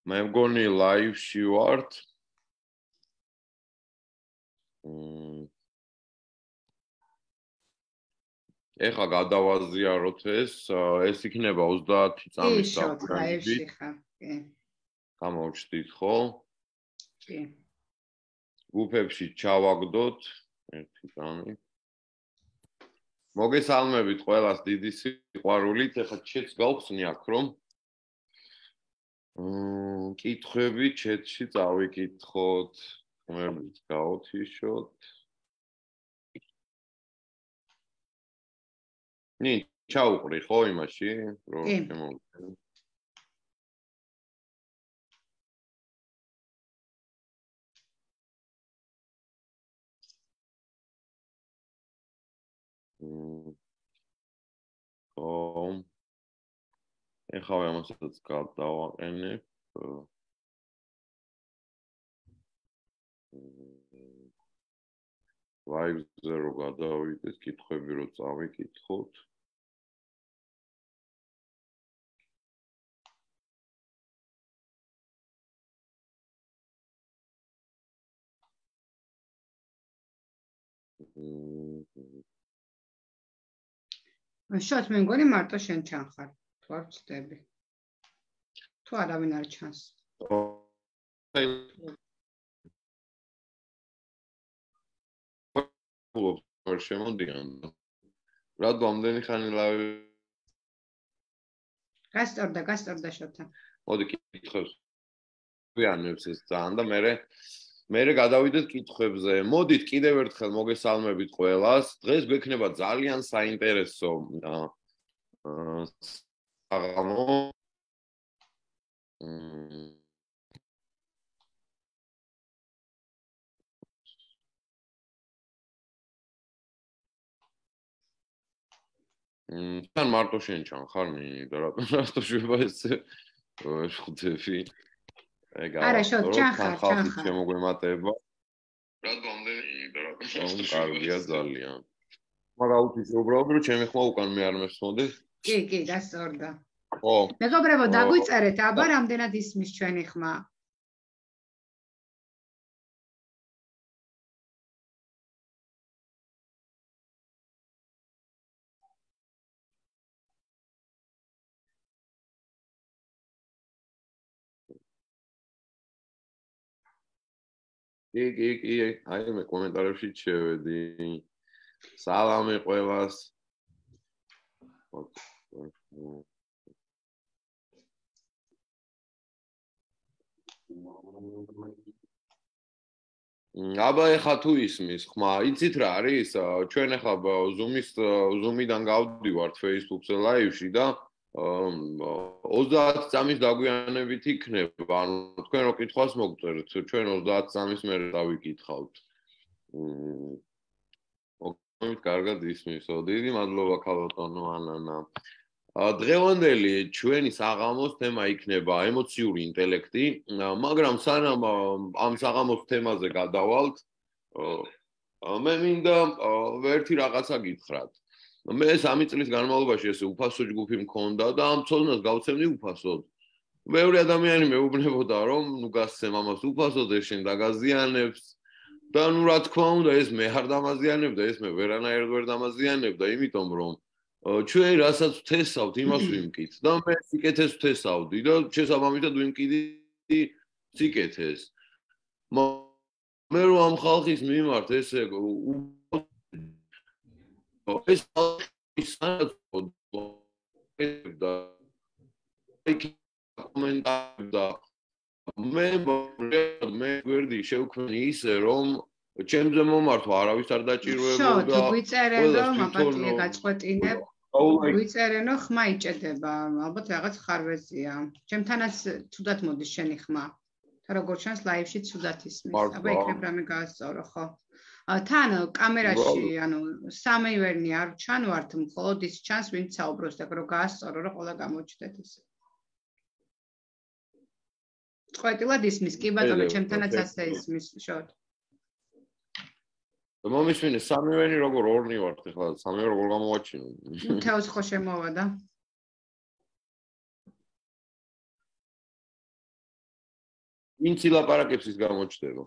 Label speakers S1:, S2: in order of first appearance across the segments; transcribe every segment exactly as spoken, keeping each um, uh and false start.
S1: მე მგონი live-ში ვართ. ეხლა გადავაზიაროთ ეს, ეს იქნება ოცდაათი წამის
S2: live-ში ხარ, კი.
S1: გამოვჩდით, ხო?
S2: კი.
S1: გუფებში ჩავაგდოთ ერთი წამი. მოგესალმებით ყველას დიდი სიყვარულით, ეხლა ჩეთს გავხსნი აქ, რომ მ კითხვები ჩეთში წავიკითხოთ, ხმებით გავთიშოთ. ნი, ჩაუყრი ხო იმაში, რომ შემოვიდე. ო ეხლა ამასაც გადავაყენებ. live-ზე რო გადავიდეთ, კითხვები რო წავიკითხოთ.
S2: შოთ მე მგონი მარტო შენ ჩანხარ, თუ არ ვწდები. თუ არავინ არ ჩანს.
S1: ვარ შემოდიან. რატო ამდენი ხანი live?
S2: გასწორდა, გასწორდა შოთა.
S1: მოდი კითხავს. ვიანებს ეს ძალიან და მე მე გადავიდეთ კითხვებზე. მოდით კიდევ ერთხელ მოგესალმებით ყველას. დღეს გვექნება ძალიან საინტერესო საღამო. თან მარტო შენ ჩანხარ ნინი და რატო რატო შევა ეს ხვდები?
S2: არა, შოთ, ჩანხარ,
S1: ჩანხარ. შემოგვემატება. რატო ამდენი და რატო კარგია ძალიან. მაგრამ აუთიშე უბრალოდ რომ ჩემი ხმა უკან მე არ მესმოდი.
S2: კი, კი, გასწორდა.
S1: ხო.
S2: მეგობრებო, დაგვიწერეთ, აბა რამდენად ისმის ჩვენი ხმა?
S1: კი, კი, კი, აი მე კომენტარებში შევედი. სალამი ყველას. აბა ეხა თუ ისმის ხმა, იცით რა არის? ჩვენ ეხლა Zoom-ის Zoom-იდან გავდივართ Facebook-ზე live-ში და ოცდაათი წამის დაგვიანებით იქნება. ანუ თქვენ რო კითხვას მოგწერთ, ჩვენ ოცდაათი წამის მერე დავიკითხავთ. მოგეთ კარგად ისმისო. დიდი მადლობა ქალბატონო ანანა. დღევანდელი ჩვენი საღამოს თემა იქნება ემოციური ინტელექტი, მაგრამ სანამ ამ საღამოს თემაზე გადავალთ, მე მინდა ერთი რაღაცა გითხრათ. მე სამი წლის განმავლობაში ესე უფასო ჯგუფი მქონდა და ამ ცოდნას გავცემდი უფასოდ. მეორე ადამიანი მეუბნებოდა რომ ნუ გასცემ ამას უფასოდ, ეს შენ დაგაზიანებს და ნუ რა თქმა უნდა ეს მე არ დამაზიანებდა, ეს მე ვერანაირად ვერ დამაზიანებდა, იმიტომ რომ ჩვენ რასაც ვთესავთ, იმას ვიმკით და მე სიკეთეს ვთესავდი და შესაბამისად ვიმკიდი სიკეთეს. მე რომ ამ ხალხის მიმართ ესე ეს და კომენტარი და მე მე გვერდი შევქმნი ისე რომ ჩემზე მომართვა არავის არ დაჭირვებოდა.
S2: შო, გვიწერენო, მაპატიე გაწყვეტინებ. გვიწერენო, ხმა იჭედება, ალბათ რაღაც ხარვეზია. ჩემთანაც ცუდად მოდის შენი ხმა. და როგორც ჩანს live-ში ცუდად ისმის. აბა იქნებ რამე გაასწორო, ხო? თან კამერაში, ანუ სამივერნი არ ჩანვართ, მხოლოდ ის ჩანს, ვინც საუბრობს და რო გაასწორო, რომ ყველა გამოჩნდეთ ისე. წყვეტილად ისმის, კი ბატონო, ჩემთანაც ასე ისმის, შოთ.
S1: მომისმინე სამივენი როგორ ორნი ვართ ახლა, სამივე როგორ გამოვაჩინო?
S2: თავს ხო შემოვა და
S1: ვინც ილაპარაკებს ის გამოჩნდება.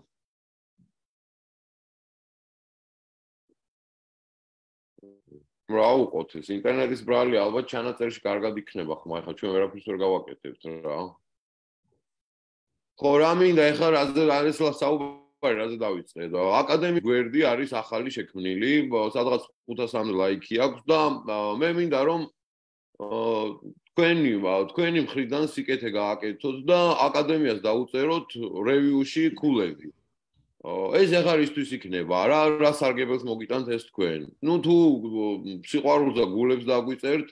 S1: რა უყოთ ეს ინტერნეტის ბრალი ალბათ ჩანაწერში კარგად იქნება ხმა ხა ჩვენ ვერაფერს ვერ გავაკეთებთ რა. ხო რა მინდა ეხლა რაზე არის საუბარი რაზე დავიწყე და აკადემიკ გვერდი არის ახალი შექმნილი სადღაც ხუთასამდე ლაიქი აქვს და მე მინდა რომ თქვენი თქვენი მხრიდან სიკეთე გააკეთოთ და აკადემიას დაუწეროთ რევიუში ქულები. ეს ახლა ისთვის იქნება რა რა სარგებელს მოგიტანთ ეს თქვენ. ნუ თუ სიყვარულს და გულებს დაგვიწერთ,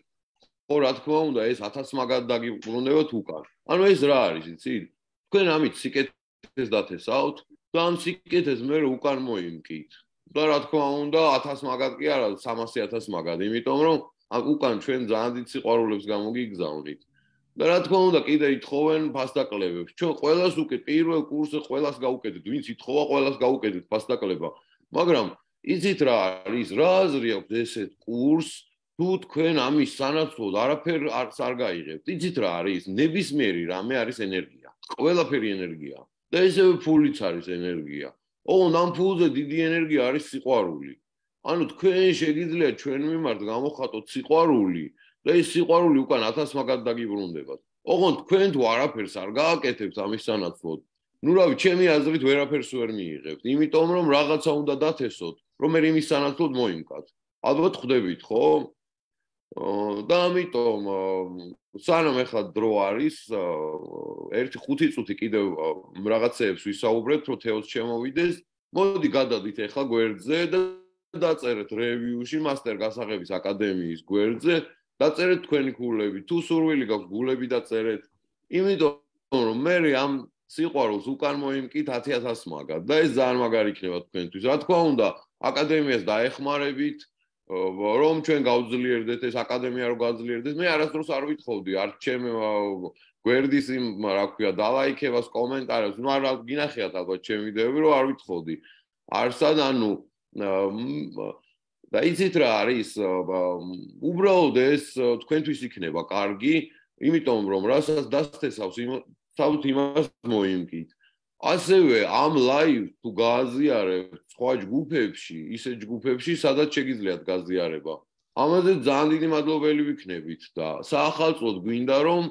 S1: ხო რა თქმა უნდა ეს ათას მაგად დაგიბრუნებოთ უკან. ანუ ეს რა არის იცით? თქვენ ამით სიკეთეს დათესავთ და ამ სიკეთეს მე უკან მოიმკით. და რა თქმა უნდა ათას მაგად კი არა სამასი ათას მაგად, იმიტომ რომ უკან ჩვენ ძალიან დიდ სიყვარულებს გამოგიგზავნით. და რა თქმა უნდა კიდე ითხოვენ ფასდაკლებებს. ჩვენ ყველას უკეთ პირველ კურსზე ყველას გავუკეთეთ, ვინც ითხოვა ყველას გავუკეთეთ ფასდაკლება. მაგრამ იცით რა არის, რა აზრი აქვს ესეთ კურსს, თუ თქვენ ამის სანაცვლოდ არაფერ არ გაიღებთ. იცით რა არის, ნებისმიერი რამე არის ენერგია. ყველაფერი ენერგია. და ესევე ფულიც არის ენერგია. ოღონდ ამ ფულზე დიდი ენერგია არის სიყვარული. ანუ თქვენ შეგიძლიათ ჩვენ მიმართ გამოხატოთ სიყვარული და ეს სიყვარული უკან ათას მაგად დაგიბრუნდებათ. ოღონდ თქვენ თუ არაფერს არ გააკეთებთ ამის სანაცვლოდ, ნუ რავი, ჩემი აზრით ვერაფერს ვერ მიიღებთ, იმიტომ რომ რაღაცა უნდა დათესოთ, რომ მე იმის სანაცვლოდ მოიმკათ. ალბათ ხვდებით, ხო? და ამიტომ სანამ ახლა დრო არის, ერთი ხუთი წუთი კიდევ რაღაცეებს ვისაუბრებთ, რომ თეოს შემოვიდეს. მოდი გადადით ახლა გვერდზე და დაწერეთ რევიუში მასტერ გასაღების აკადემიის გვერდზე. დაწერეთ თქვენი ქულები, თუ სურვილი გაქვს გულები დაწერეთ. იმიტომ რომ მე ამ სიყვარულს უკან მოიმკით ათი ათას მაგად და ეს ძალიან მაგარი იქნება თქვენთვის. რა თქმა უნდა, აკადემიას დაეხმარებით, რომ ჩვენ გავძლიერდეთ ეს აკადემია რო გავძლიერდეთ. მე არასდროს არ ვითხოვდი, არ ჩემ გვერდის იმ რა ქვია, დალაიქებას, კომენტარებს, ნუ არ გინახიათ ალბათ ჩემ ვიდეოები, რომ არ ვითხოვდი. არსად, ანუ და იცით რა არის, უბრალოდ ეს თქვენთვის იქნება კარგი, იმიტომ რომ რასაც დასთესავს, თავთ იმას მოიმკით. ასევე ამ ლაივს თუ გააზიარებთ სხვა ჯგუფებში, ისე ჯგუფებში, სადაც შეგიძლიათ გაზიარება. ამაზე ძალიან დიდი მადლობელი ვიქნებით და საახალწლოდ გვინდა რომ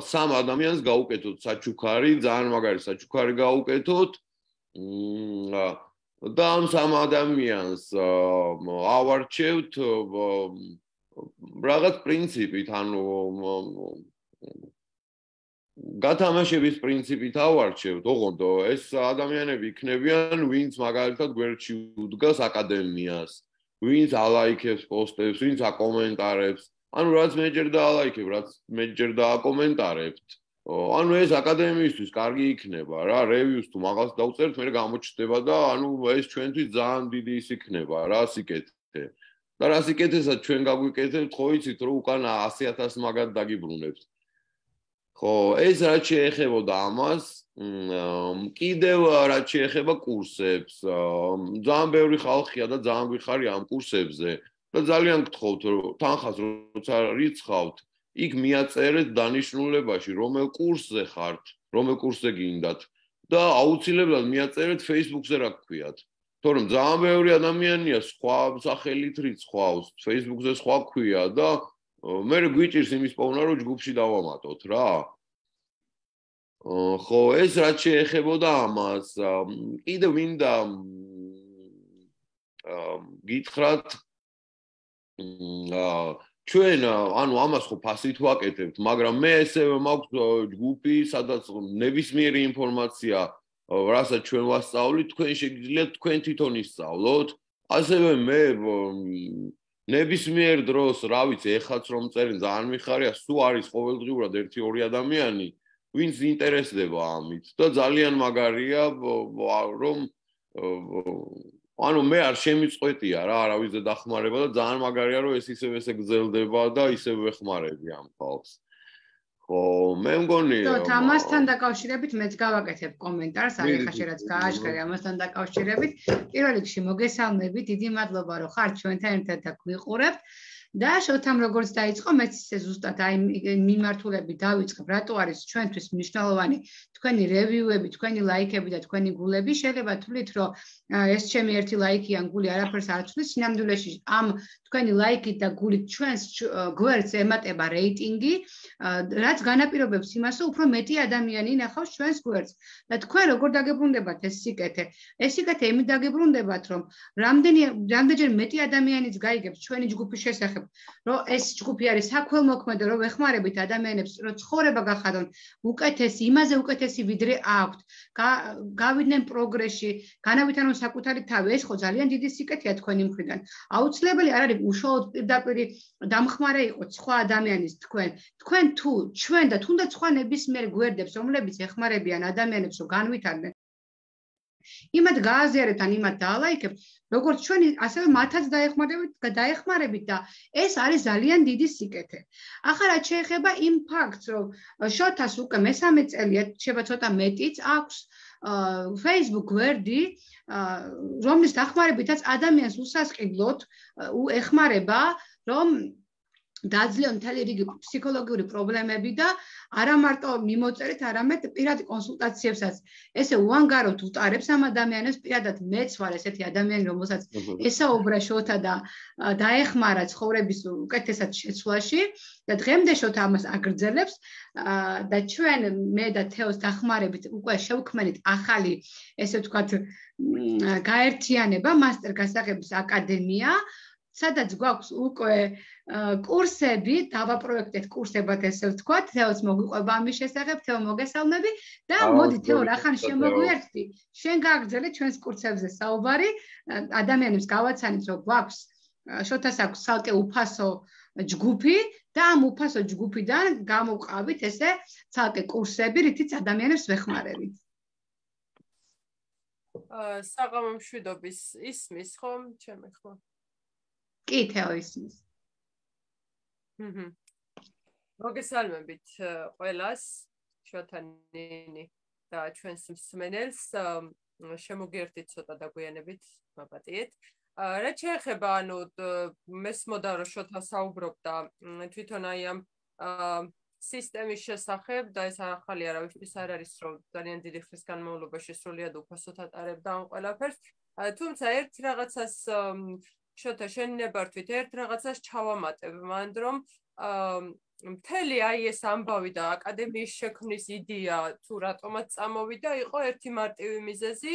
S1: სამ ადამიანს გაუკეთოთ საჩუქარი, ძალიან მაგარი საჩუქარი გაუკეთოთ. და ამ სამ ადამიანს ავარჩევთ რაღაც პრინციპით, ანუ გათამაშების პრინციპით ავარჩევთ, ოღონდ ეს ადამიანები იქნებიან, ვინც მაგალითად გვერდში უდგას აკადემიას, ვინც ალაიქებს პოსტებს, ვინც აკომენტარებს. ანუ რაც მეჯერ და ალაიქებ, რაც მეჯერ და აკომენტარებთ. ანუ ეს აკადემიისთვის კარგი იქნება რა, რევიუს თუ მაგას დავწერთ, მე გამოჩნდება და ანუ ეს ჩვენთვის ძალიან დიდი ის იქნება რა, სიკეთე. და რა სიკეთესაც ჩვენ გაგვიკეთებთ, ხო იცით, რომ უკან ასი ათას მაგად დაგიბრუნებთ. ხო, ეს რაც შეეხებოდა ამას, კიდევ რაც შეეხება კურსებს, ძალიან ბევრი ხალხია და ძალიან გვიხარია ამ კურსებზე და ძალიან გთხოვთ, რომ თანხას როცა რიცხავთ, იქ მიაწერეთ დანიშნულებაში, რომელ კურსზე ხართ, რომელ კურსზე გინდათ და აუცილებლად მიაწერეთ Facebook-ზე რა გქვიათ. თორემ ძალიან ბევრი ადამიანია სხვა სახელით რიცხვავს, Facebook-ზე სხვა ქვია და მე გვიჭირს იმის პოვნა, რომ ჯგუფში დავამატოთ რა. ხო, ეს რაც შეეხებოდა ამას, კიდევ მინდა გითხრათ ჩვენ ანუ ამას ხო ფასით ვაკეთებთ, მაგრამ მე ესევე მაქვს ჯგუფი, სადაც ნებისმიერი ინფორმაცია, რასაც ჩვენ ვასწავლით, თქვენ შეგიძლიათ თქვენ თვითონ ისწავლოთ. ასევე მე ნებისმიერ დროს, რა ვიცი, ეხაც რომ წერენ, ძალიან მიხარია, სულ არის ყოველდღიურად ერთი ორი ადამიანი, ვინც ინტერესდება ამით და ძალიან მაგარია, რომ ანუ მე არ შემიწყვეტია რა, არავის დახმარება და ძალიან მაგარია, რომ ეს ისევ ესე გრძელდება და ისევ ვეხმარები ამ ხალხს. ხო, მე მგონი
S2: და ამასთან დაკავშირებით მეც გავაკეთებ კომენტარს, აი ხა შეიძლება გააშკარე ამასთან დაკავშირებით. პირველ რიგში მოგესალმებით, დიდი მადლობა, რომ ხართ ჩვენთან ერთად და გვიყურებთ. და შოთამ როგორც დაიწყო, მეც ისე ზუსტად აი მიმართულები დავიწყებ, რატო არის ჩვენთვის მნიშვნელოვანი თქვენი რევიუები, თქვენი ლაიქები და თქვენი გულები. შეიძლება თვლით, რომ ეს ჩემი ერთი ლაიქი ან გული არაფერს არ ცვლის, სინამდვილეში ამ თქვენი ლაიქით და გულით ჩვენს გვერდს ემატება რეიტინგი, რაც განაპირობებს იმას, რომ უფრო მეტი ადამიანი ინახავს ჩვენს გვერდს. და თქვენ როგორ დაგებრუნდებათ ეს სიკეთე? ეს სიკეთე იმით დაგებრუნდებათ, რომ რამდენი რამდენჯერ მეტი ადამიანიც გაიგებს ჩვენი ჯგუფის შესახებ, რომ ეს ჯგუფი არის საქველმოქმედო, რომ ეხმარებით ადამიანებს, რომ ცხოვრება გახადონ უკეთესი, იმაზე უკეთესი ვიდრე აქვთ, გავიდნენ პროგრესში, განავითარონ საკუთარი თავი. ეს ხო ძალიან დიდი სიკეთეა თქვენი მხრიდან. აუცილებელი არ არის უშუალოდ პირდაპირ დამხმარე იყოთ სხვა ადამიანის თქვენ. თქვენ თუ ჩვენ და თუნდაც სხვა ნებისმიერ გვერდებს, რომლებიც ეხმარებიან ადამიანებს, რომ განვითარდნენ, იმათ გააზიარებთ ან იმათ დაალაიქებთ, როგორც ჩვენი, ასევე მათაც დაეხმარებით, დაეხმარებით და ეს არის ძალიან დიდი სიკეთე. ახლა რაც შეეხება იმ ფაქტს, რომ შოთას უკვე მესამე წელია, შეიძლება ცოტა მეტიც აქვს Facebook გვერდი, რომლის დახმარებითაც ადამიანს უსასყიდლოდ ეხმარება, რომ დაძლეო მთელი რიგი ფსიქოლოგიური პრობლემები და არა მარტო მიმოწერით, არამედ პირად კონსულტაციებსაც ესე უანგაროდ უტარებს ამ ადამიანებს. პირადად მეც ვარ ესეთი ადამიანი, რომელსაც ესაუბრა შოთა და დაეხმარა ცხოვრების უკეთესად შეცვლაში და დღემდე შოთა ამას აგრძელებს და ჩვენ მე და თეოს დახმარებით უკვე შევქმნით ახალი, ესე ვთქვათ, გაერთიანება, მასტერ გასაღების აკადემია, სადაც გვაქვს უკვე კურსები, დავაპროექტეთ კურსებად ესე ვთქვათ, თეოს მოგვიყვება ამის შესახებ, თეო მოგესალმები და მოდი თეო რახან შემოგვიერთდი, შენ გააგრძელე ჩვენს კურსებზე საუბარი, ადამიანებს გავაცანით, რომ გვაქვს შოთას აქვს ცალკე უფასო ჯგუფი და ამ უფასო ჯგუფიდან გამოვყავით ესე ცალკე კურსები, რითიც ადამიანებს ვეხმარებით.
S3: საღამო მშვიდობის ისმის ხომ, ჩემი ხო?
S2: კი, თეო ისმის.
S3: ჰმმ. მოგესალმებით ყველას, შოთანინი და ჩვენს მსმენელს, შემოგიერთით ცოტა დაგვიანებით, მაპატიეთ. რაც შეეხება, ანუ მესმოდა რომ შოთა საუბრობდა თვითონ აი ამ სისტემის შესახებ და ეს ახალი არავისთვის არ არის, რომ ძალიან დიდი ხნის განმავლობაში სრულიად უფასოდ ატარებდა ამ ყველაფერს. თუმცა ერთ რაღაცას შოთა შენ ნებართვით, ერთ რაღაცას ჩავამატებ, მანდ რომ მთელი აი ეს ამბავი და აკადემიის შექმნის იდეა თუ რატომაც წამოვიდა, იყო ერთი მარტივი მიზეზი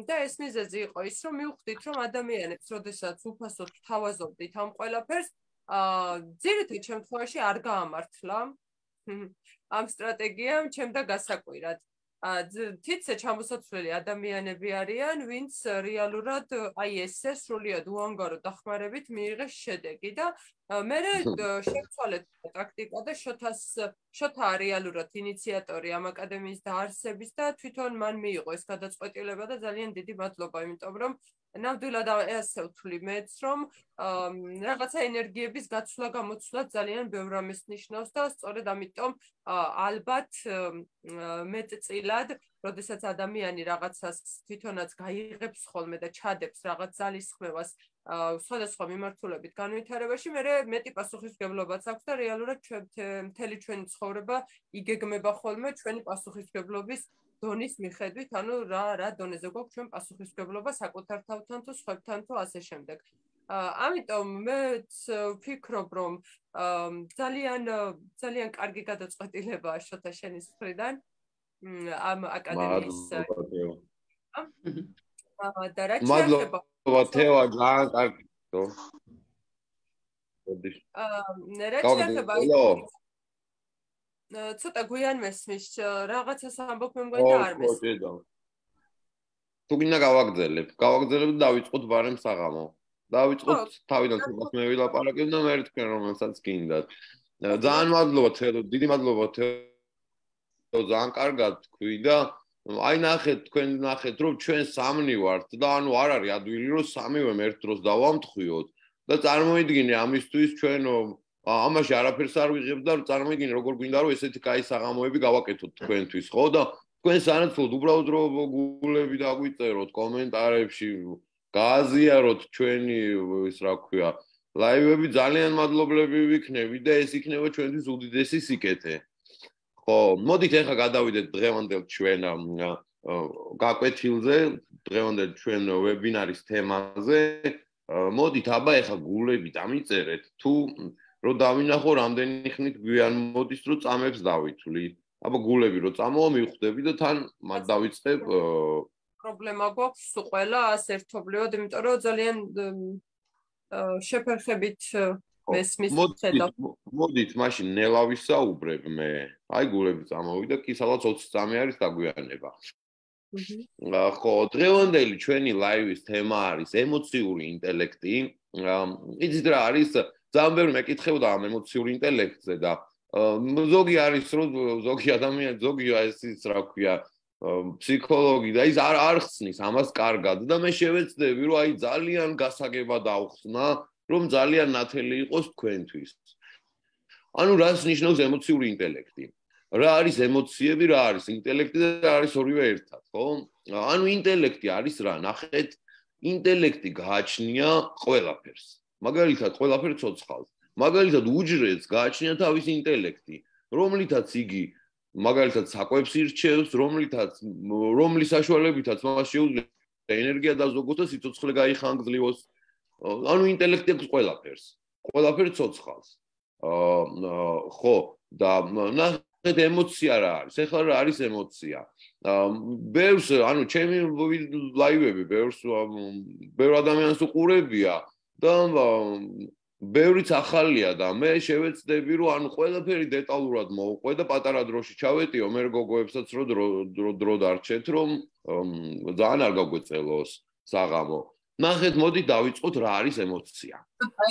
S3: და ეს მიზეზი იყო ის, რომ მივხვდით, რომ ადამიანებს, როდესაც უფასოდ თავაზობდით ამ ყველაფერს, ძირითად შემთხვევაში არ გაამართლა ამ სტრატეგიამ ჩემ და გასაკვირად. თითზე ჩამოსაცვლელი ადამიანები არიან, ვინც რეალურად აი ესე სრულიად უანგარო დახმარებით მიიღეს შედეგი და მე შევცვალეთ ტაქტიკა და შოთას შოთა რეალურად ინიციატორი ამ აკადემიის დაარსების და თვითონ მან მიიღო ეს გადაწყვეტილება და ძალიან დიდი მადლობა, იმიტომ რომ ნამდვილად ასე ვთვლი მეც, რომ რაღაცა ენერგიების გაცვლა გამოცვლა ძალიან ბევრ რამეს ნიშნავს და სწორედ ამიტომ ალბათ მეტწილად, როდესაც ადამიანი რაღაცას თვითონაც გაიღებს ხოლმე და ჩადებს რაღაც ძალისხმევას სხვადასხვა მიმართულებით განვითარებაში, მე მეტი პასუხისმგებლობაც აქვს და რეალურად მთელი ჩვენი ცხოვრება იგეგმება ხოლმე ჩვენი პასუხისმგებლობის დონის მიხედვით, ანუ რა რა დონეზე გვაქვს ჩვენ პასუხისმგებლობა საკუთარ თავთან თუ სხვებთან თუ ასე შემდეგ. ამიტომ მე ვფიქრობ, რომ ძალიან ძალიან კარგი გადაწყვეტილებაა შოთა შენის მხრიდან ამ აკადემიის და რაც შეეხება
S1: თეო ძალიან კარგი.
S3: რაც შეეხება ცოტა გვიან მესმის, რაღაცას ამბობ მე მგონი და არ მესმის.
S1: თუ გინდა გავაგრძელებ, გავაგრძელებ და დავიწყოთ ბარემ საღამო. დავიწყოთ თავიდან ცოტას მე ვილაპარაკებ და მე თქვენ რომელსაც გინდათ. ძალიან მადლობა თეო, დიდი მადლობა თეო. ძალიან კარგად თქვი და აი ნახეთ, თქვენ ნახეთ, რომ ჩვენ სამნი ვართ და ანუ არ არის ადვილი, რომ სამივე ერთ დროს დავამთხვიოთ და წარმოიდგინე ამისთვის ჩვენ ამაში არაფერს არ ვიღებ და წარმოიდგინე როგორ გვინდა რომ ესეთი კაი საღამოები გავაკეთოთ თქვენთვის, ხო და თქვენ სანაცვლოდ უბრალოდ რომ გულები დაგვიწეროთ კომენტარებში, გააზიაროთ ჩვენი ის რა ქვია, ლაივები ძალიან მადლობლები ვიქნებით და ეს იქნება ჩვენთვის უდიდესი სიკეთე. ხო, მოდით ახლა გადავიდეთ დღევანდელ ჩვენ გაკვეთილზე, დღევანდელ ჩვენ ვებინარის თემაზე. მოდით აბა ახლა გულები დამიწერეთ თუ რომ დავინახო რამდენი ხნით გვიან მოდის რომ წამებს დავითვლი. აბა გულები რომ წამოვა მივხვდები და თან მათ დავიწყებ
S3: პრობლემა გვაქვს ყველა ასე ერთობლივად, იმიტომ რომ ძალიან შეფერხებით მესმის ხედავ.
S1: მოდით მაშინ ნელა ვისაუბრებ მე. აი გულები წამოვიდა, კი სადღაც ოცი წამი არის დაგვიანება. ხო, დღევანდელი ჩვენი ლაივის თემა არის ემოციური ინტელექტი. იცით რა არის? ძალიან ბევრი მეკითხებოდა ამ ემოციური ინტელექტზე და ზოგი არის რომ ზოგი ადამიანი, ზოგი ეს ის რა ქვია, ფსიქოლოგი და ის არ არ ხსნის ამას კარგად და მე შევეცდები რომ აი ძალიან გასაგებად ავხსნა, რომ ძალიან ნათელი იყოს თქვენთვის. ანუ რას ნიშნავს ემოციური ინტელექტი? რა არის ემოციები, რა არის ინტელექტი და რა არის ორივე ერთად, ხო? ანუ ინტელექტი არის რა? ნახეთ, ინტელექტი გააჩნია ყველაფერს. მაგალითად, ყველაფერს ცოცხალს. მაგალითად, უჯრედს გააჩნია თავის ინტელექტი, რომლითაც იგი მაგალითად საკვებს ირჩევს, რომლითაც რომლის საშუალებითაც მას შეუძლია ენერგია დაზოგოს და სიცოცხლე გაიხანგრძლივოს. ანუ ინტელექტი აქვს ყველაფერს. ყველაფერს ცოცხალს. აა ხო, და ნახეთ ემოცია რა არის? ეხლა რა არის ემოცია? ბევრს, ანუ ჩემი ლაივები, ბევრს ბევრ ადამიანს უყურებია და ბევრიც ახალია და მე შევეცდები რომ ანუ ყველაფერი დეტალურად მოვყვე და პატარა დროში ჩავეტიო მე გოგოებსაც რომ დრო დრო დარჩეთ რომ ძალიან არ გაგვეწელოს საღამო. ნახეთ, მოდით დავიწყოთ რა არის ემოცია.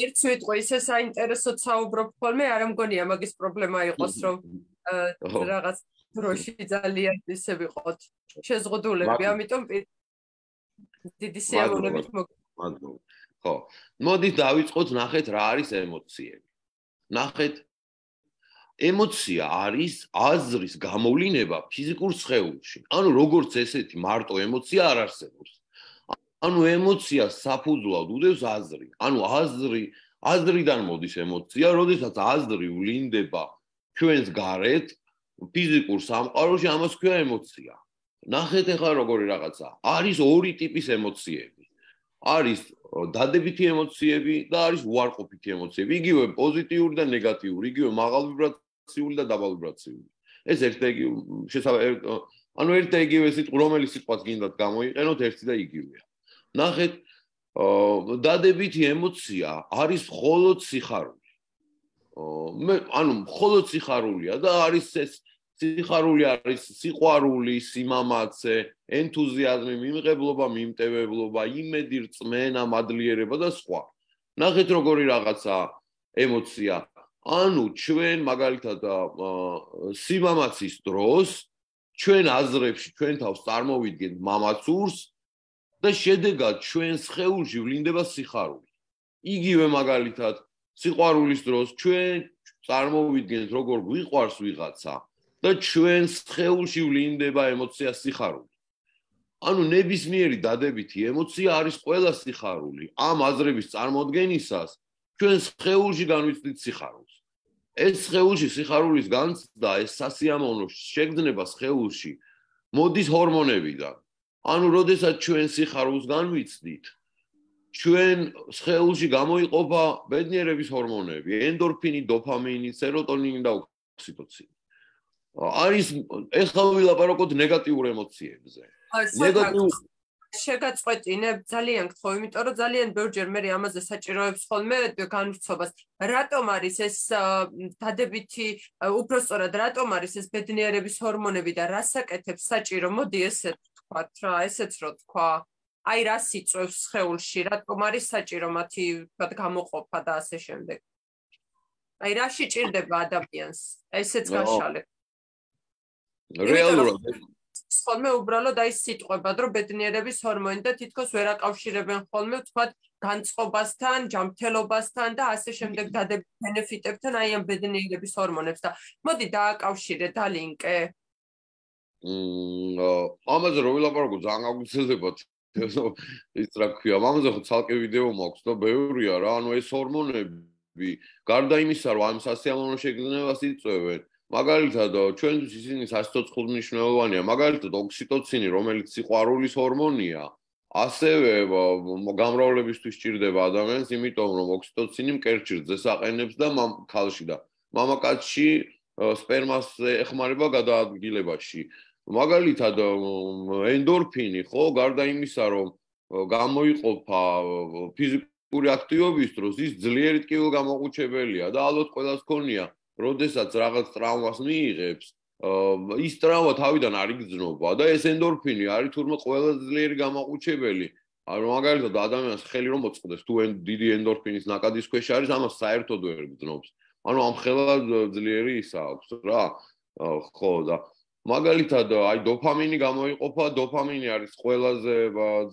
S3: ერთ სიტყვა ისე საინტერესოდ საუბრობ ხოლმე, არ მგონია მაგის პრობლემა იყოს რომ რაღაც დროში ძალიან ისე ვიყოთ შეზღუდულები, ამიტომ დიდი სიამოვნებით
S1: მოგ ხო, მოდით დავიწყოთ ნახეთ რა არის ემოციები. ნახეთ, ემოცია არის აზრის გამოვლინება ფიზიკურ სხეულში. ანუ როგორც ესეთი მარტო ემოცია არ არსებობს. ანუ ემოციას საფუძვლად უდევს აზრი. ანუ აზრი, აზრიდან მოდის ემოცია, როდესაც აზრი ვლინდება ჩვენს გარეთ ფიზიკურ სამყაროში, ამას ქვია ემოცია. ნახეთ ახლა როგორი რაღაცა. არის ორი ტიპის ემოციები. არის დადებითი ემოციები და არის უარყოფითი ემოციები. იგივე პოზიტიური და ნეგატიური, იგივე მაღალ ვიბრაციული და დაბალ ვიბრაციული. ეს ერთ და იგივე შესაძლოა, ანუ ერთ და იგივე სიტყვა, რომელიც სიტყვას გინდათ გამოიყენოთ, ერთი და იგივეა. ნახეთ, დადებითი ემოცია არის მხოლოდ სიხარული. მე ანუ მხოლოდ სიხარულია და არის ეს სიხარული არის სიყვარული, სიმამაცე, ენთუზიაზმი, მიმღებლობა, მიმტევებლობა, იმედი, რწმენა, მადლიერება და სხვა. ნახეთ როგორი რაღაცა ემოცია. ანუ ჩვენ მაგალითად სიმამაცის დროს ჩვენ აზრებში ჩვენ თავს წარმოვიდგენთ მამაცურს და შედეგად ჩვენ სხეულში ვლინდება სიხარული. იგივე მაგალითად სიყვარულის დროს ჩვენ წარმოვიდგენთ როგორ გვიყვარს ვიღაცა და ჩვენ სხეულში ვლინდება ემოცია სიხარული. ანუ ნებისმიერი დადებითი ემოცია არის ყველა სიხარული. ამ აზრების წარმოდგენისას ჩვენ სხეულში განვიცდით სიხარულს. ეს სხეულში სიხარულის განცდა, ეს სასიამოვნო შეგრძნება სხეულში მოდის ჰორმონებიდან. ანუ როდესაც ჩვენ სიხარულს განვიცდით, ჩვენ სხეულში გამოიყოფა ბედნიერების ჰორმონები, ენდორფინი, დოფამინი, სეროტონინი და ოქსიტოცინი. არის ეხლა ვილაპარაკოთ ნეგატიურ ემოციებზე.
S3: ნეგატიურ შეგაწყვეტინებ ძალიან გთხოვ, იმიტომ რომ ძალიან ბევრჯერ მე ამაზე საჭიროებს ხოლმე განვრცობას. რატომ არის ეს დადებითი, უბრალოდ რატომ არის ეს ბედნიერების ჰორმონები და რას აკეთებს საჭირო? მოდი ესე ვთქვათ რა, ესეც რო თქვა. აი რას იწვევს სხეულში, რატომ არის საჭირო მათი ვთქვათ გამოყოფა და ასე შემდეგ. აი რა შეჭirdება ადამიანს? ესეც გაშალე.
S1: რეალურად
S3: ხოლმე უბრალოდ აი სიტყვებად რომ ბედნიერების ჰორმონი და თითქოს ვერ აკავშირებენ ხოლმე ვთქვათ განწყობასთან, ჯანმრთელობასთან და ასე შემდეგ დადებით ბენეფიტებთან აი ამ ბედნიერების ჰორმონებს და მოდი დააკავშირე დალინკე.
S1: მმ ამაზე რომ ვილაპარაკო ძალიან გაგვიცელებათ ის რა ქვია, მამაზე ხო ცალკე ვიდეო მაქვს და ბევრია რა, ანუ ეს ჰორმონები გარდა იმისა, რომ ამ სასიამოვნო შეგრძნებას იწვევენ, მაგალითად ჩვენთვის ისინი სასიცოცხლო მნიშვნელოვანია, მაგალითად ოქსიტოცინი, რომელიც სიყვარულის ჰორმონია, ასევე გამრავლებისთვის სჭირდება ადამიანს, იმიტომ რომ ოქსიტოცინი მკერჩირზე საყენებს და ქალში და მამაკაცში სპერმას ეხმარება გადაადგილებაში. მაგალითად ენდორფინი, ხო, გარდა იმისა, რომ გამოიყოფა ფიზიკური აქტივობის დროს, ის ძლიერი ტკივილგამოყუჩებელია და ალბათ ყველას ქონია, როდესაც რაღაც ტრავმას მიიღებს, ის ტრავმა თავიდან არ იგრძნობა და ეს ენდორფინი არის თურმე ყველაზე ძლიერი გამოყუჩებელი. ანუ მაგალითად ადამიანს ხელი რომ მოწყდეს, თუ დიდი ენდორფინის ნაკადის ქვეშ არის, ამას საერთოდ ვერ გძნობს. ანუ ამ ხელა ძლიერი ის აქვს რა. ხო და მაგალითად აი დოფამინი გამოიყოფა, დოფამინი არის ყველაზე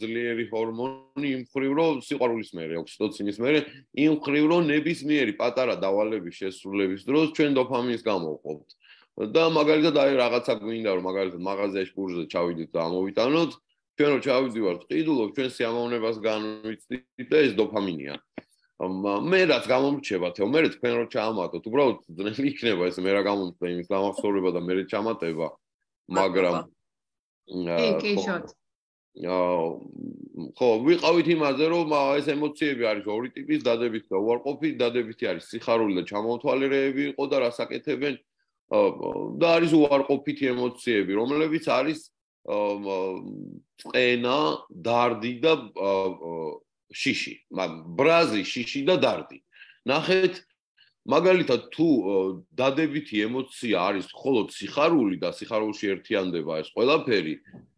S1: ძლიერი ჰორმონი იმ მხრივ, რომ სიყვარულის მერე, ოქსიტოცინის მერე, იმ მხრივ, რომ ნებისმიერი პატარა დავალების შესრულების დროს ჩვენ დოფამინს გამოვყოფთ. და მაგალითად აი რაღაცა გვინდა, რომ მაგალითად მაღაზიაში კურსზე ჩავიდეთ და ამოვიტანოთ, ჩვენ რო ჩავიდივართ ყიდულობ, ჩვენ სიამოვნებას განვიცდით და ეს დოფამინია. მე რაც გამომრჩება თო, მე თქვენ რო ჩაამატოთ, უბრალოდ ძნელი იქნება ეს მე რა გამომწვე იმის გამახსოვრება და მე ჩამატება, მაგრამ
S2: კი, კი, შოთ.
S1: ხო, ვიყავით იმაზე, რომ ეს ემოციები არის ორი ტიპის, დადებითი და უარყოფითი, დადებითი არის სიხარული და ჩამოთვალიერეები იყო და რას აკეთებენ და არის უარყოფითი ემოციები, რომლებიც არის წენა, დარდი და შიში, ბრაზი, შიში და დარდი. ნახეთ, მაგალითად თუ დადებითი ემოცია არის მხოლოდ სიხარული და სიხარულში ერთიანდება ეს ყველაფერი,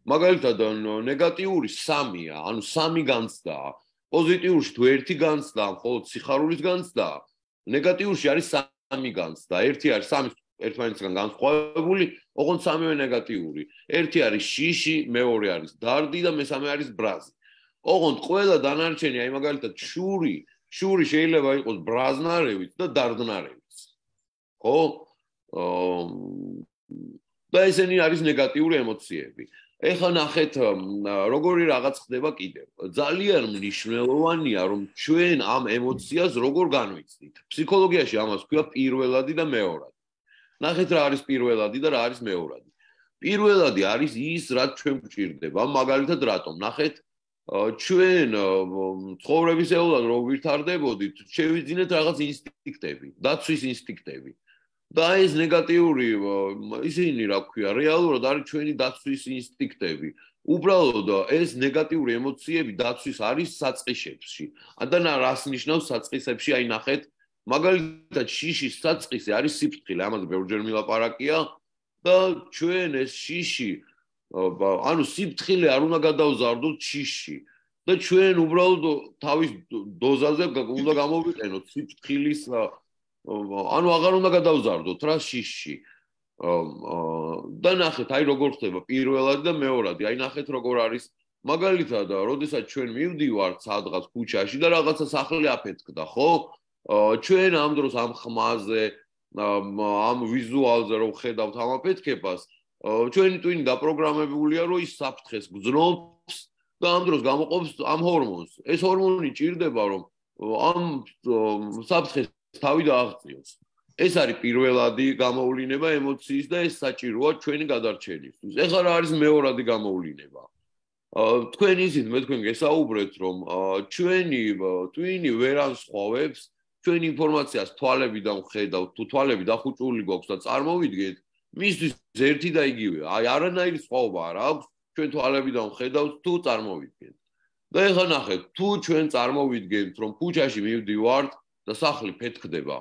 S1: მაგალითად ნეგატიური სამია, ანუ სამი განცდაა. პოზიტიურში თუ ერთი განცდაა, მხოლოდ სიხარულის განცდაა, ნეგატიურში არის სამი განცდა. ერთი არის სამი ერთმანეთისგან განსხვავებული, ოღონდ სამივე ნეგატიური. ერთი არის შიში, მეორე არის დარდი და მესამე არის ბრაზი. ოღონდ ყველა დანარჩენი, აი მაგალითად შური, შური შეიძლება იყოს ბრაზნარევიც და დარდნარევიც. ხო? და ესენი არის ნეგატიური ემოციები. ეხლა ნახეთ, როგორი რაღაც ხდება კიდევ. ძალიან მნიშვნელოვანია, რომ ჩვენ ამ ემოციას როგორ განვიცდით. ფსიქოლოგიაში ამას ქვია პირველადი და მეორადი. ნახეთ რა არის პირველადი და რა არის მეორადი. პირველადი არის ის, რაც ჩვენ გვჭირდება, მაგალითად რატომ? ნახეთ, ჩვენ ცხოვრებისეულად რო ვითარდებოდით, შევიძინეთ რაღაც ინსტინქტები, დაცვის ინსტინქტები. და ეს ნეგატიური ისინი რა ქვია, რეალურად არის ჩვენი დაცვის ინსტინქტები. უბრალოდ ეს ნეგატიური ემოციები დაცვის არის საწყისებში. და რას ნიშნავს საწყისებში? აი ნახეთ, მაგალითად შიშის საწყისი არის სიფრთხილე, ამაზე ბევრჯერ მილაპარაკია და ჩვენ ეს შიში, ანუ სიფრთხილე არ უნდა გადავზარდოთ შიში და ჩვენ უბრალოდ თავის დოზაზე უნდა გამოვიყენოთ სიფრთხილის, ანუ აღარ უნდა გადავზარდოთ რა შიში. და ნახეთ, აი როგორ ხდება პირველადი და მეორადი. აი ნახეთ როგორ არის, მაგალითად, როდესაც ჩვენ მივდივართ სადღაც ქუჩაში და რაღაცა სახლი აფეთქდა, ხო? ჩვენ ამ დროს ამ ხმაზე, ამ ვიზუალზე რომ ხედავთ ამ აფეთქებას, ჩვენი ტვინი დაპროგრამებულია, რომ ის საფრთხეს გძნობს და ამ დროს გამოყოფს ამ ჰორმონს. ეს ჰორმონი ჭირდება, რომ ამ საფრთხეს თავი დააღწიოს. ეს არის პირველადი გამოვლინება ემოციის და ეს საჭიროა ჩვენი გადარჩენისთვის. ეხლა რა არის მეორადი გამოვლინება? თქვენ ისიც მე თქვენ გესაუბრეთ, რომ ჩვენი ტვინი ვერ ანსხვავებს ჩვენ ინფორმაციას თვალებიდან ვხედავთ, თუ თვალები დახუჭული გვაქვს და წარმოვიდგენთ, მისთვის ერთი და იგივეა. აი არანაირი სხვაობა არ აქვს, ჩვენ თვალებიდან ვხედავთ, თუ წარმოვიდგენთ. და ეხლა ნახეთ, თუ ჩვენ წარმოვიდგენთ, რომ ქუჩაში მივდივართ და სახლი ფეთქდება,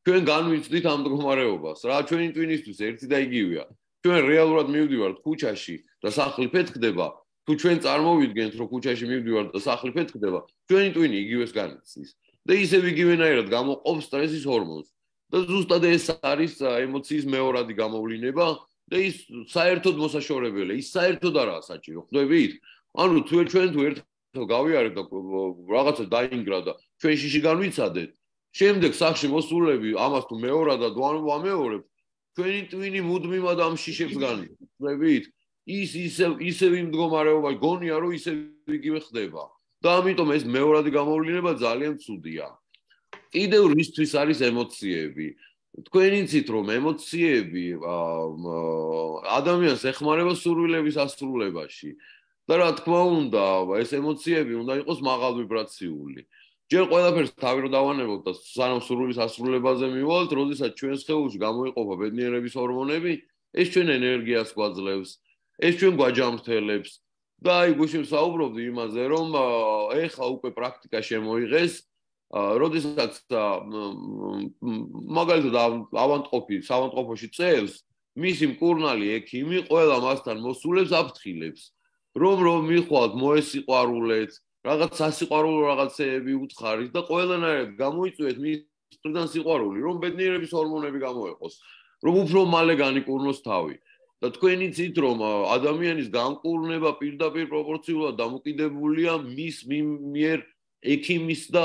S1: ჩვენ განვიცდით ამ მდგომარეობას, რა ჩვენი ტვინისთვის ერთი და იგივეა. ჩვენ რეალურად მივდივართ ქუჩაში და სახლი ფეთქდება, თუ ჩვენ წარმოვიდგენთ, რომ ქუჩაში მივდივართ და სახლი ფეთქდება, ჩვენი ტვინი იგივეს განიცდის. და ისევ იგივენაირად გამოყოფს სტრესის ჰორმონს. და ზუსტად ეს არის ემოციის მეორადი გამოვლინება და ის საერთოდ მოსაშორებელია, ის საერთოდ არაა საჭირო, ხვდებით? ანუ თუ ჩვენ თუ ერთხელ გავიარეთ და რაღაცა დაინგრა და ჩვენ შიში განვიცადეთ, შემდეგ სახში მოსულები ამას თუ მეორადად ვამეორებთ, ჩვენი ტვინი მუდმივად ამ შიშებს განიცდის, ხვდებით? ის ისევ ისევ იმ მდგომარეობაში გონია რომ ისევ იგივე ხდება და ამიტომ ეს მეორადი გამოვლინება ძალიან ცუდია. კიდევ რისთვის არის ემოციები? თქვენ იცით რომ ემოციები ადამიანს ეხმარება სურვილების ასრულებაში და რა თქმა უნდა ეს ემოციები უნდა იყოს მაღალ ვიბრაციული. ჯერ ყველაფერს თავი რომ დავანებოთ და სანამ სურვილის ასრულებაზე მივალთ, როდესაც ჩვენ სხეულში გამოიყოფა ბედნიერების ჰორმონები, ეს ჩვენ ენერგიას გვაძლევს, ეს ჩვენ გვაჯამრთელებს და აი გუშინ საუბრობდი იმაზე რომ ეხლა უკვე პრაქტიკა შემოიღეს, როდესაც მაგალითად ავანტყოფი ავანტყოფოში წევს, მისი მკურნალი ექიმი ყველა მასთან მოსულებს აფრთხილებს, რომ რომ მიხვალთ მოესიყვარულეთ, რაღაც სასიყვარულო რაღაცეები უთხარით და ყველანაირად გამოიწვიეთ მის მხრიდან სიყვარული, რომ ბედნიერების ჰორმონები გამოეყოს, რომ უფრო მალე განიკურნოს თავი. და თქვენ იცით რომ ადამიანის განკურნება პირდაპირ პროპორციულად დამოკიდებულია მის მიერ ექიმის და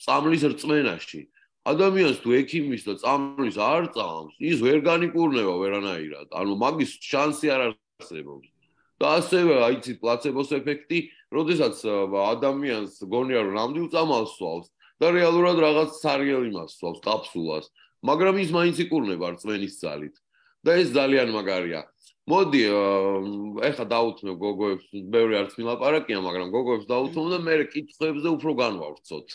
S1: წამლის რწმენაში. ადამიანს თუ ექიმის და წამლის არ წამს, ის ვერ განიკურნება ვერანაირად. ანუ მაგის შანსი არ არსებობს. და ასევე აიცით პლაცებოს ეფექტი, როდესაც ადამიანს გონია რომ ნამდვილ წამალს სვავს და რეალურად რაღაც სარიელი მასვავს კაფსულას, მაგრამ ის მაინც იკურნება რწმენის ძალით. და ეს ძალიან მაგარია. მოდი, ეხლა დავუთმევ გოგოებს, ბევრი არც მილაპარაკია, მაგრამ გოგოებს დავუთმევ და მე კითხვებზე უფრო განვავრცოთ.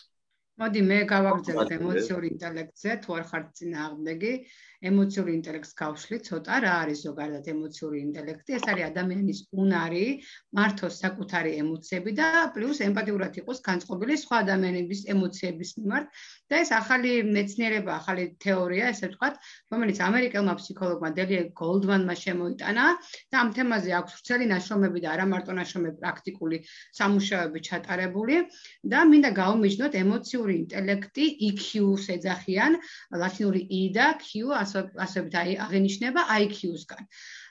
S2: მოდი მე გავაგრძელებ ემოციური ინტელექტზე, თუ არ ხართ წინააღმდეგი, ემოციური ინტელექტს გავშლი ცოტა, რა არის ზოგადად ემოციური ინტელექტი? ეს არის ადამიანის უნარი, მართოს საკუთარი ემოციები და პლუს ემპათიურად იყოს განწყობილი სხვა ადამიანების ემოციების მიმართ. და ეს ახალი მეცნიერება, ახალი თეორია, ესე ვთქვათ, რომელიც ამერიკელმა ფსიქოლოგმა დელია გოლდმანმა შემოიტანა და ამ თემაზე აქვს ვრცელი ნაშრომები და არა მარტო ნაშრომები, პრაქტიკული სამუშაოები ჩატარებული და მინდა გავუმიჯნოთ ემოციური ინტელექტი ი ქიუს ეძახიან, ლათინური I და Q ასობით აღინიშნება I Q-სგან.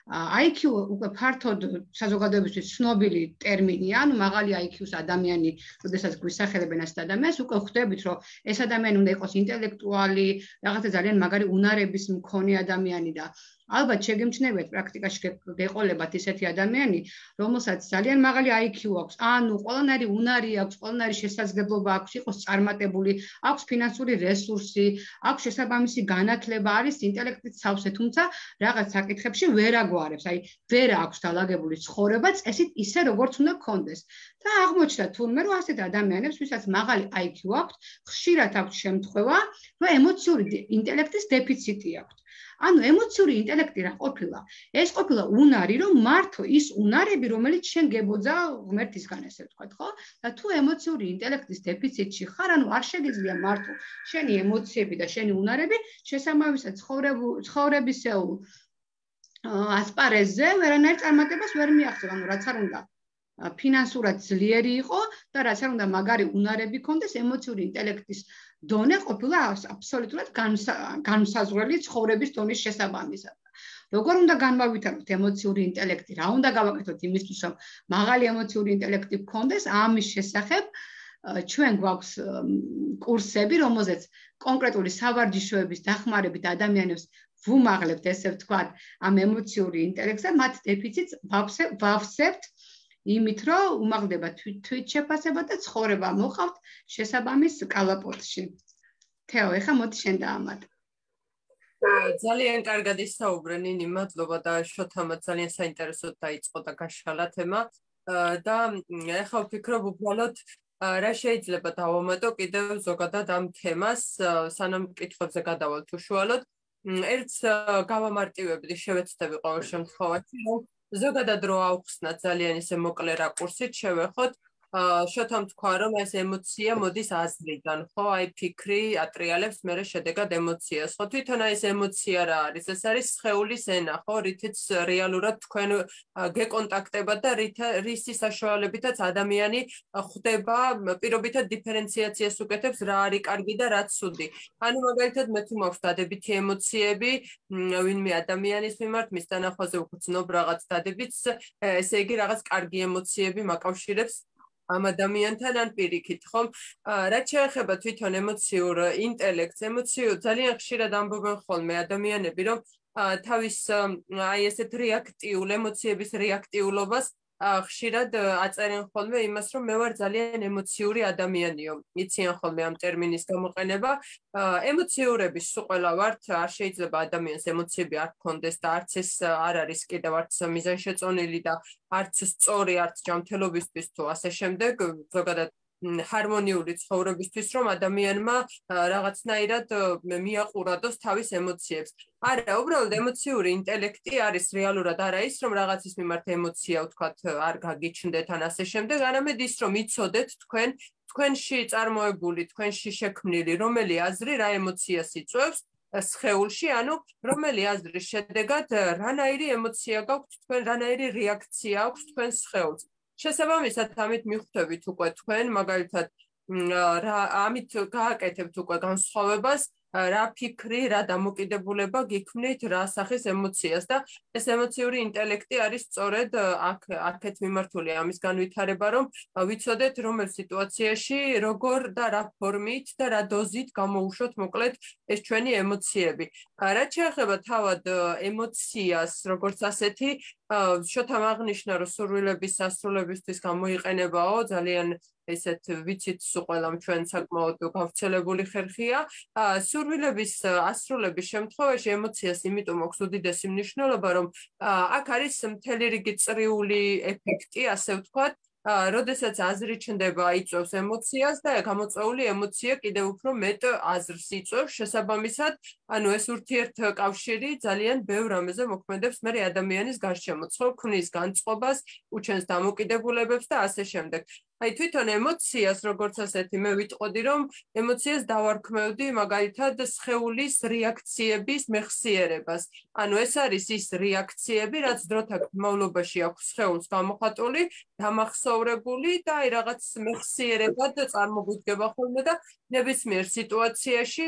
S2: I Q უკვე ფართოდ საზოგადოებისთვის ცნობილი ტერმინია, ანუ მაღალი I Q-ს ადამიანი, როდესაც გვისახელებენ ასეთ ადამიანს, უკვე ხვდებით, რომ ეს ადამიანი უნდა იყოს ინტელექტუალი, რაღაცა ძალიან მაგარი უნარების მქონე ადამიანი და ალბათ შეგემჩნევათ პრაქტიკაში გეყოლებათ ისეთი ადამიანი, რომელსაც ძალიან მაღალი I Q აქვს, ანუ ყველანაირი უნარი აქვს, ყველანაირი შესაძლებლობა აქვს, იყოს წარმატებული, აქვს ფინანსური რესურსი, აქვს შესაბამისი განათლება, არის ინტელექტით სავსე, თუმცა რაღაც საკითხებში ვერ აგვარებს, აი ვერ აქვს დალაგებული ცხოვრება წესით ისე როგორც უნდა გქონდეს. და აღმოჩნდა თურმე რომ ასეთ ადამიანებს, ვისაც მაღალი I Q აქვს, ხშირად აქვს შემთხვევა, რომ ემოციური ინტელექტის დეფიციტი აქვს. ანუ ემოციური ინტელექტი რა ყოფილა? ეს ყოფილა უნარი, რომ მართო ის უნარები, რომელიც შენ გებოძა ღმერთისგან, ესე ვთქვათ, ხო? და თუ ემოციური ინტელექტის დეფიციტში ხარ, ანუ არ შეგიძლია მართო შენი ემოციები და შენი უნარები შესაბამისად ცხოვრებისეულ ასპარეზზე ვერანაირ წარმატებას ვერ მიაღწევ, ანუ რაც არ უნდა ფინანსურად ძლიერი იყო და რაც არ უნდა მაგარი უნარები ქონდეს, ემოციური ინტელექტის დონე ყოფილა აბსოლუტურად განსაზღვრელი ცხოვრების დონის შესაბამისად. როგორ უნდა განვავითაროთ ემოციური ინტელექტი? რა უნდა გავაკეთოთ იმისთვის, რომ მაღალი ემოციური ინტელექტი გქონდეს? ამის შესახებ ჩვენ გვაქვს კურსები, რომელზეც კონკრეტული სავარჯიშოების დახმარებით ადამიანებს ვუმაღლებთ, ესე ვთქვათ, ამ ემოციური ინტელექტზე, მათ დეფიციტს ვავსებთ იმით, რომ უმაღლდება თვით შეფასება და ცხოვრება მოყავთ შესაბამის კალაპოტში. თეო, ეხლა მოდი შენ დაამატე.
S3: ძალიან კარგად ისაუბრე, ნინი, მადლობა და შოთამაც ძალიან საინტერესოდ დაიწყო და გაშალა თემა და ეხლა ვფიქრობ უბრალოდ რა შეიძლება დავამატო კიდევ ზოგადად ამ თემას, სანამ კითხვებზე გადავალთ უშუალოდ. ერთს გავამარტივებდი, შევეცდები ყოველ შემთხვევაში, რომ ზოგადად რო ავხსნათ ძალიან ისე მოკლე რაკურსით, შევეხოთ, შოთამ თქვა, რომ ეს ემოცია მოდის აზრიდან, ხო, აი ფიქრი ატრიალებს მერე შედეგად ემოციას, ხო, თვითონ აი ეს ემოცია რა არის? ეს არის სხეულის ენა, ხო, რითიც რეალურად თქვენ გეკონტაქტებათ და რისი საშუალებითაც ადამიანი ხვდება, პირობითად დიფერენციაციას უკეთებს, რა არის კარგი და რა ცუდი. ანუ მაგალითად მე თუ მაქვს დადებითი ემოციები, ვინმე ადამიანის მიმართ, მის დანახვაზე ვგრძნობ რაღაც დადებითს, ესე იგი რაღაც კარგი ემოციები მაკავშირებს ამ ადამიანთან ან პირიქით, ხომ? რაც შეეხება თვითონ ემოციურ ინტელექტს, ემოციურ ძალიან ხშირად ამბობენ ხოლმე ადამიანები, რომ თავის აი ესეთ რეაქტიულ ემოციების რეაქტიულობას ხშირად აწერენ ხოლმე იმას, რომ მე ვარ ძალიან ემოციური ადამიანიო. იციან ხოლმე ამ ტერმინის გამოყენება. ემოციურები სულ ყველა ვართ, არ შეიძლება ადამიანს ემოციები არ გქონდეს და არც ეს არ არის კიდევ არც მიზანშეწონილი და არც სწორი, არც ჯანმრთელობისთვის თუ ასე შემდეგ, ზოგადად ჰარმონიული ცხოვრებისთვის, რომ ადამიანმა რაღაცნაირად მიაყურადოს თავის ემოციებს. არა, უბრალოდ ემოციური ინტელექტი არის რეალურად არა ის, რომ რაღაცის მიმართ ემოცია, ვთქვათ, არ გაგიჩნდეთ ან ასე შემდეგ, არამედ ის, რომ იცოდეთ თქვენ, თქვენში წარმოებული, თქვენში შექმნილი რომელი აზრი რა ემოციას იწვევს სხეულში, ანუ რომელი აზრის შედეგად რანაირი ემოცია გაქვთ თქვენ, რანაირი რეაქცია აქვს თქვენ სხეულს. შესაბამისად, ამით მიხვდებით უკვე თქვენ, მაგალითად, ამით გააკეთებთ უკვე განსხვავებას, რა ფიქრი, რა დამოკიდებულება გიქმნით რა სახის ემოციას და ეს ემოციური ინტელექტი არის სწორედ აქ აქეთ მიმართული ამის განვითარება, რომ ვიცოდეთ რომელ სიტუაციაში როგორ და რა ფორმით და რა დოზით გამოუშვოთ მოკლედ ეს ჩვენი ემოციები. რაც შეეხება თავად ემოციას, როგორც ასეთი, შოთამ აღნიშნა, რომ სურვილების სასრულებისთვის გამოიყენებაო, ძალიან ესეთ ვიცით სულ ყველამ ჩვენ საკმაოდ გავრცელებული ხერხია. სურვილების ასრულების შემთხვევაში ემოციას იმიტომ აქვს უდიდესი მნიშვნელობა, რომ აქ არის მთელი რიგი წრიული ეფექტი, ასე ვთქვათ, როდესაც აზრი ჩნდება, იწვევს ემოციას და გამოწვეული ემოცია კიდევ უფრო მეტ აზრს იწვევს, შესაბამისად, ანუ ეს ურთიერთკავშირი ძალიან ბევრ რამეზე მოქმედებს მე ადამიანის გარშემო, ქმნის განწყობას, უჩენს დამოკიდებულებებს და ასე შემდეგ. აი თვითონ ემოციას როგორც ასეთი მე ვიტყოდი, რომ ემოციას დავარქმევდი მაგალითად სხეულის რეაქციების მეხსიერებას. ანუ ეს არის ის რეაქციები, რაც დროთა განმავლობაში აქვს სხეულს გამოხატული, დამახსოვრებული და აი რაღაც მეხსიერებად წარმოგვიდგება ხოლმე და ნებისმიერ სიტუაციაში,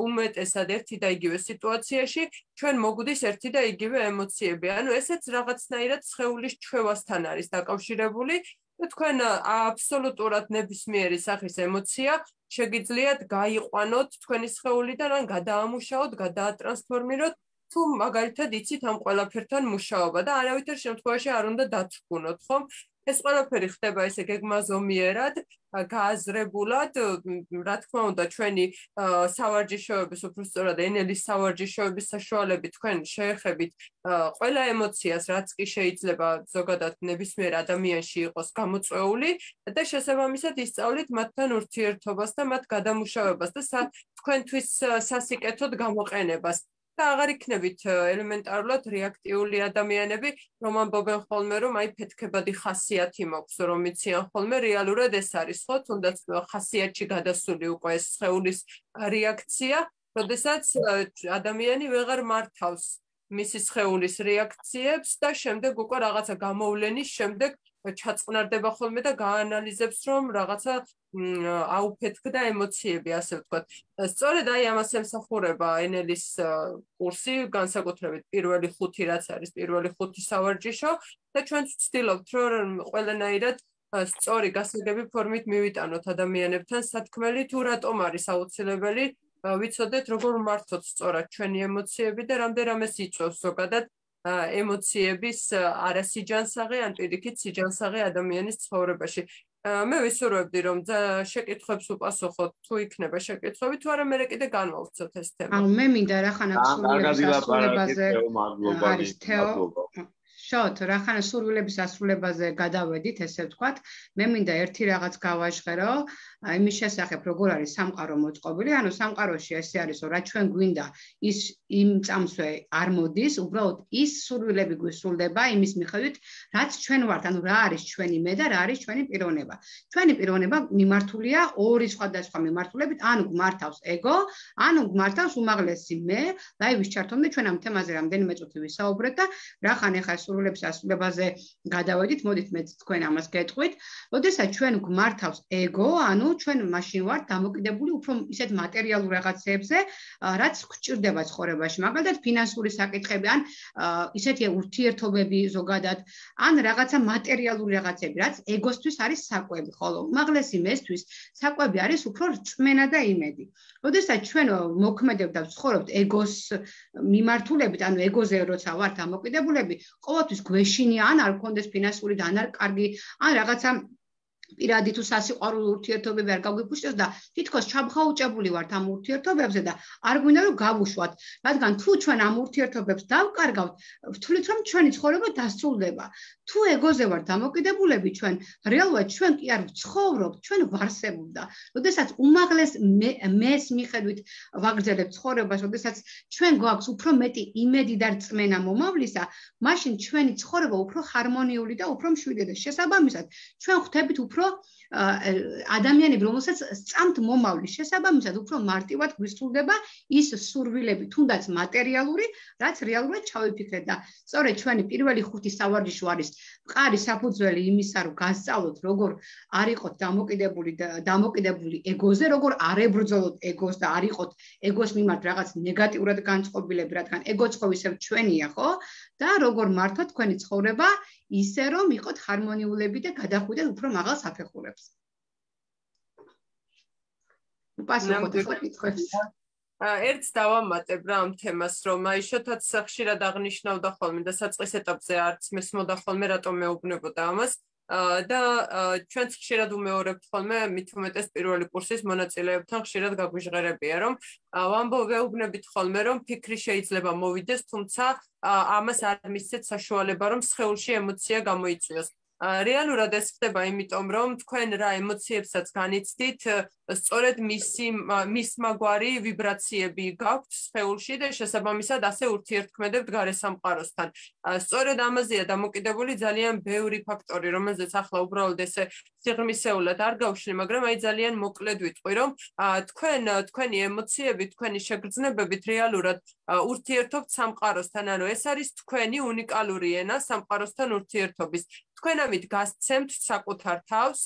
S3: უმეტესად ერთი და იგივე სიტუაციაში ჩვენ მოგვდის ერთი და იგივე ემოციები. ანუ ესეც რაღაცნაირად სხეულის ჩვევასთან არის დაკავშირებული. თქვენ აბსოლუტურად ნებისმიერი სახის ემოცია შეგიძლიათ გაიყვანოთ თქვენი სხეულიდან ან გადაამუშაოთ, გადაატრანსფორმიროთ, თუ მაგალითად იცით ამ ყველაფერთან მუშაობა და არავითარ შემთხვევაში არ უნდა დათრგუნოთ, ხომ? ეს ყველაფერი ხდება ესე გეგმაზომიერად, გააზრებულად, რა თქმა უნდა, ჩვენი სავარჯიშოების, უფრო სწორად ენელის სავარჯიშოების საშუალებით თქვენ შეეხებით ყველა ემოციას, რაც კი შეიძლება ზოგადად ნებისმიერ ადამიანში იყოს გამოწვეული და შესაბამისად ისწავლით მათთან ურთიერთობას და მათ გადამუშავებას და თქვენთვის სასიკეთოდ გამოყენებას. და აღარ იქნებით ელემენტარულად რეაქტიული ადამიანები, რომ ამბობენ ხოლმე, რომ აი ფეთქებადი ხასიათი მაქვს, რომ იციან ხოლმე, რეალურად ეს არის, ხო, თუნდაც ხასიათში გადასული უკვე ეს სხეულის რეაქცია, როდესაც ადამიანი ვეღარ მართავს მისი სხეულის რეაქციებს და შემდეგ უკვე რაღაცა გამოვლენის შემდეგ ჩაწყნარდება ხოლმე და გაანალიზებს, რომ რაღაცა აუფეთქდა ემოციები, ასე ვთქვათ. სწორედ აი ამას ემსახურება ენელის კურსი, განსაკუთრებით პირველი ხუთი, რაც არის პირველი ხუთი სავარჯიშო და ჩვენც ვცდილობთ, რომ ყველანაირად სწორი გასაგები ფორმით მივიტანოთ ადამიანებთან სათქმელი, თუ რატომ არის აუცილებელი ვიცოდეთ, როგორ მართოთ სწორად ჩვენი ემოციები და რამდენადაც იწვევს ზოგადად ემოციების არასიჯანსაღე ან პირიქით სიჯანსაღე ადამიანის ცხოვრებაში. მე ვისურვებდი, რომ შეკითხვებს უპასუხოთ, თუ იქნება შეკითხვები, თუ არა მე კიდე განვავრცოთ ეს თემა.
S2: ანუ მე მინდა რახანა სურვილების ასრულებაზე არის თეო. შოთ, რახანა სურვილების ასრულებაზე გადავედით, ესე ვთქვათ, მე მინდა ერთი რაღაც გავაჟღერო, იმის შესახებ, როგორ არის სამყარო მოწყობილი, ანუ სამყაროში ესე არის, რომ რა ჩვენ გვინდა, ის იმ წამსვე არ მოდის, უბრალოდ ის სურვილები გვისრულდება იმის მიხედვით, რაც ჩვენ ვართ, ანუ რა არის ჩვენი მე და რა არის ჩვენი პიროვნება. ჩვენი პიროვნება მიმართულია ორი სხვადასხვა მიმართულებით, ანუ გმართავს ეგო, ანუ გმართავს უმაღლესი მე, ლაივის ჩართომდე ჩვენ ამ თემაზე რამდენიმე წუთი ვისაუბრეთ და რახან ეხა სურვილების ასრულებაზე გადავედით, მოდით მეც თქვენ ამას გეტყვით. როდესაც ჩვენ გვმართავს ეგო, ანუ ჩვენ მაშინ ვართ დამოკიდებული უფრო ისეთ მატერიალურ რაღაცებზე, რაც გვჭირდება ცხოვრებაში. მაგალითად, ფინანსური საკითხები, ან ისეთი ურთიერთობები ზოგადად, ან რაღაცა მატერიალური რაღაცები, რაც ეგოსთვის არის საკვები, ხოლო უმაღლესი მესთვის საკვები არის უფრო რწმენა და იმედი. როდესაც ჩვენ მოქმედებთ და ვცხოვრობთ ეგოს მიმართულებით, ანუ ეგოზე როცა ვართ დამოკიდებულები, ყოველთვის გვეშინია ან არ გქონდეს ფინანსური და ან არ კარგი, ან რაღაცა პირადი თუ სასიყვარულო ურთიერთობები არ გაგვიფუშტოს და თითქოს ჩაბღაუჭებული ვართ ამ ურთიერთობებზე და არ გვინდა რომ გავუშვათ, რადგან თუ ჩვენ ამ ურთიერთობებს დავკარგავთ, ვთვლით რომ ჩვენი ცხოვრება დასრულდება. თუ ეგოზე ვართ დამოკიდებულები ჩვენ, რეალურად ჩვენ კი არ ვცხოვრობთ, ჩვენ ვარსებობ და როდესაც უმაღლეს მეს მიხედვით ვაგრძელებთ ცხოვრებას, როდესაც ჩვენ გვაქვს უფრო მეტი იმედი და რწმენა მომავლისა, მაშინ ჩვენი ცხოვრება უფრო ჰარმონიული და უფრო მშვიდი და შესაბამისად ჩვენ ხვდებით უფრო ადამიანები, რომელსაც სწამთ მომავლის, შესაბამისად უფრო მარტივად გვისრულდება ის სურვილები, თუნდაც მატერიალური, რაც რეალურად ჩავიფიქრეთ და სწორედ ჩვენი პირველი ხუთი სავარჯიშო არის მყარი საფუძველი იმისა, რომ გასწავლოთ, როგორ არ იყოთ დამოკიდებული და დამოკიდებული ეგოზე, როგორ არ ებრძოლოთ ეგოს და არ იყოთ ეგოს მიმართ რაღაც ნეგატიურად განწყობილები, რადგან ეგოც ხო ისევ ჩვენია, ხო? და როგორ მართოთ თქვენი ცხოვრება ისე, რომ იყოთ ჰარმონიულები და გადახვიდეთ უფრო მაღალ საფეხურებს. უპასუხოთ ახლა კითხვებს.
S3: ერთს დავამატებ რა ამ თემას, რომ აი შოთაც ხშირად აღნიშნავდა ხოლმე და საწყის ეტაპზე არც მესმოდა ხოლმე რატომ მეუბნებოდა ამას. და ჩვენც ხშირად უმეორებთ ხოლმე მით უმეტეს პირველი კურსის მონაწილეებთან ხშირად გაგვიჟღერებია, რომ ვამბობთ ხოლმე, რომ ფიქრი შეიძლება მოვიდეს, თუმცა ამას არ მისცეთ საშუალება, რომ სხეულში ემოცია გამოიწვიოს. რეალურად ეს ხდება იმიტომ, რომ თქვენ რა ემოციებსაც განიცდით, სწორედ მისი მისმაგვარი ვიბრაციები გაქვთ სხეულში და შესაბამისად ასე ურთიერთქმედებთ გარე სამყაროსთან. სწორედ ამაზეა დამოკიდებული ძალიან ბევრი ფაქტორი, რომელზეც ახლა უბრალოდ ესე სიღრმისეულად არ გავშლი, მაგრამ აი ძალიან მოკლედ ვიტყვი, რომ თქვენ თქვენი ემოციები, თქვენი შეგრძნებებით რეალურად ურთიერთობთ სამყაროსთან, ანუ ეს არის თქვენი უნიკალური ენა სამყაროსთან ურთიერთობის. თქვენ ამით გასცემთ საკუთარ თავს,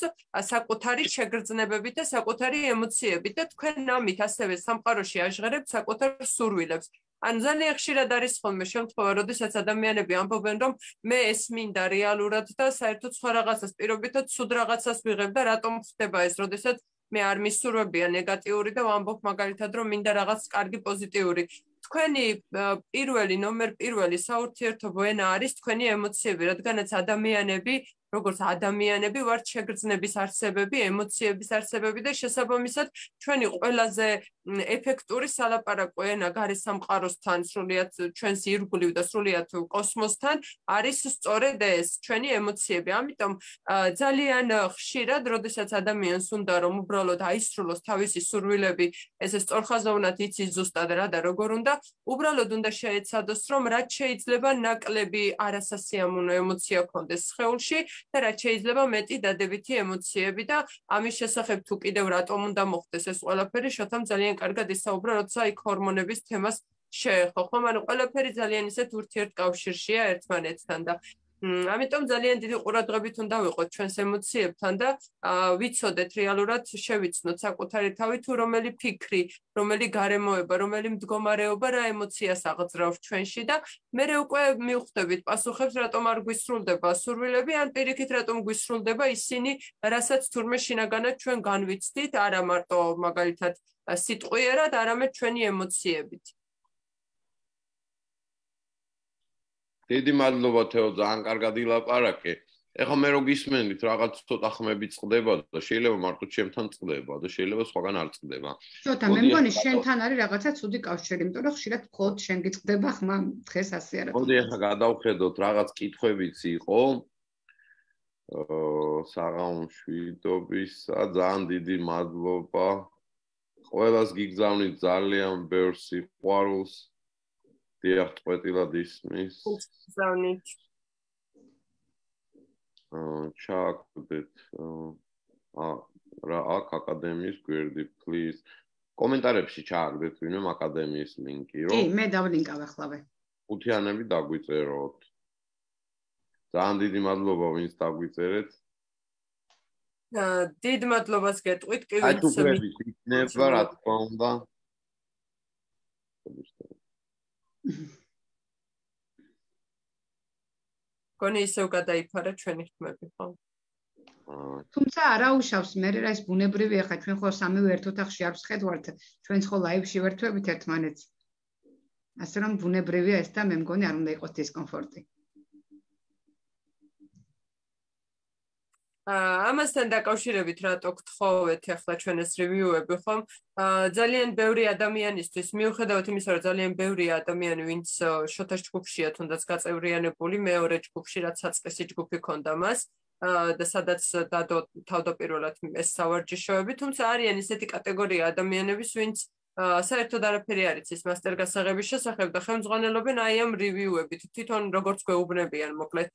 S3: საკუთარი შეგრძნებებით და საკუთარი ემოციებით და თქვენ ამით ასევე სამყაროში აჟღერებთ საკუთარ სურვილებს. ანუ ძალიან ხშირად არის ხოლმე შემთხვევა, როდესაც ადამიანები ამბობენ, რომ მე ეს მინდა რეალურად და საერთოდ სხვა რაღაცას პირობითად ცუდ რაღაცას ვიღებ და რატომ ხდება ეს, როდესაც მე არ მისურვებია ნეგატიური და ვამბობ მაგალითად, რომ მინდა რაღაც კარგი პოზიტიური. თქვენი პირველი ნომერ პირველი საურთიერთობო ენა არის თქვენი ემოციები, რადგანაც ადამიანები, როგორც ადამიანები ვართ შეგრძნების არსებები, ემოციების არსებები და შესაბამისად ჩვენი ყველაზე ეფექტური სალაპარაკო ენა გარე სამყაროსთან, სრულიად ჩვენს ირგვლივ და სრულიად კოსმოსთან არის სწორედ ეს ჩვენი ემოციები. ამიტომ ძალიან ხშირად, როდესაც ადამიანს უნდა რომ უბრალოდ აისრულოს თავისი სურვილები, ესე სწორხაზოვნად იცის ზუსტად რა და როგორ უნდა, უბრალოდ უნდა შეეცადოს, რომ რაც შეიძლება ნაკლები არასასიამოვნო ემოცია ქონდეს სხეულში და რაც შეიძლება მეტი დადებითი ემოციები და ამის შესახებ თუ კიდევ რატომ უნდა მოხდეს ეს ყველაფერი, შოთამ ძალიან კარგად ისაუბრა, როცა იქ ჰორმონების თემას შეეხო, ხომ? ანუ ყველაფერი ძალიან ისეთ ურთიერთკავშირშია ერთმანეთთან და ამიტომ ძალიან დიდი ყურადღებით უნდა ვიყოთ ჩვენს ემოციებთან და ვიცოდეთ რეალურად შევიცნოთ საკუთარი თავი თუ რომელი ფიქრი, რომელი გარემოება, რომელი მდგომარეობა რა ემოციას აღძრავს ჩვენში და მერე უკვე მივხვდებით პასუხებს, რატომ არ გვისრულდება სურვილები, ან პირიქით რატომ გვისრულდება ისინი, რასაც თურმე შინაგანად ჩვენ განვიცდით, არა მარტო მაგალითად სიტყვიერად, არამედ ჩვენი ემოციებით.
S1: დიდი მადლობა თეო, ძალიან კარგად ილაპარაკე. ეხლა მე რო გისმენით, რაღაც ცოტა ხმები წყდება და შეიძლება მარტო ჩემთან წყდება და შეიძლება სხვაგან არ წყდება.
S2: ცოტა მე მგონი შენთან არის რაღაცა ცუდი კავშირი, იმიტომ რომ ხშირად მხოლოდ შენ გიწყდება ხმა, დღეს ასე არა.
S1: მოდი ეხლა გადავხედოთ, რაღაც კითხვებიც იყო. აა საღამოშვიდობისა, ძალიან დიდი მადლობა. ყველას გიგზავნით ძალიან ბევრ სიყვარულს. დიახ, წყვეტილად ისმის.
S3: გზავნით.
S1: აა ჩააგდეთ აა რა აქ აკადემიის გვერდი, please. კომენტარებში ჩააგდეთ ვინმე აკადემიის ლინკი, რომ
S2: კი, მე დავლინკავ ახლავე.
S1: ხუთიანები დაგვიწეროთ. ძალიან დიდი მადლობა ვინც დაგვიწერეთ.
S3: დიდ მადლობას გეტყვით კი
S1: ვინც იქნება რა თქმა უნდა.
S3: კონი ისევ გადაიფარა ჩვენი ხმები, ხო?
S2: თუმცა არა უშავს მე რა ეს ბუნებრივია ხა ჩვენ ხო სამივე ერთ ოთახში არ ვსხედვართ ჩვენც ხო ლაივში ვერთვებით ერთმანეთს ასე რომ ბუნებრივია ეს და მე მგონი არ უნდა იყოს დისკომფორტი
S3: ამასთან დაკავშირებით რატო გთხოვეთ ახლა ჩვენ ეს რივიუები ხომ ძალიან ბევრი ადამიანისთვის მიუხედავად იმისა რომ ძალიან ბევრია ადამიანი ვინც შოთას ჯგუფშია თუნდაც გაწევრიანებული მეორე ჯგუფში რაც საწყისი ჯგუფი ქონდა მას და სადაც დადო თავდაპირველად ეს სავარჯიშოები, თუმცა არიან ისეთი კატეგორია ადამიანების, ვინც საერთოდ არაფერი არ იცის მასტერ გასაღების შესახებ და ხელმძღვანელობენ აი ამ რივიუებით, თვითონ როგორც გვეუბნებიან, მოკლედ.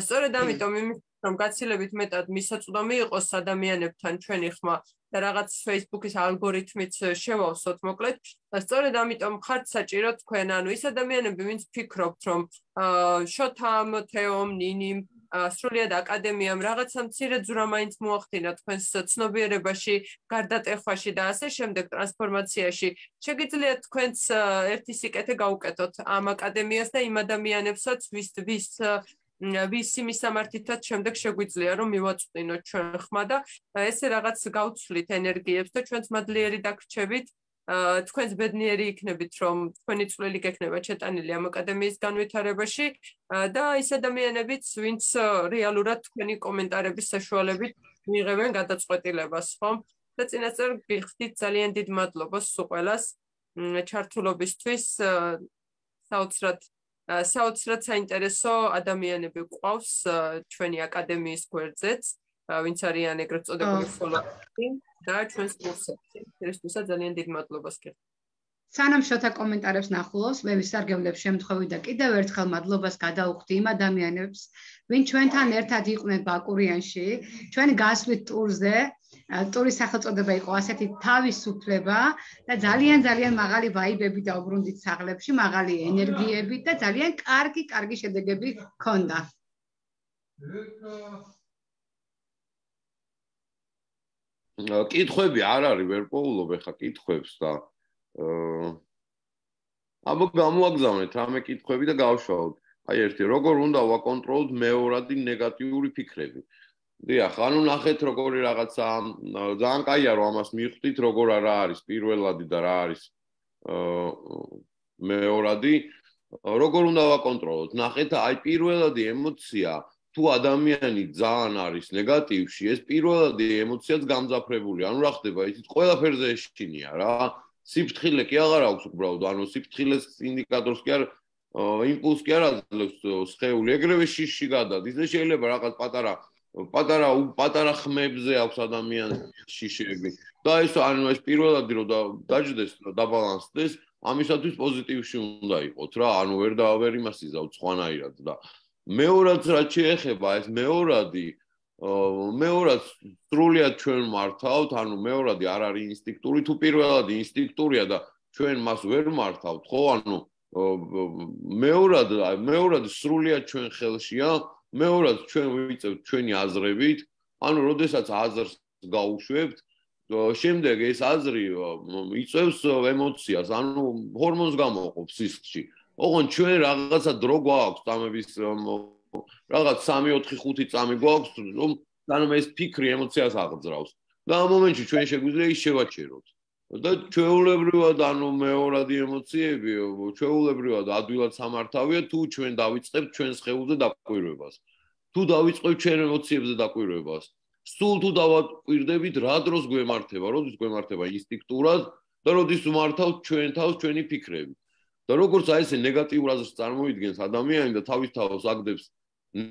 S3: სწორედ ამიტომ იმის რომ გაცილებით მეტად მისაწვდომი იყოს ადამიანებთან ჩვენი ხმა და რაღაც Facebook-ის ალგორითმით შევავსოთ, მოკლედ. სწორედ ამიტომ ხართ საჭირო თქვენ, ანუ ის ადამიანები, ვინც ფიქრობთ, რომ შოთამ, თეომ, ნინიმ სრულიად აკადემიამ რაღაცა მცირე ძვრა მაინც მოახდინა თქვენს ცნობიერებაში, გარდატეხვაში და ასე შემდეგ ტრანსფორმაციაში. შეგიძლიათ თქვენს ერთი სიკეთე გაუკეთოთ ამ აკადემიას და იმ ადამიანებსაც, ვის ვის ვის მისამართითაც შემდეგ შეგვიძლია რომ მივაწვდინოთ ჩვენ ხმა და ესე რაღაც გავცვლით ენერგიებს და ჩვენც მადლიერი დაგრჩებით. თქვენს ბედნიერი იქნებით რომ თქვენი წვლილი გექნება ჩეტანილი ამ აკადემიის განვითარებაში და ის ადამიანებიც ვინც რეალურად თქვენი კომენტარების საშუალებით მიიღებენ გადაწყვეტილებას ხომ და წინასწარ გიხდით ძალიან დიდ მადლობას სულ ყველას ჩართულობისთვის საოცრად საოცრად საინტერესო ადამიანები გვყავს ჩვენი აკადემიის გვერდზეც ვინც არიან ეგრეთ წოდებული ფოლოვერი და ჩვენს კურსებში. ერთადერთად ძალიან დიდ მადლობას გიხდით.
S2: სანამ შოთა კომენტარებს ნახულობს, მე ვისარგებლებ შემთხვევით და კიდევ ერთხელ მადლობას გადაუხდი იმ ადამიანებს, ვინც ჩვენთან ერთად იყვნენ ბაკურიანში, ჩვენი გასვლით ტურზე, ტურის სახელწოდება იყო ასეთი თავისუფლება და ძალიან ძალიან მაღალი ვაიბები დაუბრუნდით საღლებში, მაღალი ენერგიები და ძალიან კარგი, კარგი შედეგები ჰქონდა.
S1: კითხვები არ არის, ვერ პოულობ ახლა კითხვებს და აბა გამოაგზავნეთ რამე კითხვები და გავშალოთ. აი ერთი, როგორ უნდა ვაკონტროლოთ მეორადი ნეგატიური ფიქრები? დიახ, ანუ ნახეთ როგორი რაღაცა ძალიან კაია რომ ამას მივხვდით, როგორ არა არის პირველადი და რა არის მეორადი, როგორ უნდა ვაკონტროლოთ? ნახეთ, აი პირველადი ემოცია თუ ადამიანი ძალიან არის ნეგატივში, ეს პირველადი ემოციაც გამძაფრებული. ანუ რა ხდება, იცით, ყველაფერზე ეშინია რა. სიფრთხილე კი აღარ აქვს უბრალოდ, ანუ სიფრთხილეს ინდიკატორს კი არ იმპულსს კი არ აძლევს სხეული, ეგრევე შიში გადადის. და შეიძლება რაღაც პატარა პატარა პატარა ხმებზე აქვს ადამიანს შიშები. და ეს ანუ ეს პირველადი რომ დაждდეს, დაბალანსდეს, ამისათვის პოზიტივში უნდა იყოთ რა. ანუ ვერ და ვერ იმას იზავთ სხვანაირად და მეორად რაც შეეხება ეს მეორადი მეორად სრულიად ჩვენ მართავთ, ანუ მეორადი არ არის ინსტინქტური, თუ პირველადი ინსტინქტურია და ჩვენ მას ვერ მართავთ, ხო? ანუ მეორად მეორადი სრულიად ჩვენ ხელშია, მეორად ჩვენ ვიწევთ ჩვენი აზრებით, ანუ როდესაც აზრს გაუშვებთ, შემდეგ ეს აზრი იწევს ემოციას, ანუ ჰორმონს გამოყოფს სისხლში. ოღონდ ჩვენ რაღაცა დრო გვაქვს წამების რაღაც სამი ოთხი ხუთი წამი გვაქვს რომ ანუ ეს ფიქრი ემოციას აღძრავს და ამ მომენტში ჩვენ შეგვიძლია ის შევაჩეროთ და ჩვეულებრივად ანუ მეორადი ემოციები ჩვეულებრივად ადვილად სამართავია თუ ჩვენ დავიწყებთ ჩვენს სხეულზე დაკვირვებას თუ დავიწყებთ ჩვენ ემოციებზე დაკვირვებას სულ თუ დავაკვირდებით რა დროს გვემართება როდის გვემართება ინსტინქტურად და როდის ვმართავთ ჩვენ თავს ჩვენი ფიქრები და როგორც აი ესე ნეგატიურ აზრს წარმოიდგენს ადამიანი და თავის თავს აგდებს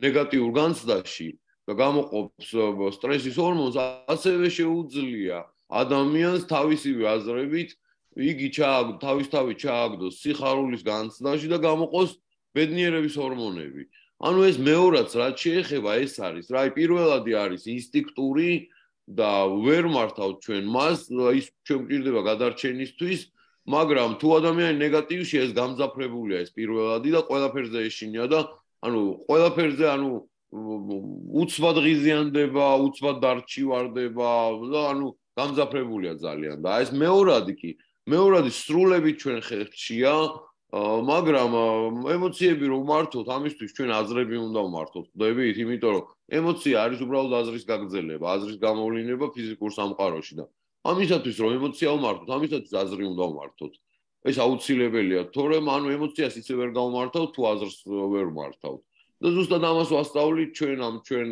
S1: ნეგატიურ განცდაში და გამოყოფს სტრესის ჰორმონს, ასევე შეუძლია ადამიანს თავისივე აზრებით იგი ჩააგდოს, თავისთავად ჩააგდოს სიხარულის განცდაში და გამოყოს ბედნიერების ჰორმონები. ანუ ეს მეორადს რაც შეეხება ეს არის, რა, პირველადი არის ინსტინქტური და ვერ მართავთ ჩვენ მას, ის ჩვენ გვჭირდება გადარჩენისთვის, მაგრამ თუ ადამიანი ნეგატივში ეს გამძაფრებულია ეს პირველადი და ყველაფერზე ეშინია და ანუ ყველაფერზე ანუ უცბად ღიზიანდება, უცბად დარჩივარდება და ანუ გამძაფრებულია ძალიან და ეს მეორადი კი, მეორადი სრულებით ჩვენ ხერხშია, მაგრამ ემოციები რომ მართოთ, ამისთვის ჩვენ აზრები უნდა ვმართოთ, ხვდებით, იმიტომ რომ ემოცია არის უბრალოდ აზრის გაგრძელება, აზრის გამოვლინება ფიზიკურ სამყაროში და ამისათვის რომ ემოცია ვმართოთ, ამისათვის აზრი უნდა ვმართოთ. ეს აუცილებელია, თორემ ანუ ემოციას ისე ვერ გავმართავთ, თუ აზრს ვერ ვმართავთ. და ზუსტად ამას ვასწავლით ჩვენ ამ ჩვენ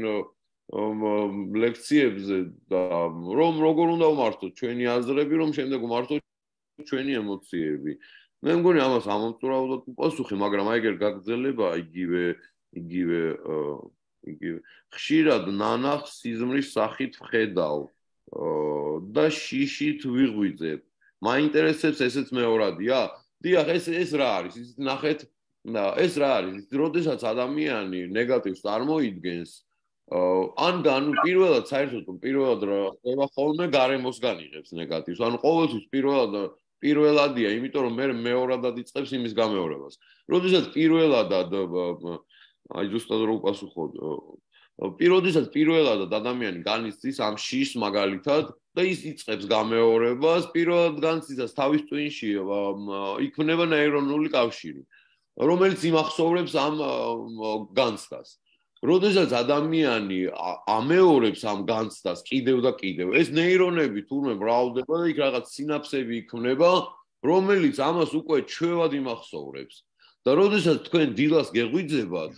S1: ლექციებზე და რომ როგორ უნდა ვმართოთ ჩვენი აზრები, რომ შემდეგ ვმართოთ ჩვენი ემოციები. მე მგონი ამას ამომწურავდოთ პასუხი, მაგრამ აი ეგერ გაგრძელება იგივე იგივე იგივე ხშირად ნანახს სიზმრის სახით ვხედავ და შიშით ვიღვიძებ. მაინტერესებს ესეც მეორადია? დიახ, ეს ეს რა არის? ის ნახეთ ეს რა არის? როდესაც ადამიანი ნეგატივს წარმოიდგენს, ან ანუ პირველად საერთოდ პირველად ხდება ხოლმე გარემოსგან იღებს ნეგატივს. ანუ ყოველთვის პირველად პირველადია, იმიტომ რომ მე მეორადად იწყებს იმის გამეორებას. როდესაც პირველადად აი ზუსტად რო უპასუხო, როდესაც პირველადად ადამიანი განიცდის ამ შიშს მაგალითად და ის იწყებს გამეორებას, პირველად განიცდის თავის ტვინში იქმნება ნეირონული კავშირი, რომელიც იმახსოვრებს ამ განცდას. როდესაც ადამიანი ამეორებს ამ განცდას კიდევ და კიდევ, ეს ნეირონები თურმე მრავლდება და იქ რაღაც სინაფსები იქმნება, რომელიც ამას უკვე ჩვევად იმახსოვრებს. და როდესაც თქვენ დილას გეღვიძებათ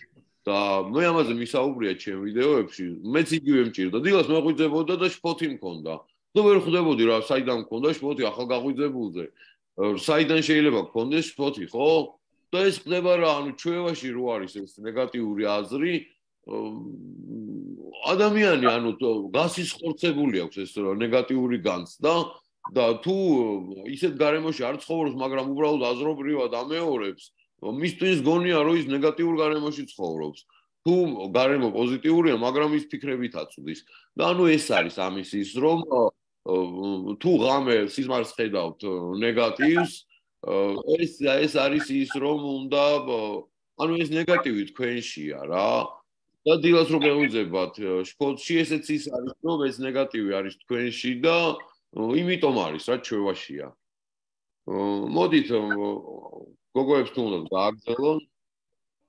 S1: და მე ამაზე მისაუბრია ჩემ ვიდეოებში, მეც იგივე მჭირდა. დილას მეღვიძებოდა და შფოთი მქონდა. და ვერ ხვდებოდი რა, საიდან მქონდა შფოთი ახალ გაღვიძებულზე. საიდან შეიძლება გქონდეს შფოთი, ხო? და ეს ხდება რა, ანუ ჩვევაში რო არის ეს ნეგატიური აზრი, ადამიანი ანუ გასისხორცებული აქვს ეს ნეგატიური განცდა და თუ ისეთ გარემოში არ ცხოვრობს, მაგრამ უბრალოდ აზრობრივად ამეორებს, მისთვის გონია რომ ის ნეგატიურ გარემოში ცხოვრობს. თუ გარემო პოზიტიურია, მაგრამ ის ფიქრებით აწვდის. და ანუ ეს არის ამის ის რომ თუ ღამე სიზმარს ხედავთ ნეგატივს, ეს ეს არის ის რომ უნდა ანუ ეს ნეგატივი თქვენშია რა. და დილას რო გეღვიძებათ შფოთში, ესეც ის არის რომ ეს ნეგატივი არის თქვენში და იმიტომ არის რა ჩვევაშია. მოდით გოგოებს თუ უნდა გააგრძელონ.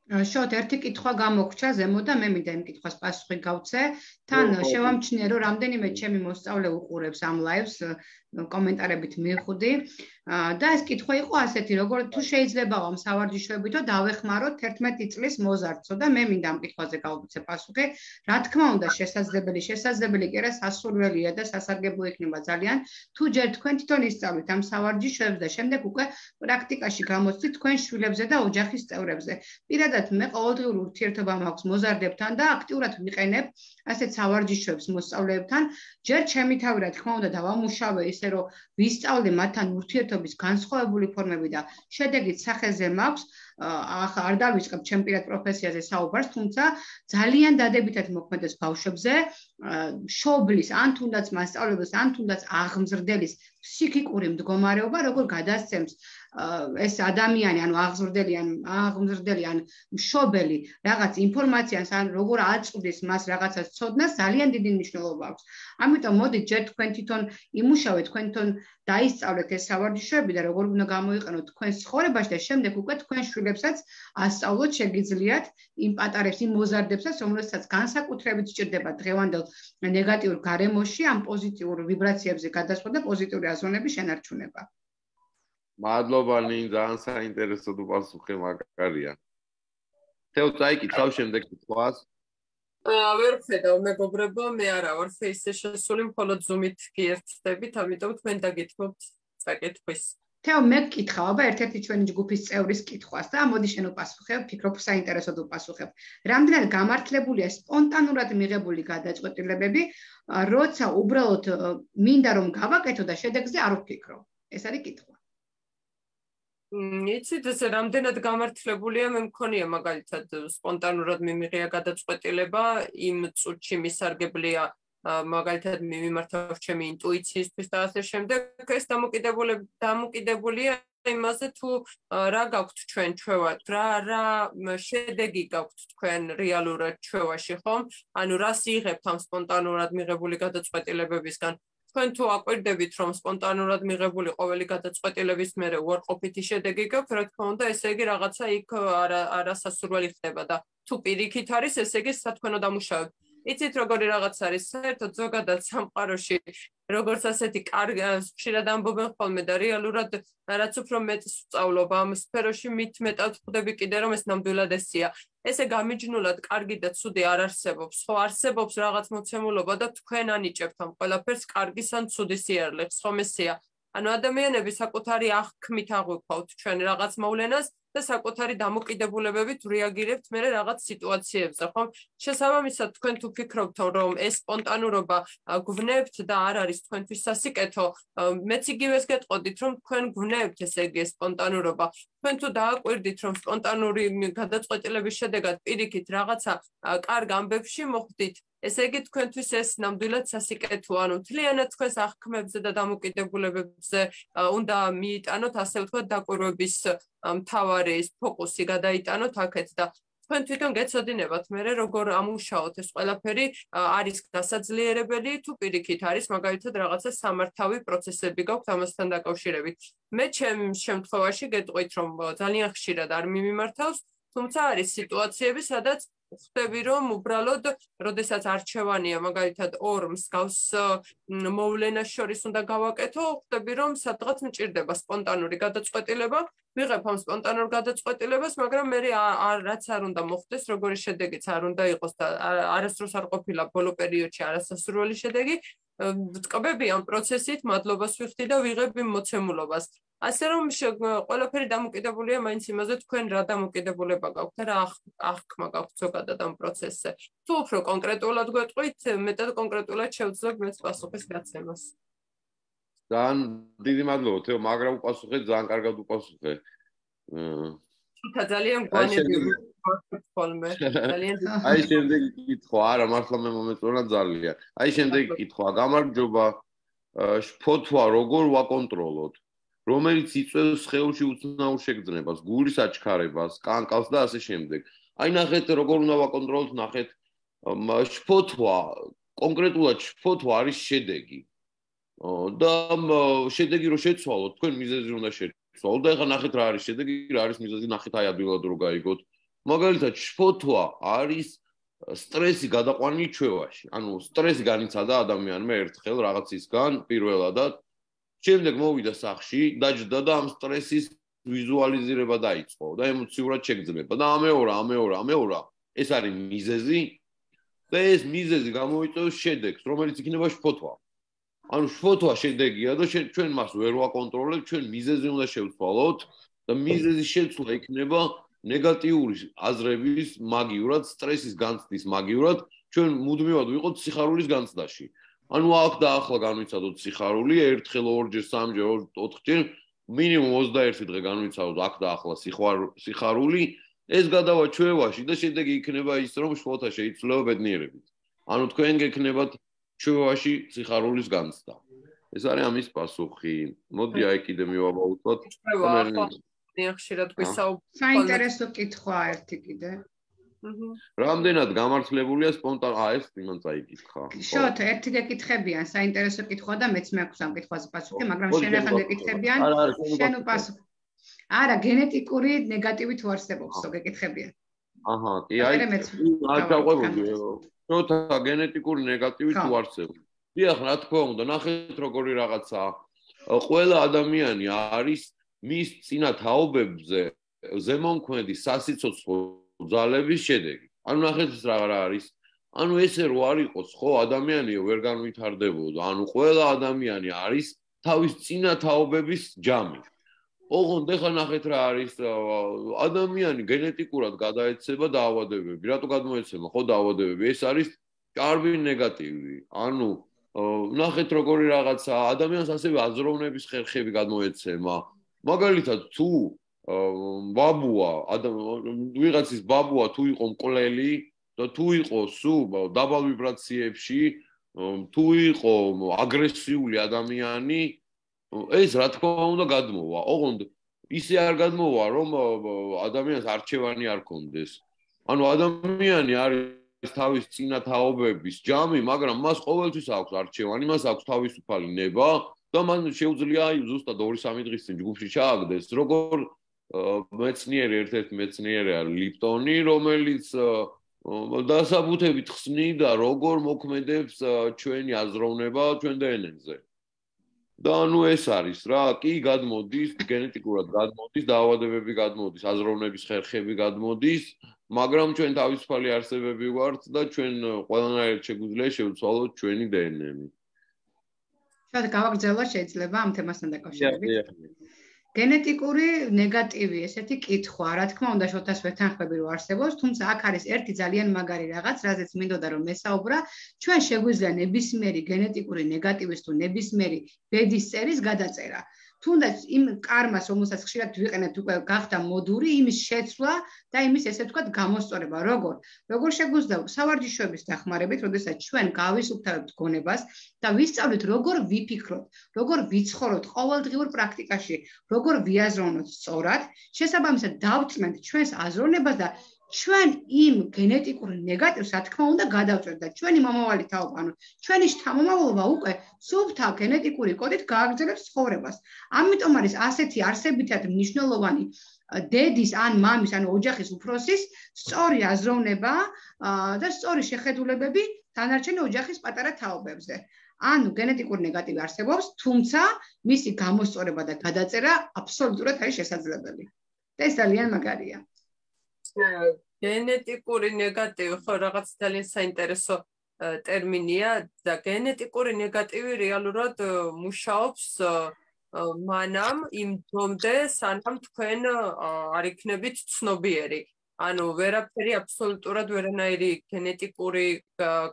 S2: შოთ, ერთი კითხვა გამოგრჩა ზემო და მე მინდა იმ კითხვას პასუხი გავცე. თან შევამჩნიე რომ რამდენიმე ჩემი მოსწავლე უყურებს ამ ლაივს, კომენტარებით მივხვდი. და ეს კითხვა იყო ასეთი, როგორ თუ შეიძლება ამ სავარჯიშოებითო დავეხმაროთ თერთმეტი წლის მოზარდსო და მე მინდა ამ კითხვაზე გავუცე პასუხი. რა თქმა უნდა, შესაძლებელი, შესაძლებელი კი არა, სასურველია და სასარგებლო იქნება ძალიან, თუ ჯერ თქვენ თვითონ ისწავლით ამ სავარჯიშოებს და შემდეგ უკვე პრაქტიკაში გამოცდით თქვენ შვილებზე და ოჯახის წევრებზე. პირადად მე ყოველდღიურ ურთიერთობა მაქვს მოზარდებთან და აქტიურად ვიყენებ ასეთ სავარჯიშოებს მოსწავლეებთან. ჯერ ჩემი თავი რა თქმა უნდა დავამუშავე ისე რომ ვისწავლე მათთან ურთიერთობის განსხვავებული ფორმები და შედეგით სახეზე მაქვს. ახლა არ დავიწყებ ჩემ პირად პროფესიაზე საუბარს, თუმცა ძალიან დადებითად მოქმედებს ბავშვებზე, მშობლის ან თუნდაც მასწავლებლის, ან თუნდაც აღმზრდელის ფსიქიკური მდგომარეობა, როგორ გადასცემს ეს ადამიანი, ანუ აღმზრდელი, ან აღმზრდელი, ან მშობელი რაღაც ინფორმაციას, ან როგორ აწვდის მას რაღაცას ცოდნას, ძალიან დიდი მნიშვნელობა აქვს. ამიტომ მოდით ჯერ თქვენ თვითონ იმუშავეთ, თქვენ თვითონ დაისწავლეთ ეს სავარჯიშოები და როგორ უნდა გამოიყენოთ თქვენს ცხოვრებაში და შემდეგ უკვე თქვენ შვილებსაც ასწავლოთ შეგიძლიათ იმ პატარებს, იმ მოზარდებსაც, რომელსაც განსაკუთრებით სჭირდება დღევანდელ ნეგატიურ გარემოში, ამ პოზიტიურ ვიბრაციებზე გადასვლა და პოზიტიური აზროვნების შენარჩუნება.
S1: მადლობა ნინ, ძალიან საინტერესო პასუხი მაგარია. თეო წაიკითხავ შემდეგ კითხვას.
S3: ვერ ვხედავ მეგობრებო, მე არა ვარ ფეისზე შესული, მხოლოდ ზუმით გიერთდებით, ამიტომ თქვენ დაგითმობთ წაკითხვის.
S2: თეო მე გკითხავ, აბა ერთ-ერთი ჩვენი ჯგუფის წევრის კითხვას და მოდი შენ უპასუხებ, ფიქრობ საინტერესოდ უპასუხებ. რამდენად გამართლებულია სპონტანურად მიღებული გადაწყვეტილებები, როცა უბრალოდ მინდა რომ გავაკეთო და შედეგზე არ ვფიქრო. ეს არის კითხვა.
S3: იცით, ეს რამდენად გამართლებულია, მე მქონია მაგალითად სპონტანურად მიმიღია გადაწყვეტილება, იმ წუთში მისარგებლია მაგალითად მიმართავ ჩემი ინტუიციისთვის და ასე შემდეგ. ეს დამოკიდებულია იმაზე თუ რა გაქვთ ჩვენ ჩვევა, რა რა შედეგი გაქვთ თქვენ რეალურად ჩვევაში, ხომ? ანუ რას იღებთ ამ სპონტანურად მიღებული გადაწყვეტილებებისგან? თქვენ თუ აკვირდებით, რომ სპონტანურად მიღებული ყოველი გადაწყვეტილების მერე უარყოფითი შედეგი გაქვთ, რა თქმა უნდა, ესე იგი რაღაცა იქ არასასურველი ხდება და თუ პირიქით არის, ესე იგი სათქვენო დამუშავებ. იცით როგორი რაღაც არის, საერთოდ ზოგადად სამყაროში, როგორც ასეთი კარგი ხშირად ამბობენ ხოლმე და რეალურად რაც უფრო მეტს ვსწავლობ ამ სფეროში, მით მეტად ვხვდები კიდე რომ ეს ნამდვილად ესეა. ესე გამიჯნულად კარგი და ცუდი არ არსებობს, ხო არსებობს რაღაც მოცემულობა და თქვენ ანიჭებთ ამ ყველაფერს კარგის ან ცუდის სიარლებს, ხომ ესეა? ანუ ადამიანები საკუთარი აღქმით აღვიქვავთ ჩვენ რაღაც მოვლენას და საკუთარი დამოკიდებულებებით რეაგირებთ მე რაღაც სიტუაციებზე, ხომ? შესაბამისად, თქვენ თუ ფიქრობთ, რომ ეს სპონტანურობა გვვნებთ და არ არის თქვენთვის სასიკეთო, მეც იგივეს გეტყოდით, რომ თქვენ გვვნებთ ესე იგი ეს სპონტანურობა. თქვენ თუ დააკვირდით, რომ სპონტანური გადაწყვეტილების შედეგად პირიქით რაღაცა კარგ ამბებში მოხვდით, ესე იგი თქვენთვის ეს ნამდვილად სასიკეთოა, ანუ მთლიანად თქვენს აღქმებზე და დამოკიდებულებებზე უნდა მიიტანოთ, ასე ვთქვათ, დაკვირვების მთავარი ფოკუსი გადაიტანოთ აქეთ და თქვენ თვითონ გეცოდინებათ მე როგორ ამუშაოთ ეს ყველაფერი არის დასაძლიერებელი თუ პირიქით არის მაგალითად რაღაცა სამართავი პროცესები გაქვთ ამასთან დაკავშირებით. მე ჩემ შემთხვევაში გეტყვით, რომ ძალიან ხშირად არ მიმართავს, თუმცა არის სიტუაციები, სადაც ხვდები რომ უბრალოდ როდესაც არჩევანია მაგალითად ორ მსგავს მოვლენას შორის უნდა გავაკეთო, ხვდები რომ სადღაც მჭირდება სპონტანური გადაწყვეტილება, ვიღებ ამ სპონტანურ გადაწყვეტილებას, მაგრამ მე რაც არ უნდა მოხდეს, როგორი შედეგიც არ უნდა იყოს და არასდროს არ ყოფილა ბოლო პერიოდში არასასურველი შედეგი, ვტკბები ამ პროცესით, მადლობას ვიხდი და ვიღებ იმ მოცემულობას. ასე რომ ყველაფერი დამოკიდებულია მაინც იმაზე, თქვენ რა დამოკიდებულება გაქვთ და რა აღქმა გაქვთ ზოგადად ამ პროცესზე. თუ უფრო კონკრეტულად გვეტყვით, მეტად კონკრეტულად შევძლებ მეც პასუხის გაცემას.
S1: ძალიან დიდი მადლობა, თეო, მაგრამ უპასუხეთ, ძალიან კარგად უპასუხე.
S3: თუმცა ძალიან გვანები ხოლმე. ძალიან
S1: აი შემდეგი კითხვა, არა, მართლა მე მომეწონა ძალიან. აი შემდეგი კითხვა, გამარჯობა, შფოთვა როგორ ვაკონტროლოთ? რომელიც იწვევს სხეულში უცნაურ შეგრძნებას, გულის აჩქარებას, კანკავს და ასე შემდეგ. აი ნახეთ როგორ უნდა ვაკონტროლოთ, ნახეთ შფოთვა, კონკრეტულად შფოთვა არის შედეგი. და შედეგი რო შეცვალოთ, თქვენ მიზეზი უნდა შეცვალოთ და ეხლა ნახეთ რა არის შედეგი, რა არის მიზეზი, ნახეთ აი ადვილად რო გაიგოთ. მაგალითად შფოთვა არის სტრესი გადაყვანილი ჩვევაში. ანუ სტრესი განიცადა ადამიანმა ერთხელ რაღაცისგან პირველადად შემდეგ მოვიდა სახში, დაჯდა და ამ სტრესის ვიზუალიზირება დაიწყო და ემოციურად შეგრძნება და ამეორა, ამეორა, ამეორა. ეს არის მიზეზი და ეს მიზეზი გამოიწვევს შედეგს, რომელიც იქნება შფოთვა. ანუ შფოთვა შედეგია და ჩვენ მას ვერ ვაკონტროლებთ, ჩვენ მიზეზი უნდა შევცვალოთ და მიზეზის შეცვლა იქნება ნეგატიური აზრების მაგივრად, სტრესის განცდის მაგივრად, ჩვენ მუდმივად ვიყოთ სიხარულის განცდაში. ანუ აქ და ახლა განვიცადოთ სიხარული, ერთხელ, ორჯერ, სამჯერ, ოთხჯერ, მინიმუმ ოცდაერთი დღე განვიცადოთ აქ და ახლა სიხარული, ეს გადავა ჩვევაში და შედეგი იქნება ის, რომ შფოთვა შეიცვლება ბედნიერებით. ანუ თქვენ გექნებათ ჩვევაში სიხარულის განცდა. ეს არის ამის პასუხი. მოდი აი კიდე მივაბაუტოთ.
S3: ხშირად გვისაუბრებთ.
S2: საინტერესო კითხვა ერთი კიდე.
S1: რამდენად გამართლებულია სპონტან აა ეს იმან წაიკითხა.
S2: შოთ, ერთი გეკითხებიან, საინტერესო კითხვა და მეც მეაქვს ამ კითხვაზე პასუხი, მაგრამ შენ ახლა გეკითხებიან, შენ უპასუხო. არა, გენეტიკური ნეგატივი თუ არსებობს, თო გეკითხებიან.
S1: აჰა, კი, აი, არ დავყვებოდი. შოთ, გენეტიკური ნეგატივი თუ არსებობს. დიახ, რა თქმა უნდა, ნახეთ როგორი რაღაცაა. ყველა ადამიანი არის მის წინა თაობებზე ზემომქმედი სასიცოცხლო ძალების შედეგი. ანუ ნახეთ ეს რა არის? ანუ ესე რო არ იყოს, ხო, ადამიანი ვერ განვითარდებოდა. ანუ ყველა ადამიანი არის თავის წინა თაობების ჯამი. ოღონდ ეხლა ნახეთ რა არის, ადამიანი გენეტიკურად გადაეცემა დაავადებები. რატო გადმოეცემა, ხო, დაავადებები? ეს არის ჭარბი ნეგატივი. ანუ ნახეთ როგორი რაღაცა, ადამიანს ასევე აზროვნების ხერხები გადმოეცემა. მაგალითად, თუ ბაბუა, ვიღაცის ბაბუა თუ იყო მკვლელი და თუ იყო სულ დაბალ ვიბრაციებში, თუ იყო აგრესიული ადამიანი, ეს რა თქმა უნდა გადმოვა. ოღონდ ისე არ გადმოვა, რომ ადამიანს არჩევანი არ კონდეს. ანუ ადამიანი არის თავის წინა თაობების ჯამი, მაგრამ მას ყოველთვის აქვს არჩევანი, მას აქვს თავისუფალი ნება და მან შეუძლია ზუსტად ორი სამი დღის წინ ჯგუფში ჩააგდეს, როგორ მეცნიერი ერთ-ერთი მეცნიერია ლიპტონი, რომელიც დასაბუთებით ხსნიდა, როგორ მოქმედებს ჩვენი აზროვნება ჩვენ დე εν ენ-ზე. და ანუ ეს არის რა, კი გადმოდის, გენეტიკურად გადმოდის, დაავადებები გადმოდის, აზროვნების ხერხები გადმოდის, მაგრამ ჩვენ თავისუფალი არსებები ვართ და ჩვენ ყველანაირად შეგვიძლია შევცვალოთ ჩვენი დე εν ენი.
S2: შეიძლება გავაგრძელოთ შეიძლება ამ თემასთან დაკავშირებით. გენეტიკური ნეგატივი ესეთი კითხვა, რა თქმა უნდა, შოთას ვეთანხმები რომ არსებობს, თუმცა აქ არის ერთი ძალიან მაგარი რაღაც, რაზეც მინდოდა რომ მესაუბრა, ჩვენ შეგვიძლია ნებისმიერი გენეტიკური ნეგატივის თუ ნებისმიერი ბედის წერის გადაწერა. თუნდაც იმ კარმას, რომელსაც ხშირად ვიყენებთ უკვე გახდა მოდური, იმის შეცვლა და იმის ესე ვთქვათ გამოსწორება. როგორ? როგორ შეგვიძლია სავარჯიშოების დახმარებით, როდესაც ჩვენ გავისუფთავებთ გონებას და ვისწავლით როგორ ვიფიქროთ, როგორ ვიცხოვროთ ყოველდღიურ პრაქტიკაში, როგორ ვიაზროვნოთ სწორად, შესაბამისად დავწმენთ ჩვენს აზროვნებას და ჩვენ იმ გენეტიკურ ნეგატივს, რა თქმა უნდა, გადავწევთ და ჩვენი მომავალი თაობა, ანუ ჩვენი შთამომავლობა უკვე სუფთა გენეტიკური კოდით გააგრძელებს ცხოვრებას. ამიტომ არის ასეთი არსებითად მნიშვნელოვანი დედის ან მამის, ანუ ოჯახის უფროსის სწორი აზროვნება და სწორი შეხედულებები დანარჩენი ოჯახის პატარა თაობებზე. ანუ გენეტიკური ნეგატივი არსებობს, თუმცა მისი გამოსწორება და გადაწერა აბსოლუტურად არის შესაძლებელი. და ეს ძალიან მაგარია.
S3: გენეტიკური ნეგატივი ხო რაღაც ძალიან საინტერესო ტერმინია და გენეტიკური ნეგატივი რეალურად მუშაობს მანამ იმ დომდე სანამ თქვენ არ იქნებით ცნობიერი. ანუ ვერაფერი აბსოლუტურად ვერანაირი გენეტიკური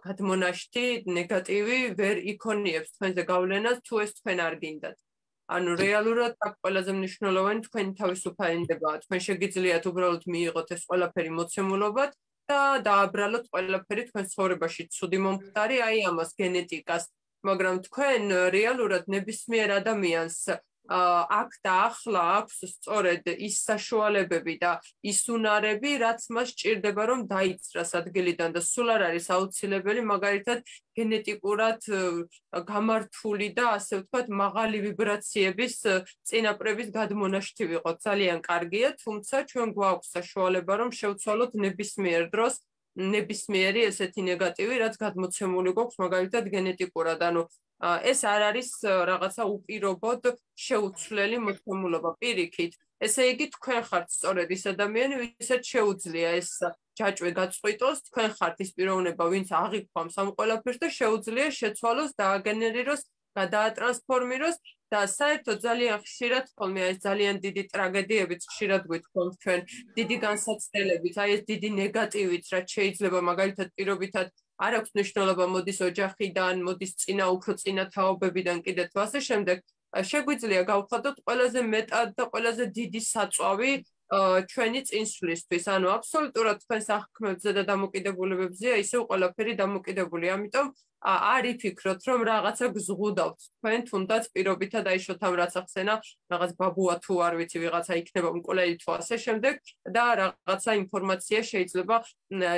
S3: გადმონაშთი ნეგატივი ვერ იქონიებს თქვენზე გავლენას თუ ეს თქვენ არ გინდათ. ანუ რეალურად აქ ყველაზე მნიშვნელოვანი თქვენი თავისუფალებაა. თქვენ შეგიძლიათ უბრალოდ მიიღოთ ეს ყველაფერი მოცემულობად და დააბრალოთ ყველაფერი თქვენ ცხოვრებაში ცუდი მომხდარი, აი ამას გენეტიკას, მაგრამ თქვენ რეალურად ნებისმიერ ადამიანს აქ და ახლა აქვს სწორედ ის საშუალებები და ის უნარები, რაც მას სჭირდება რომ დაიცრას ადგილიდან და სულ არ არის აუცილებელი მაგალითად გენეტიკურად გამართული და ასე ვთქვათ მაღალი ვიბრაციების წინაპრების გადმონაშთი ვიყოთ. ძალიან კარგია, თუმცა ჩვენ გვაქვს საშუალება რომ შევცვალოთ ნებისმიერ დროს ნებისმიერი ესეთი ნეგატივი, რაც გადმოცემული გვაქვს მაგალითად გენეტიკურად. ანუ ეს არ არის რაღაცა უპირობოდ შეუცვლელი მოცემულობა პირიქით. ესე იგი თქვენ ხართ სწორედ ის ადამიანი, ვისაც შეუძლია ეს ჯაჭვი გაწყვიტოს, თქვენ ხართ ის პიროვნება, ვინც აღიქვამს ამ ყველაფერს და შეუძლია შეცვალოს, დააგენერიროს, გადაატრანსფორმიროს და საერთოდ ძალიან ხშირად ხოლმე ეს ძალიან დიდი ტრაგედიებიც ხშირად გვითხოვთ ჩვენ დიდი განსაცდელებით, აი ეს დიდი ნეგატივით, რაც შეიძლება მაგალითად პირობითად არ აქვს მნიშვნელობა მოდის ოჯახიდან, მოდის წინა უფრო წინა თაობებიდან კიდე თუ ასე შემდეგ, შეგვიძლია გავხადოთ ყველაზე მეტად და ყველაზე დიდი საწვავი ჩვენი წინსვლისთვის. ანუ აბსოლუტურად თქვენ საქმეებზე და დამოკიდებულებებზეა ისევ ყველაფერი დამოკიდებული. ამიტომ არ იფიქროთ, რომ რაღაცა გზღუდავთ თქვენ, თუნდაც პირობითად აი შოთამ რაც ახსენა, რაღაც ბაბუა თუ არ ვიცი, ვიღაცა იქნება მკვლელი თუ ასე შემდეგ და რაღაცა ინფორმაცია შეიძლება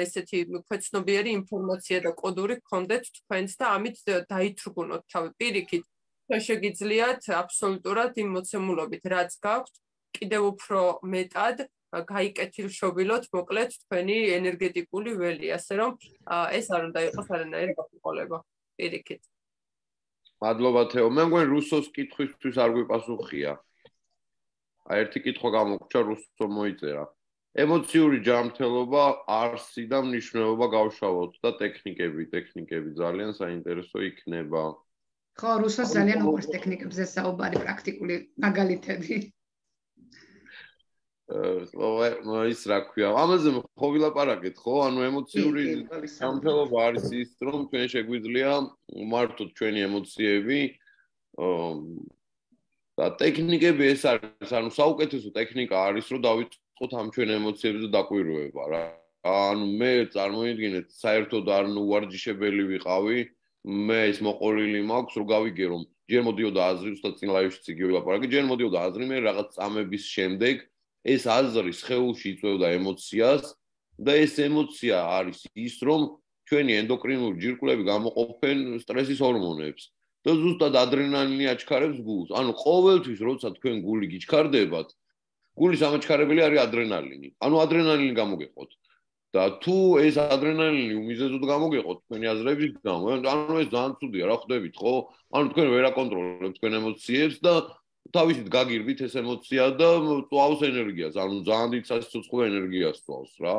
S3: ესეთი ქვეცნობიერი ინფორმაცია და კოდური გქონდეთ თქვენს და ამით დაითრგუნოთ თავი. პირიქით, თქვენ შეგიძლიათ აბსოლუტურად იმ მოცემულობით, რაც გაქვთ, კიდევ უფრო მეტად გაიკეთილშობილოთ მოკლედ თქვენი ენერგეტიკული ველი, ასე რომ ეს არ უნდა იყოს არანაირი გაყოლება. პირიქით.
S1: მადლობა თეო. მე მგონი რუსოს კითხვისთვის არ გვიპასუხია. აი ერთი კითხვა გამოგვრჩა, რუსო მოიწერა. ემოციური ჯანმრთელობა, არსი და მნიშვნელობა გავშალოთ და ტექნიკები, ტექნიკები ძალიან საინტერესო იქნება.
S2: ხო, რუსოს ძალიან უყვარს ტექნიკებზე საუბარი, პრაქტიკული მაგალითები.
S1: ის რა ქვია, ამაზე ხო ვილაპარაკეთ, ხო? ანუ ემოციური ჯანმრთელობა არის ის, რომ ჩვენ შეგვიძლია მართოთ ჩვენი ემოციები და ტექნიკები ეს არის, ანუ საუკეთესო ტექნიკა არის, რომ დავიწყოთ ამ ჩვენ ემოციებზე დაკვირვება რა. ანუ მე წარმოიდგინეთ, საერთოდ არ უვარჯიშებელი ვიყავი, მე ის მოყოლილი მაქვს, რომ გავიგე რომ ჯერ მოდიოდა აზრი, უბრალოდ წინ ლაივში იგი ვილაპარაკე, ჯერ მოდიოდა აზრი, მე რაღაც წამების შემდეგ ეს აზრი სხეულში იწვევდა ემოციას და ეს ემოცია არის ის, რომ ჩვენი ენდოკრინული ჯირკვლები გამოყოფენ სტრესის ჰორმონებს და ზუსტად ადრენალინი აჩქარებს გულს. ანუ ყოველთვის როცა თქვენ გული გიჩქარდებათ, გულის ამაჩქარებელი არის ადრენალინი. ანუ ადრენალინი გამოგეყოთ. და თუ ეს ადრენალინი უმიზეზოდ გამოგეყოთ თქვენი აზრების გამო, ანუ ეს ძალიან ცუდია, რა ხვდებით, ხო? ანუ თქვენ ვერ აკონტროლებთ თქვენ ემოციებს და თავისით გაგირდით ეს ემოცია და წვავს ენერგიას, ანუ ძალიან დიდ სასიცოცხლო ენერგიას წვავს რა.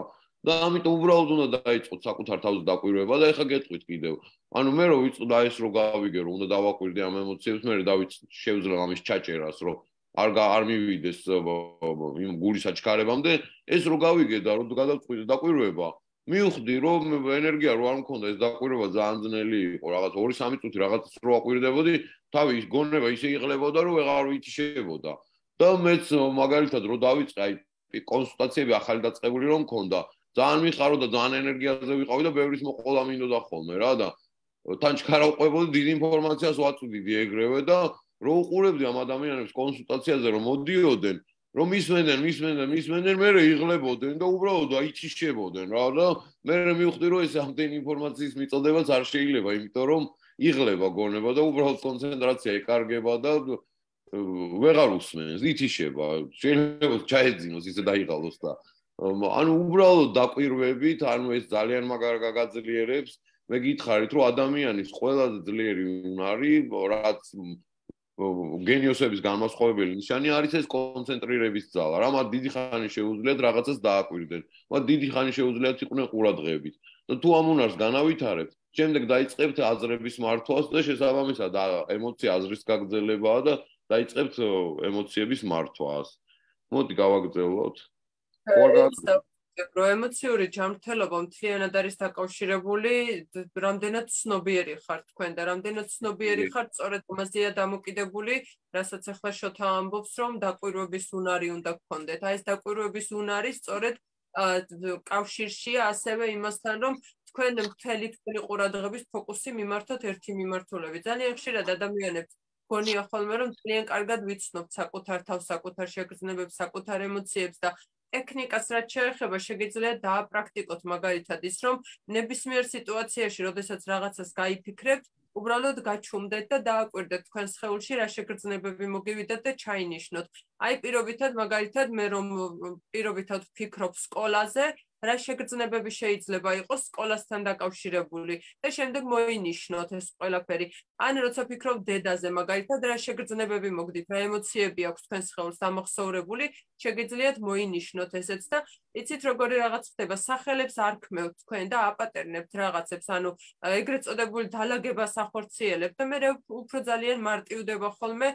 S1: და ამიტომ უბრალოდ უნდა დაიწყოთ საკუთარ თავზე დაკვირვება და ეხა გეტყვით კიდევ. ანუ მე რო ვიწყდა ეს რო გავიგე რომ უნდა დავაკვირდე ამ ემოციებს, მე დავიც შევძლებ ამის ჩაჭერას, რომ არ არ მივიდეს იმ გულის აჩქარებამდე, ეს რო გავიგე და რო გადავწყვიტე დაკვირვება, მივხვდი რომ ენერგია რო არ მქონდა, ეს დაკვირვება ძალიან ძნელი იყო, რაღაც ორი სამი წუთი რაღაც რო აკვირდებოდი, თავი გონება ისე იყლებოდა, რომ ვეღარ ვითიშებოდა. და მეც მაგალითად რო დავიწყე აი კონსულტაციები ახალი დაწყებული რომ მქონდა, ძალიან მიხარო და ძალიან ენერგიაზე ვიყავი და ბევრის მოყოლა მინდოდა ხოლმე რა და თან ჩქარავყვებოდი დიდ ინფორმაციას ვაწვდიდი ეგრევე და რო უყურებდი ამ ადამიანებს კონსულტაციაზე რომ მოდიოდნენ, რომ ისმენდნენ, ისმენდნენ, ისმენდნენ, მე იღლებოდნენ და უბრალოდ აიჩიშებოდნენ რა და მე მივხვდი რომ ეს ამდენი ინფორმაციის მიწოდებაც არ შეიძლება, იმიტომ რომ იღლება გონება და უბრალოდ კონცენტრაცია ეკარგება და ვეღარ უსმენს, ითიშება, შეიძლება ჩაეძინოს ისე დაიღალოს და ანუ უბრალოდ დაკვირვებით, ანუ ეს ძალიან მაგარ გაგაძლიერებს. მე გითხარით, რომ ადამიანის ყველაზე ძლიერი უნარი, რაც გენიოსების განმასხვავებელი ნიშანი არის ეს კონცენტრირების ძალა. რა მათ დიდი ხანი შეუძლიათ რაღაცას დააკვირდნენ. მათ დიდი ხანი შეუძლიათ იყვნენ ყურადღებით. და თუ ამ უნარს განავითარებთ, შემდეგ დაიწყებთ აზრების მართვას და შესაბამისად ემოცია აზრის გაგრძელებაა და დაიწყებთ ემოციების მართვას. მოდი გავაგრძელოთ.
S3: რო ემოციური ჯანმრთელობა მთლიანად არის დაკავშირებული, რამდენად ცნობიერი ხართ თქვენ და რამდენად ცნობიერი ხართ სწორედ ამაზეა დამოკიდებული, რასაც ახლა შოთა ამბობს, რომ დაკვირვების უნარი უნდა გქონდეთ. აი ეს დაკვირვების უნარი სწორედ კავშირშია ასევე იმასთან, რომ თქვენ მთელი თქვენი ყურადღების ფოკუსი მიმართოთ ერთი მიმართულებით. ძალიან ხშირად ადამიანებს გონია ხოლმე, რომ ძალიან კარგად ვიცნობთ საკუთარ თავს, საკუთარ შეგრძნებებს, საკუთარ ემოციებს და ტექნიკას რაც შეეხება, შეგიძლიათ დააპრაქტიკოთ მაგალითად ის, რომ ნებისმიერ სიტუაციაში, როდესაც რაღაცას გაიფიქრებთ, უბრალოდ გაჩუმდეთ და დააკვირდეთ თქვენ სხეულში რა შეგრძნებები მოგივიდათ და ჩაინიშნოთ. აი პირობითად მაგალითად მე რომ პირობითად ვფიქრობ სკოლაზე, რა შეგრძნებები შეიძლება იყოს სკოლასთან დაკავშირებული და შემდეგ მოინიშნოთ ეს ყველაფერი. ან როცა ფიქრობ დედაზე მაგალითად რა შეგრძნებები მოგდით, რა ემოციები აქვს თქვენ სხეულს ამახსოვრებული, შეგიძლიათ მოინიშნოთ ესეც და იცით როგორი რაღაც ხდება, სახელებს არ ქმევთ თქვენ და აპატერნებთ რაღაცებს, ანუ ეგრეთ წოდებული დალაგებას ახორციელებთ და მე უფრო ძალიან მარტივდება ხოლმე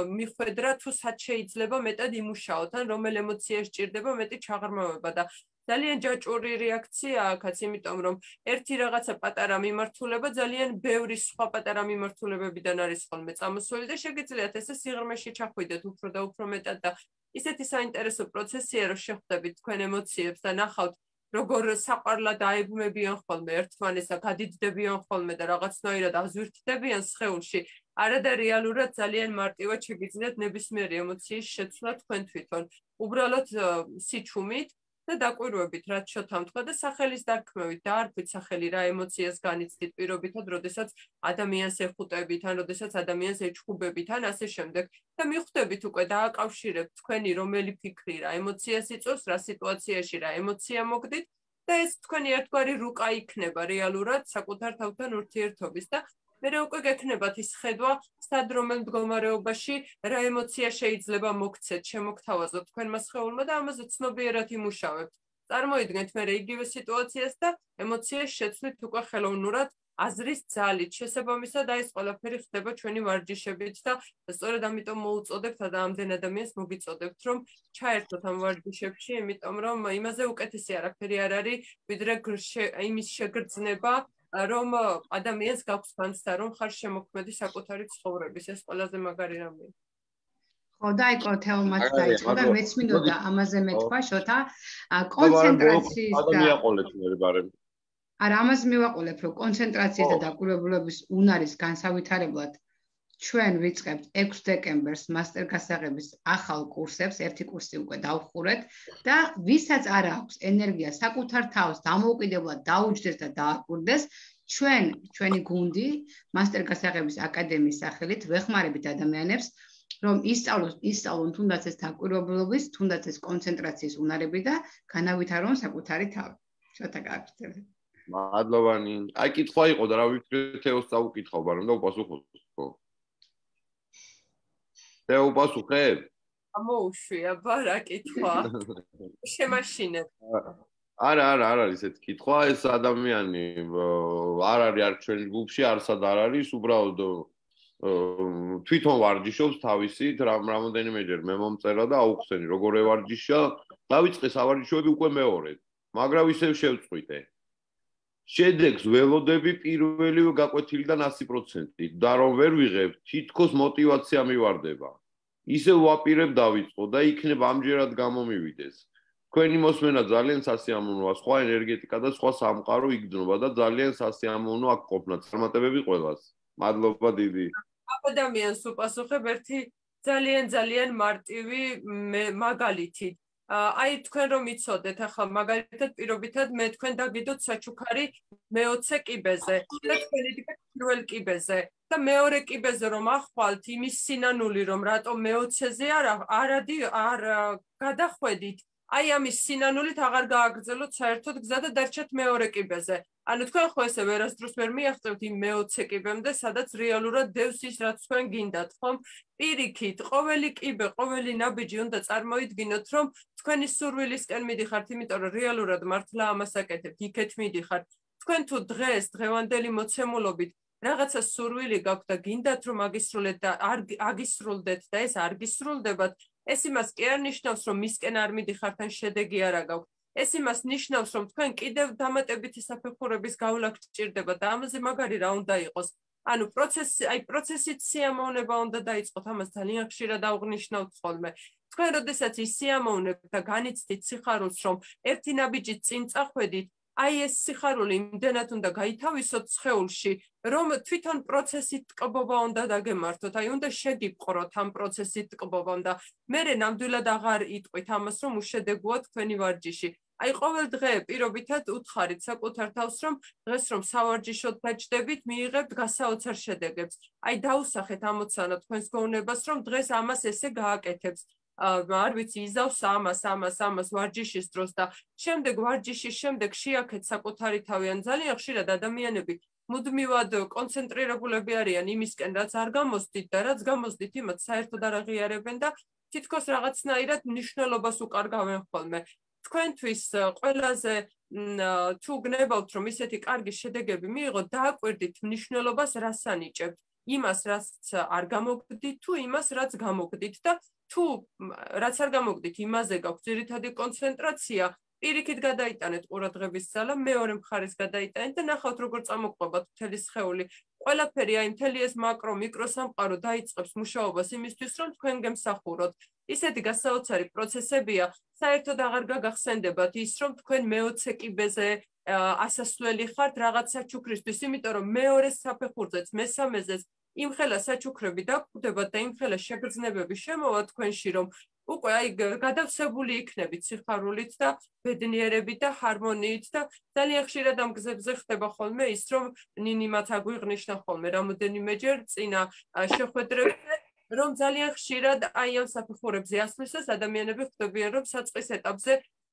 S3: მიხვედრა თუ სად შეიძლება მეტად იმუშაოთ, ან რომელ ემოციას სჭირდება მეტი ჩაღრმავება და ძალიან ჯაჭვური რეაქცია აქაც, იმიტომ რომ ერთი რაღაცა პატარა მიმართულება ძალიან ბევრი სხვა პატარა მიმართულებებიდან არის ხოლმე წამოსული და შეგიძლიათ ესე სიღრმეში ჩახვიდეთ უფრო და უფრო მეტად და ისეთი საინტერესო პროცესია, რომ შეხვდებით თქვენ ემოციებს და ნახავთ, როგორ საყვარლად აებმებიან ხოლმე ერთმანესა, გადიდდებიან ხოლმე და რაღაცნაირად აზვირთდებიან სხეულში. არადა რეალურად ძალიან მარტივად შეგიძლიათ ნებისმიერი ემოციის შეცვლა თქვენ თვითონ. უბრალოდ სიჩუმით და დაკვირვებით, რაც შოთამ თქვა და სახელის დარქმევით და არქვით სახელი რა ემოციას განიცდით პირობითად, როდესაც ადამიანს ეხუტებით, ან როდესაც ადამიანს ეჩხუბებით, ან ასე შემდეგ და მიხვდებით უკვე დააკავშირებთ თქვენი რომელი ფიქრი რა ემოციას იწვევს, რა სიტუაციაში რა ემოცია მოგდით და ეს თქვენი ერთგვარი რუკა იქნება რეალურად საკუთარ თავთან ურთიერთობის და მერე უკვე გექნებათ ის ხედვა, სად რომელ მდგომარეობაში რა ემოცია შეიძლება მოგცეთ, შემოგთავაზოთ თქვენმა სხეულმა და ამაზე ცნობიერად იმუშავებთ. წარმოიდგინეთ მერე იგივე სიტუაციას და ემოციას შეცვლით უკვე ხელოვნურად აზრის ძალით. შესაბამისად აი ეს ყველაფერი ხდება ჩვენი ვარჯიშებით და სწორედ ამიტომ მოუწოდებთ და ამდენ ადამიანს მოგიწოდებთ, რომ ჩაერთოთ ამ ვარჯიშებში, იმიტომ რომ იმაზე უკეთესი არაფერი არ არის, ვიდრე იმის შეგრძნება რომ ადამიანს გაქვს განცდა, რომ ხარ შემოქმედი საკუთარი ცხოვრების, ეს ყველაზე მაგარი რამეა.
S2: ხო, დაიწყო თეომაც დაიწყო და მეც მინდოდა ამაზე მეთქვა შოთა კონცენტრაციის და
S1: ადამიანყოლეთ მე ბარემ.
S2: არა, ამას მივაყოლებ, რომ კონცენტრაციის და დაკვირვებულობის უნარის განსავითარებლად ჩვენ ვიწყებთ ექვსი დეკემბერს მასტერ გასაღების ახალ კურსებს, ერთი კურსი უკვე დავხურეთ და ვისაც არ აქვს ენერგია საკუთარ თავს დამოუკიდებლად დაუჯდეს და დააკვირდეს, ჩვენ ჩვენი გუნდი მასტერ გასაღების აკადემიის სახელით ვეხმარებით ადამიანებს, რომ ისწავლოს, ისწავლონ თუნდაც ეს დაკვირვებულობის, თუნდაც ეს კონცენტრაციის უნარები და განავითარონ საკუთარი თავი. შოთა გააგრძელე.
S1: მადლობანი. აი კითხვა იყო და რა ვიქნებ თეოს წავუკითხავ, მაგრამ და უპასუხოს, ხო? თეო უპასუხებ?
S3: ამოუშვია, ბარა კითხვა. შემაშინებ.
S1: არა, არა, არ არის ეს კითხვა, ეს ადამიანი არ არის არ ჩვენი ჯგუფში, არსად არ არის, უბრალოდ თვითონ ვარჯიშობს თავისით, რამოდენიმეჯერ მე მომწერა და აუხსენი, როგორ ევარჯიშა, დავიწყე სავარჯიშოები უკვე მეორედ, მაგრამ ისევ შევწყვიტე. შედეგს ველოდები პირველივე გაკვეთილიდან ასი პროცენტით და რომ ვერ ვიღებ, თითქოს მოტივაცია მივარდება. ისევ ვაპირებ დავიწყო და იქნება ამჯერად გამომივიდეს. თქვენი მოსმენა ძალიან სასიამოვნოა, სხვა ენერგეტიკა და სხვა სამყარო იგრძნობა და ძალიან სასიამოვნო აქ ყოფნა, წარმატებები ყველას. მადლობა დიდი.
S3: ადამიანს უპასუხებ ერთი ძალიან ძალიან მარტივი მაგალითით. აი თქვენ რომ იცოდეთ ახლა მაგალითად პირობითად მე თქვენ დაგიდოთ საჩუქარი მეოცე კიბეზე და თქვენი დიგეთ პირველ კიბეზე და მეორე კიბეზე რომ ახვალთ იმის სინანული რომ რატომ მეოცეზე არ არადი არ გადახვედით აი ამის სინანულით აღარ გააგრძელოთ საერთოდ გზა და დარჩათ მეორე კიბეზე. ანუ თქვენ ხო ესე ვერასდროს ვერ მიაღწევთ იმ მეოცე კიბემდე, სადაც რეალურად დევს ის, რაც თქვენ გინდათ, ხომ? პირიქით, ყოველი კიბე, ყოველი ნაბიჯი უნდა წარმოიდგინოთ, რომ თქვენი სურვილისკენ მიდიხართ, იმიტომ რომ რეალურად მართლა ამას აკეთებთ, იქეთ მიდიხართ. თქვენ თუ დღეს, დღევანდელი მოცემულობით რაღაცა სურვილი გაქვთ და გინდათ რომ აგისრულეთ და არ აგისრულდეთ და ეს არ გისრულდებათ, ეს იმას კი არ ნიშნავს, რომ მისკენ არ მიდიხართ ან შედეგი არ აგაქვთ. ეს იმას ნიშნავს, რომ თქვენ კიდევ დამატებითი საფეხურების გავლა გჭირდება და ამაზე მაგარი რა უნდა იყოს. ანუ პროცესი, აი პროცესით სიამოვნება უნდა დაიწყოთ, ამას ძალიან ხშირად აღნიშნავთ ხოლმე. თქვენ როდესაც ის სიამოვნებთ და განიცდით სიხარულს, რომ ერთი ნაბიჯით წინ წახვედით, აი ეს სიხარული იმდენად უნდა გაითავისოთ სხეულში, რომ თვითონ პროცესით ტკბობა უნდა დაგემართოთ, აი უნდა შეგიპყროთ ამ პროცესით ტკბობამ და მერე ნამდვილად აღარ იტყვით ამას, რომ უშედეგოა თქვენი ვარჯიში. აი ყოველ დღე პირობითად უთხარით საკუთარ თავს, რომ დღეს რომ სავარჯიშოდ დაჯდებით, მიიღებთ გასაოცარ შედეგებს. აი დაუსახეთ ამოცანა თქვენს გონებას, რომ დღეს ამას ესე გააკეთებს. არ ვიცი, იზავს ამას, ამას, ამას ვარჯიშის დროს და შემდეგ ვარჯიშის შემდეგ შეაქეთ საკუთარი თავი. ან ძალიან ხშირად ადამიანები მუდმივად კონცენტრირებულები არიან იმისკენ, რაც არ გამოსდით და რაც გამოსდით, იმათ საერთოდ არ აღიარებენ და თითქოს რაღაცნაირად მნიშვნელობას უკარგავენ ხოლმე. თქვენთვის ყველაზე თუ გნებავთ, რომ ისეთი კარგი შედეგები მიიღოთ, დააკვირდით მნიშვნელობას, რას ანიჭებთ. იმას, რაც არ გამოგდით, თუ იმას, რაც გამოგდით და თუ რაც არ გამოგდით, იმაზე გაქვთ ძირითადი კონცენტრაცია, პირიქით გადაიტანეთ ყურადღების ძალა, მეორე მხარეს გადაიტანეთ და ნახავთ როგორ წამოყვებათ მთელი სხეული. ყველაფერი აი მთელი ეს მაკრო, მიკრო სამყარო დაიწყებს მუშაობას იმისთვის, რომ თქვენ გემსახუროთ. ისეთი გასაოცარი პროცესებია, საერთოდ აღარ გაგახსენდებათ ის, რომ თქვენ მეოცე კიბეზე ასასვლელი ხართ რაღაც საჩუქრისთვის, იმიტომ რომ მეორე საფეხურზეც, მესამეზეც იმხელა საჩუქრები დაგვდებათ და იმხელა შეგრძნებები შემოვა თქვენში, რომ უკვე აი გადავსებული იქნებით სიხარულით და ბედნიერებით და ჰარმონიით და ძალიან ხშირად ამ გზებზე ხდება ხოლმე ის, რომ ნინი მათ აგვიღნიშნა ხოლმე რამოდენიმეჯერ წინა შეხვედრებზე, რომ ძალიან ხშირად აი ამ საფეხურებზე ასვლისას ადამიანები ხვდებიან, რომ საწყის ეტაპზე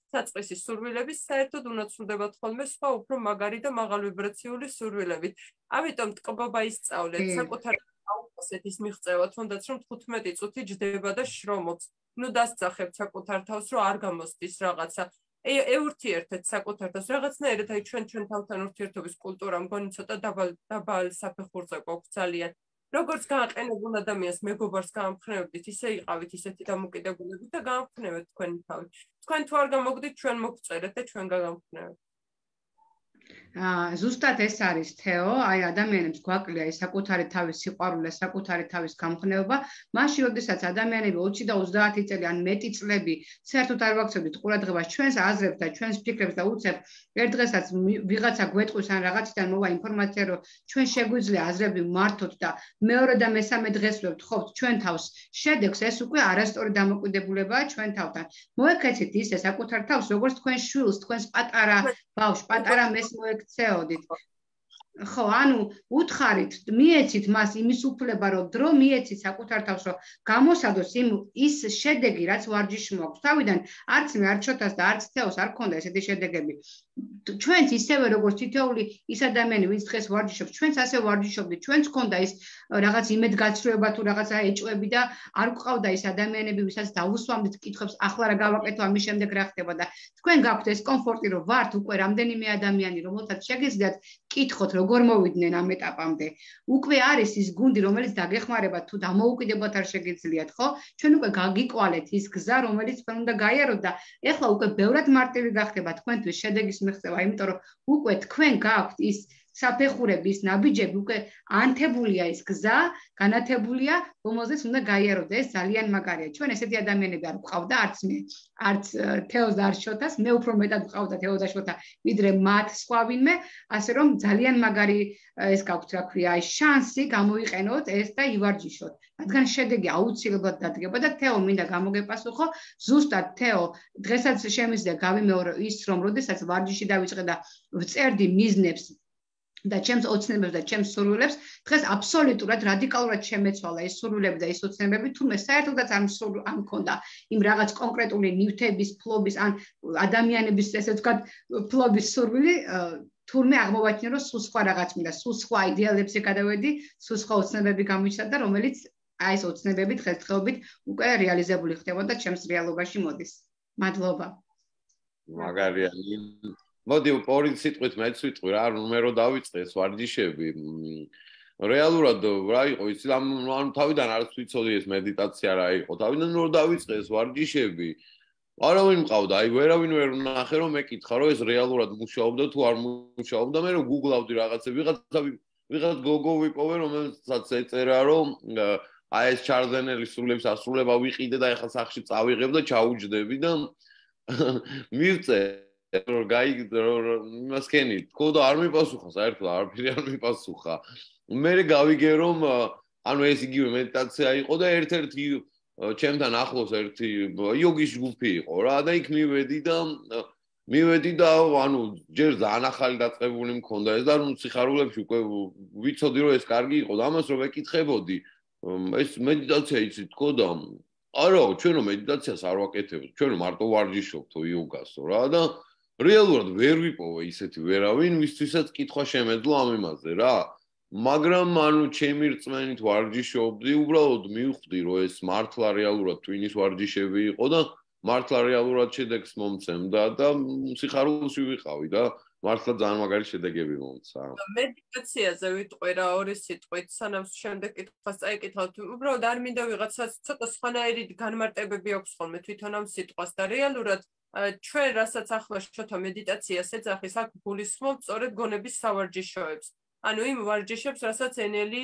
S3: საწყისის სურვილების საერთოდ უნაცვლდებათ ხოლმე სხვა უფრო მაგარი და მაღალვიბრაციული სურვილებით. ამიტომ ტკბობა ისწავლეთ, საკუთარ აუხსეთ ის მიღწევა, თუნდაც რომ თხუთმეტი წუთი ჯდება და შრომობს. ნუ დასწახებთ საკუთარ თავს, რომ არ გამოსდის რაღაცა. ეურთიერთეთ საკუთარ თავს, რაღაცნაირად აი ჩვენ ჩვენ თავთან ურთიერთობის კულტურა მგონი ცოტა დაბალ დაბალ საფეხურზე გვაქვს ძალიან. როგორც გააყენებულ ადამიანს მეგობარს გაამხნევებდით, ისე იყავით ისეთი დამოკიდებულებით და გაამხნევეთ თქვენი თავი. თქვენ თუ არ გამოგდით, ჩვენ მოგწერეთ და ჩვენ გაგამხნევებთ.
S2: ზუსტად ეს არის თეო, აი ადამიანებს გვაკლია ის საკუთარი თავის სიყვარული, საკუთარი თავის გამხნევება, მაშინ როდესაც ადამიანები ოცი და ოცდაათი წელი ან მეტი წლები საერთოდ არ ვაქცევდით ყურადღებას ჩვენს აზრებს და ჩვენს ფიქრებს და უცებ ერთ დღესაც ვიღაცა გვეტყვის ან რაღაციდან მოვა ინფორმაცია, რომ ჩვენ შეგვიძლია აზრები მართოთ და მეორე და მესამე დღეს ვთხოვთ ჩვენ თავს შედეგს, ეს უკვე არასწორი დამოკიდებულებაა ჩვენ თავთან. მოექცეთ ისე საკუთარ თავს, როგორც თქვენ შვილს, თქვენს პატარა ბავშვს, პატარა მეს მოექცეოდით. ხო, ანუ უთხარით, მიეცით მას იმის უფლება, რომ დრო მიეცით საკუთარ თავს, რომ გამოსადოს იმ ის შედეგი, რაც ვარჯიში მოაქვს. თავიდან არც მე, არც შოთას და არც თეოს არ ქონდა ესეთი შედეგები. ჩვენც ისევე როგორც თითოეული ის ადამიანი, ვინც დღეს ვარჯიშობს, ჩვენც ასე ვარჯიშობდით, ჩვენც ქონდა ის რაღაც იმედგაცრუება თუ რაღაცა ეჭვები და არ გვყავდა ის ადამიანები, ვისაც დავუსვამდით კითხვებს, ახლა რა გავაკეთო, ამის შემდეგ რა ხდება და თქვენ გაქვთ ეს კომფორტი, რომ ვართ უკვე რამდენიმე ადამიანი, რომელთაც შეგიძლიათ კითხოთ, როგორ მოვიდნენ ამ ეტაპამდე. უკვე არის ის გუნდი, რომელიც დაგეხმარებათ თუ დამოუკიდებლად არ შეგიძლიათ, ხო? ჩვენ უკვე გაგიკვალეთ ის გზა, რომელიც თქვენ უნდა გაიაროთ და ეხლა უკვე ბევრად მარტივი გახდება თქვენთვის შედეგის მიღწევა, იმიტომ რომ უკვე თქვენ გაქვთ ის საფეხურების ნაბიჯები, უკვე ანთებულია ის გზა, განათებულია, რომელზეც უნდა გაიაროთ. ეს ძალიან მაგარია. ჩვენ ესეთი ადამიანები არ გვყავდა, არც მე, არც თეოს და არც შოთას, მე უფრო მეტად გვყავდა თეო და შოთა, ვიდრე მათ სხვა ვინმე, ასე რომ ძალიან მაგარი ეს გაქვთ, რა ქვია, აი შანსი გამოიყენოთ ეს და ივარჯიშოთ. რადგან შედეგი აუცილებლად დადგება და თეო მინდა გამოგეპასუხო, ზუსტად თეო, დღესაც შემიძლია გავიმეორო ის, რომ როდესაც ვარჯიში დავიწყე და ვწერდი მიზნებს და ჩემს ოცნებებს და ჩემს სურვილებს, დღეს აბსოლუტურად რადიკალურად შემეცვალა ეს სურვილები და ეს ოცნებები, თუმცა საერთოდაც არ არ მქონდა იმ რაღაც კონკრეტული ნივთების, ფლობის ან ადამიანების, ესე ვთქვათ, ფლობის სურვილი, თურმე აღმოვაჩინე, რომ სულ სხვა რაღაც მინდა, სულ სხვა იდეალებზე გადავედი, სულ სხვა ოცნებები გამიჩნდა და რომელიც აი ეს ოცნებები დღესდღეობით უკვე რეალიზებული ხდებოდა ჩემს რეალობაში მოდის. მადლობა.
S1: მაგარია. მოდი ორი სიტყვით მეც ვიტყვი რა, ნუმერო დავიწყე ეს ვარჯიშები. რეალურად რა იყო იცი, ანუ თავიდან არც ვიცოდი ეს მედიტაცია რა იყო. თავიდან რომ დავიწყე ეს ვარჯიშები, არავინ მყავდა, აი ვერავინ ვერ ნახე რომ მეკითხა რომ ეს რეალურად მუშაობდა თუ არ მუშაობდა, მე რომ გუგლავდი რაღაცები, ვიღაცა ვიღაც გოგო ვიპოვე, რომელსაც ეწერა რომ აი ეს ჩარლზენელი სრულების ასრულება ვიყიდე და ეხლა სახში წავიღებ და ჩაუჯდები და მივწე რომ გაიგდო იმას კენი თქო და არ მიპასუხა საერთოდ არაფერი არ მიპასუხა. მე გავიგე რომ ანუ ეს იგივე მედიტაცია იყო და ერთ-ერთი ჩემთან ახლოს ერთი იოგის ჯგუფი იყო რა და იქ მივედი და მივედი და ანუ ჯერ ძალიან ახალი დაწყებული მქონდა ეს და ნუ სიხარულებში უკვე ვიცოდი რომ ეს კარგი იყო და ამას რომ ეკითხებოდი ეს მედიტაცია იცი თქო და არა ჩვენო მედიტაციას არ ვაკეთებთ ჩვენ მარტო ვარჯიშობთო იოგასო რა და რეალურად ვერ ვიპოვე ისეთი ვერავინ ვისთვისაც კითხვა შემეძლო ამ იმაზე რა მაგრამ ანუ ჩემი რწმენით ვარჯიშობდი უბრალოდ მივხვდი რომ ეს მართლა რეალურად ტვინის ვარჯიშები იყო და მართლა რეალურად შედეგს მომცემდა და სიხარულში ვიყავი და მართლა ძალიან მაგარი შედეგები მომცა.
S3: მედიტაციაზე ვიტყვი რა ორი სიტყვით, სანამ შემდეგ კითხვას წაიკითხავთ. უბრალოდ არ მინდა ვიღაცას ცოტა სხვანაირი განმარტებები აქვს ხოლმე თვითონ ამ სიტყვას და რეალურად ჩვენ რასაც ახლა შოთა მედიტაციას ეძახის, აქ გულისხმობთ სწორედ გონების სავარჯიშოებს. ანუ იმ ვარჯიშებს, რასაც ენელი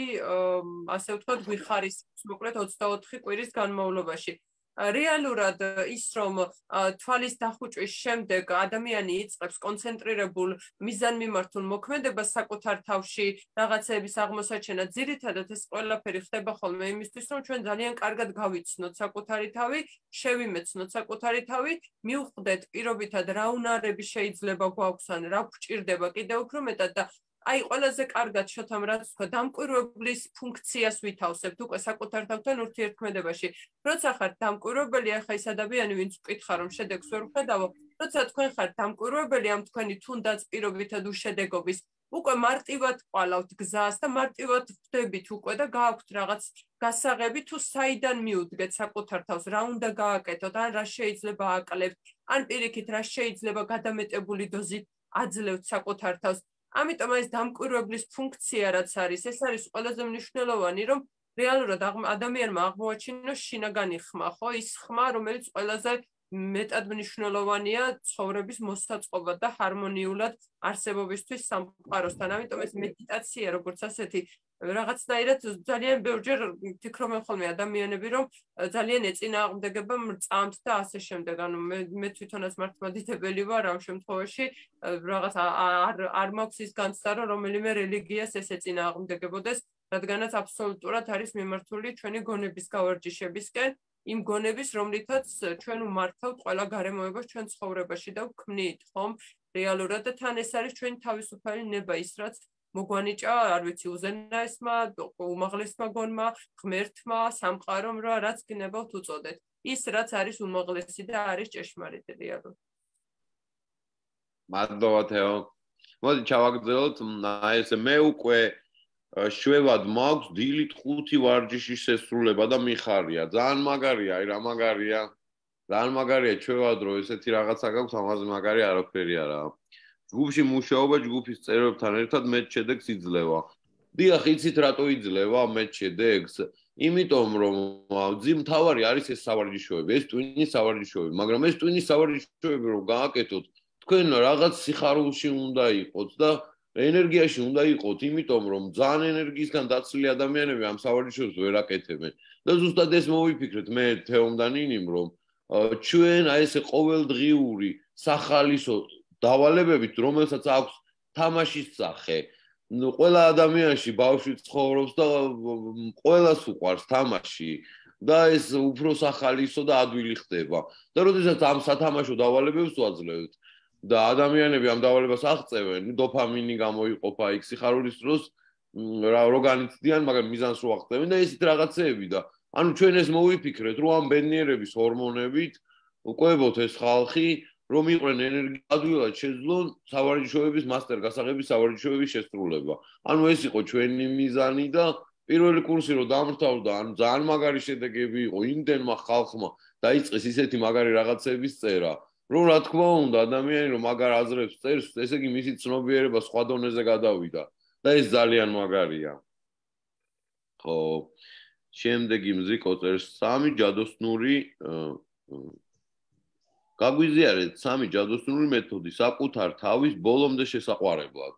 S3: ასე ვთქვათ, გვიხარისებს მოკლედ ოცდაოთხი კვირის განმავლობაში. რეალურად ის რომ თვალის დახუჭვის შემდეგ ადამიანი იწყებს კონცენტრირებულ მიზანმიმართულ მოქმედებას საკუთარ თავში რაღაცების აღმოსაჩენა ძირითადად ეს ყველაფერი ხდება ხოლმე იმისთვის რომ ჩვენ ძალიან კარგად გავიცნოთ საკუთარი თავი, შევიმეცნოთ საკუთარი თავი, მივხვდეთ პირობითად რა უნარები შეიძლება გვაქვს ან რა გვჭირდება კიდევ უფრო მეტად და აი ყველაზე კარგად შოთამ რაც თქვა დამკვირვებლის ფუნქციას ვითავსებთ უკვე საკუთარ თავთან ურთიერთქმედებაში. როცა ხართ დამკვირვებელი, ახლა ის ადამიანი ვინც ვკითხა რომ შედეგს ვერ ვხედავო, როცა თქვენ ხართ დამკვირვებელი ამ თქვენი თუნდაც პირობითად უშედეგობის, უკვე მარტივად ყვალავთ გზას და მარტივად ხვდებით უკვე და გააქვთ რაღაც გასაღები თუ საიდან მიუდგეთ საკუთარ თავს, რა უნდა გააკეთოთ, ან რა შეიძლება ააკლებთ, ან პირიქით რა შეიძლება გადამეტებული დოზით აძლევთ საკუთარ თავს. ამიტომ ეს დამკვირვებლის ფუნქცია რაც არის, ეს არის ყველაზე მნიშვნელოვანი, რომ რეალურად ადამიანმა აღმოაჩინოს შინაგანი ხმა, ხო, ის ხმა, რომელიც ყველაზე მეტად მნიშვნელოვანია ცხოვრების მოსაწყობა და ჰარმონიულად არსებობისთვის სამყაროსთან. ამიტომ ეს მედიტაცია, როგორც ასეთი, რაღაცნაირად ძალიან ბევრჯერ ვფიქრობ ხოლმე ადამიანები, რომ ძალიან ეწინააღმდეგება მრწამთ და ასე შემდეგ. ანუ მე მე თვითონაც მართლმადიდებელი ვარ ამ შემთხვევაში, რაღაც არ არ მაქვს ის განცდა, რომ რომელიმე რელიგიას ეს ეწინააღმდეგებოდეს, რადგანაც აბსოლუტურად არის მიმართული ჩვენი გონების გავარჯიშებისკენ, იმ გონების, რომლითაც ჩვენ უმართავთ ყველა გარემოებას ჩვენ ცხოვრებაში და ვქმნით, ხომ? რეალურად და თან ეს არის ჩვენი თავისუფალი ნება, ის რაც მოგვანიჭა, არ ვიცი, უზენაესმა, უმაღლესმა გონმა, ღმერთმა, სამყარომ, რა რაც გნებავთ უწოდეთ. ის რაც არის უმაღლესი და არის ჭეშმარიტი რეალურად.
S1: მადლობა თეო. მოდი ჩავაგრძელოთ, აი ესე მე უკვე შვევად მაქვს დილით ხუთი ვარჯიშის შესრულება და მიხარია. ძალიან მაგარია, აი რა მაგარია. ძალიან მაგარია შვევად რომ ესეთი რაღაცა გაქვს, ამაზე მაგარი არაფერი არაა. ჯგუფში მუშაობა ჯგუფის წევრებთან ერთად მეტ შედეგს იძლევა. დიახ, იცით რატო იძლევა მეტ შედეგს? იმიტომ რომ ძიმ თავარი არის ეს სავარჯიშოები, ეს ტვინის სავარჯიშოები, მაგრამ ეს ტვინის სავარჯიშოები რომ გააკეთოთ, თქვენ რაღაც სიხარულში უნდა იყოთ და ენერგიაში უნდა იყოთ, იმიტომ რომ ძალიან ენერგიისგან დაცლილი ადამიანები ამ სავარჯიშოებს ვერ აკეთებენ. და ზუსტად ეს მოვიფიქრეთ მე თეომ და ნინიმ, რომ ჩვენ აი ესე ყოველდღიური სახალისო დავალებებით, რომელსაც აქვს თამაშის სახე, ყველა ადამიანში ბავშვი ცხოვრობს და ყველას უყვარს თამაში და ეს უფრო სახალისო და ადვილი ხდება. და როდესაც ამ სათამაშო დავალებებს ვაძლევთ და ადამიანები ამ დავალებას აღწევენ, დოფამინი გამოიყოფა იქ სიხარულის დროს, რო განიცდიან, მაგრამ მიზანს რო აღწევენ და ესეთ რაღაცეები და ანუ ჩვენ ეს მოვიფიქრეთ, რომ ამ ბედნიერების ჰორმონებით ვყვებოთ ეს ხალხი, რომ იყვნენ ენერგია ადვილად შეძლონ სავარჯიშოების მასტერ გასაღების სავარჯიშოების შესრულება. ანუ ეს იყო ჩვენი მიზანი და პირველი კურსი რო დამრთავდა, ანუ ძალიან მაგარი შედეგები იყო იმდენმა ხალხმა დაიწყეს ისეთი მაგარი რაღაცების წერა, რომ რა თქმა უნდა ადამიანი რომ მაგარ აზრებს წერს, ესე იგი მისი ცნობიერება სხვა დონეზე გადავიდა და ეს ძალიან მაგარია. ხო, შემდეგი მზიკო წერს სამი ჯადოსნური გაგვიზიარეთ სამი ჯადოსნური მეთოდი საკუთარ თავის ბოლომდე შესაყვარებლად.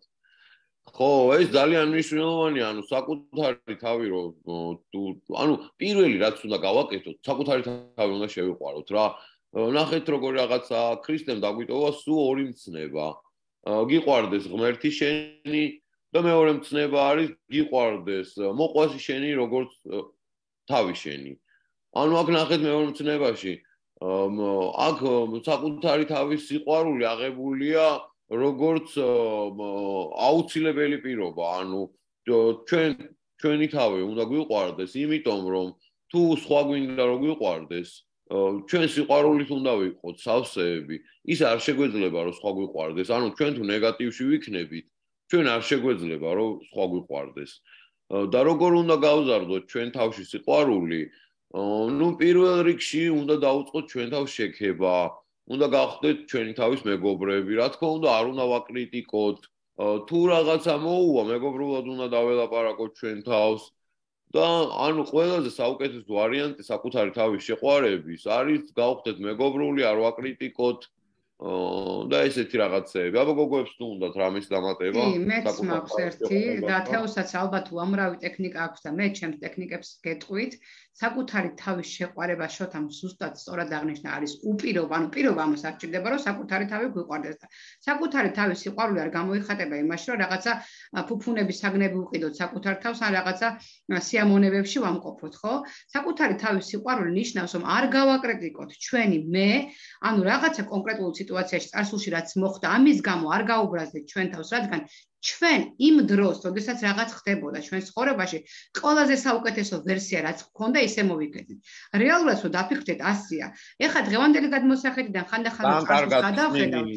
S1: ხო, ეს ძალიან მნიშვნელოვანია, ანუ საკუთარი თავი რომ ანუ პირველი რაც უნდა გავაკეთოთ, საკუთარი თავი უნდა შევიყვაროთ რა. ნახეთ როგორ რაღაცა ქრისტემ დაგვიტოვა სულ ორი მცნება. გიყვარდეს ღმერთი შენი და მეორე მცნება არის გიყვარდეს მოყვასი შენი როგორც თავი შენი. ანუ აქ ნახეთ მეორე მცნებაში აქ საკუთარი თავის სიყვარული აღებულია როგორც აუცილებელი პირობა, ანუ ჩვენ ჩვენი თავი უნდა გვიყვარდეს, იმიტომ რომ თუ სხვა გვინდა რომ გვიყვარდეს, ჩვენ სიყვარულით უნდა ვიყოთ სავსეები, ის არ შეგვეძლება რომ სხვა გვიყვარდეს, ანუ ჩვენ თუ ნეგატივში ვიქნებით, ჩვენ არ შეგვეძლება რომ სხვა გვიყვარდეს. და როგორ უნდა გავზარდოთ ჩვენ თავში სიყვარული? ნუ პირველ რიგში უნდა დაუწყოთ ჩვენ თავს შექება, უნდა გავხდეთ ჩვენი თავის მეგობრები, რა თქმა უნდა არ უნდა ვაკრიტიკოთ, თუ რაღაცა მოუვა, მეგობრულად უნდა დაველაპარაკოთ ჩვენ თავს და ანუ ყველაზე საუკეთესო ვარიანტი საკუთარი თავის შეყვარების არის გავხდეთ მეგობრული, არ ვაკრიტიკოთ და ესეთი რაღაცეები. აბა გოგოებს თუ უნდათ რამის დამატება?
S2: კი, მეც მაქვს ერთი და თეოსაც ალბათ უამრავი ტექნიკა აქვს და მე ჩემს ტექნიკებს გეტყვით. საკუთარი თავის შეყვარება შოთამ ზუსტად სწორად აღნიშნა არის უპირობა, ანუ პირობა ამას არ ჭირდება, რომ საკუთარი თავი გვიყვარდეს და საკუთარი თავის სიყვარული არ გამოიხატება იმაში, რომ რაღაცა ფუფუნების საგნები უყიდოთ საკუთარ თავს ან რაღაცა სიამონებებში ვამყოფოთ, ხო? საკუთარი თავის სიყვარული ნიშნავს, რომ არ გავაკრიტიკოთ ჩვენი მე, ანუ რაღაცა კონკრეტულ სიტუაციაში წარსულში რაც მოხდა, ამის გამო არ გაუბრაზდეთ ჩვენ თავს, რადგან ჩვენ იმ დროს, როდესაც რაღაც ხდებოდა ჩვენ ცხოვრებაში, ყველაზე საუკეთესო ვერსია რაც გქონდა, ისე მოვიგეთით. რეალურად რო დაფიქრდეთ, ასია. ეხლა დღევანდელი გადმოსახედიდან ხანდახან წარსულს გადავხედავთ.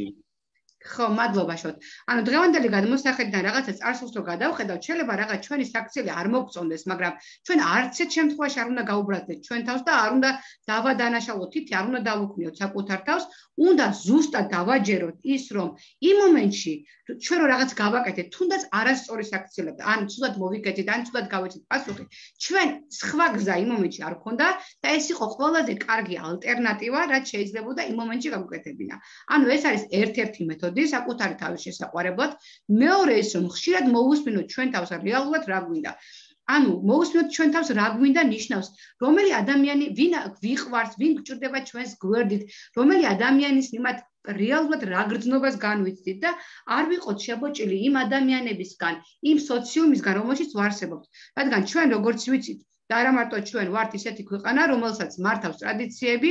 S2: ხო, მადლობა შოთ. ანუ დღევანდელი გადმოსახედიდან რაღაცა წარსულს რო გადავხედავთ, შეიძლება რაღაც ჩვენი საქციელი არ მოგწონდეს, მაგრამ ჩვენ არც ერთ შემთხვევაში არ უნდა გაუბრალდეთ ჩვენ თავს და არ უნდა დავადანაშაულოთ თითი, არ უნდა დავუქმნიოთ საკუთარ თავს, უნდა ზუსტად დავაჯეროთ ის, რომ იმ მომენტში ჩვენ რო რაღაც გავაკეთეთ, თუნდაც არასწორი საქციელები, ან ცუდად მოვიკეთეთ, ან ცუდად გავეცეთ პასუხი, ჩვენ სხვა გზა იმ მომენტში არ გქონდა და ეს იყო ყველაზე კარგი ალტერნატივა, რაც შეიძლებოდა იმ მომენტში გავუკეთებინა. ანუ ეს არის ერთ-ერთი მეთოდი საკუთარი თავის შესაყვარებლად. მეორე ის, რომ ხშირად მოვუსმინოთ ჩვენ თავს რეალურად რა გვინდა. ანუ მოვუსმინოთ ჩვენ თავს რა გვინდა ნიშნავს, რომელი ადამიანი ვინ ვიყვარს, ვინ გჭირდება ჩვენს გვერდით, რომელი ადამიანის მიმართ რეალურად რა გრძნობას განვიცდით და არ ვიყოთ შებოჭილი იმ ადამიანებისგან, იმ სოციუმისგან, რომელშიც ვარსებობთ. რადგან ჩვენ როგორც ვიცით, და არა მარტო ჩვენ ვართ ისეთი ქვეყანა, რომელსაც მართავს ტრადიციები,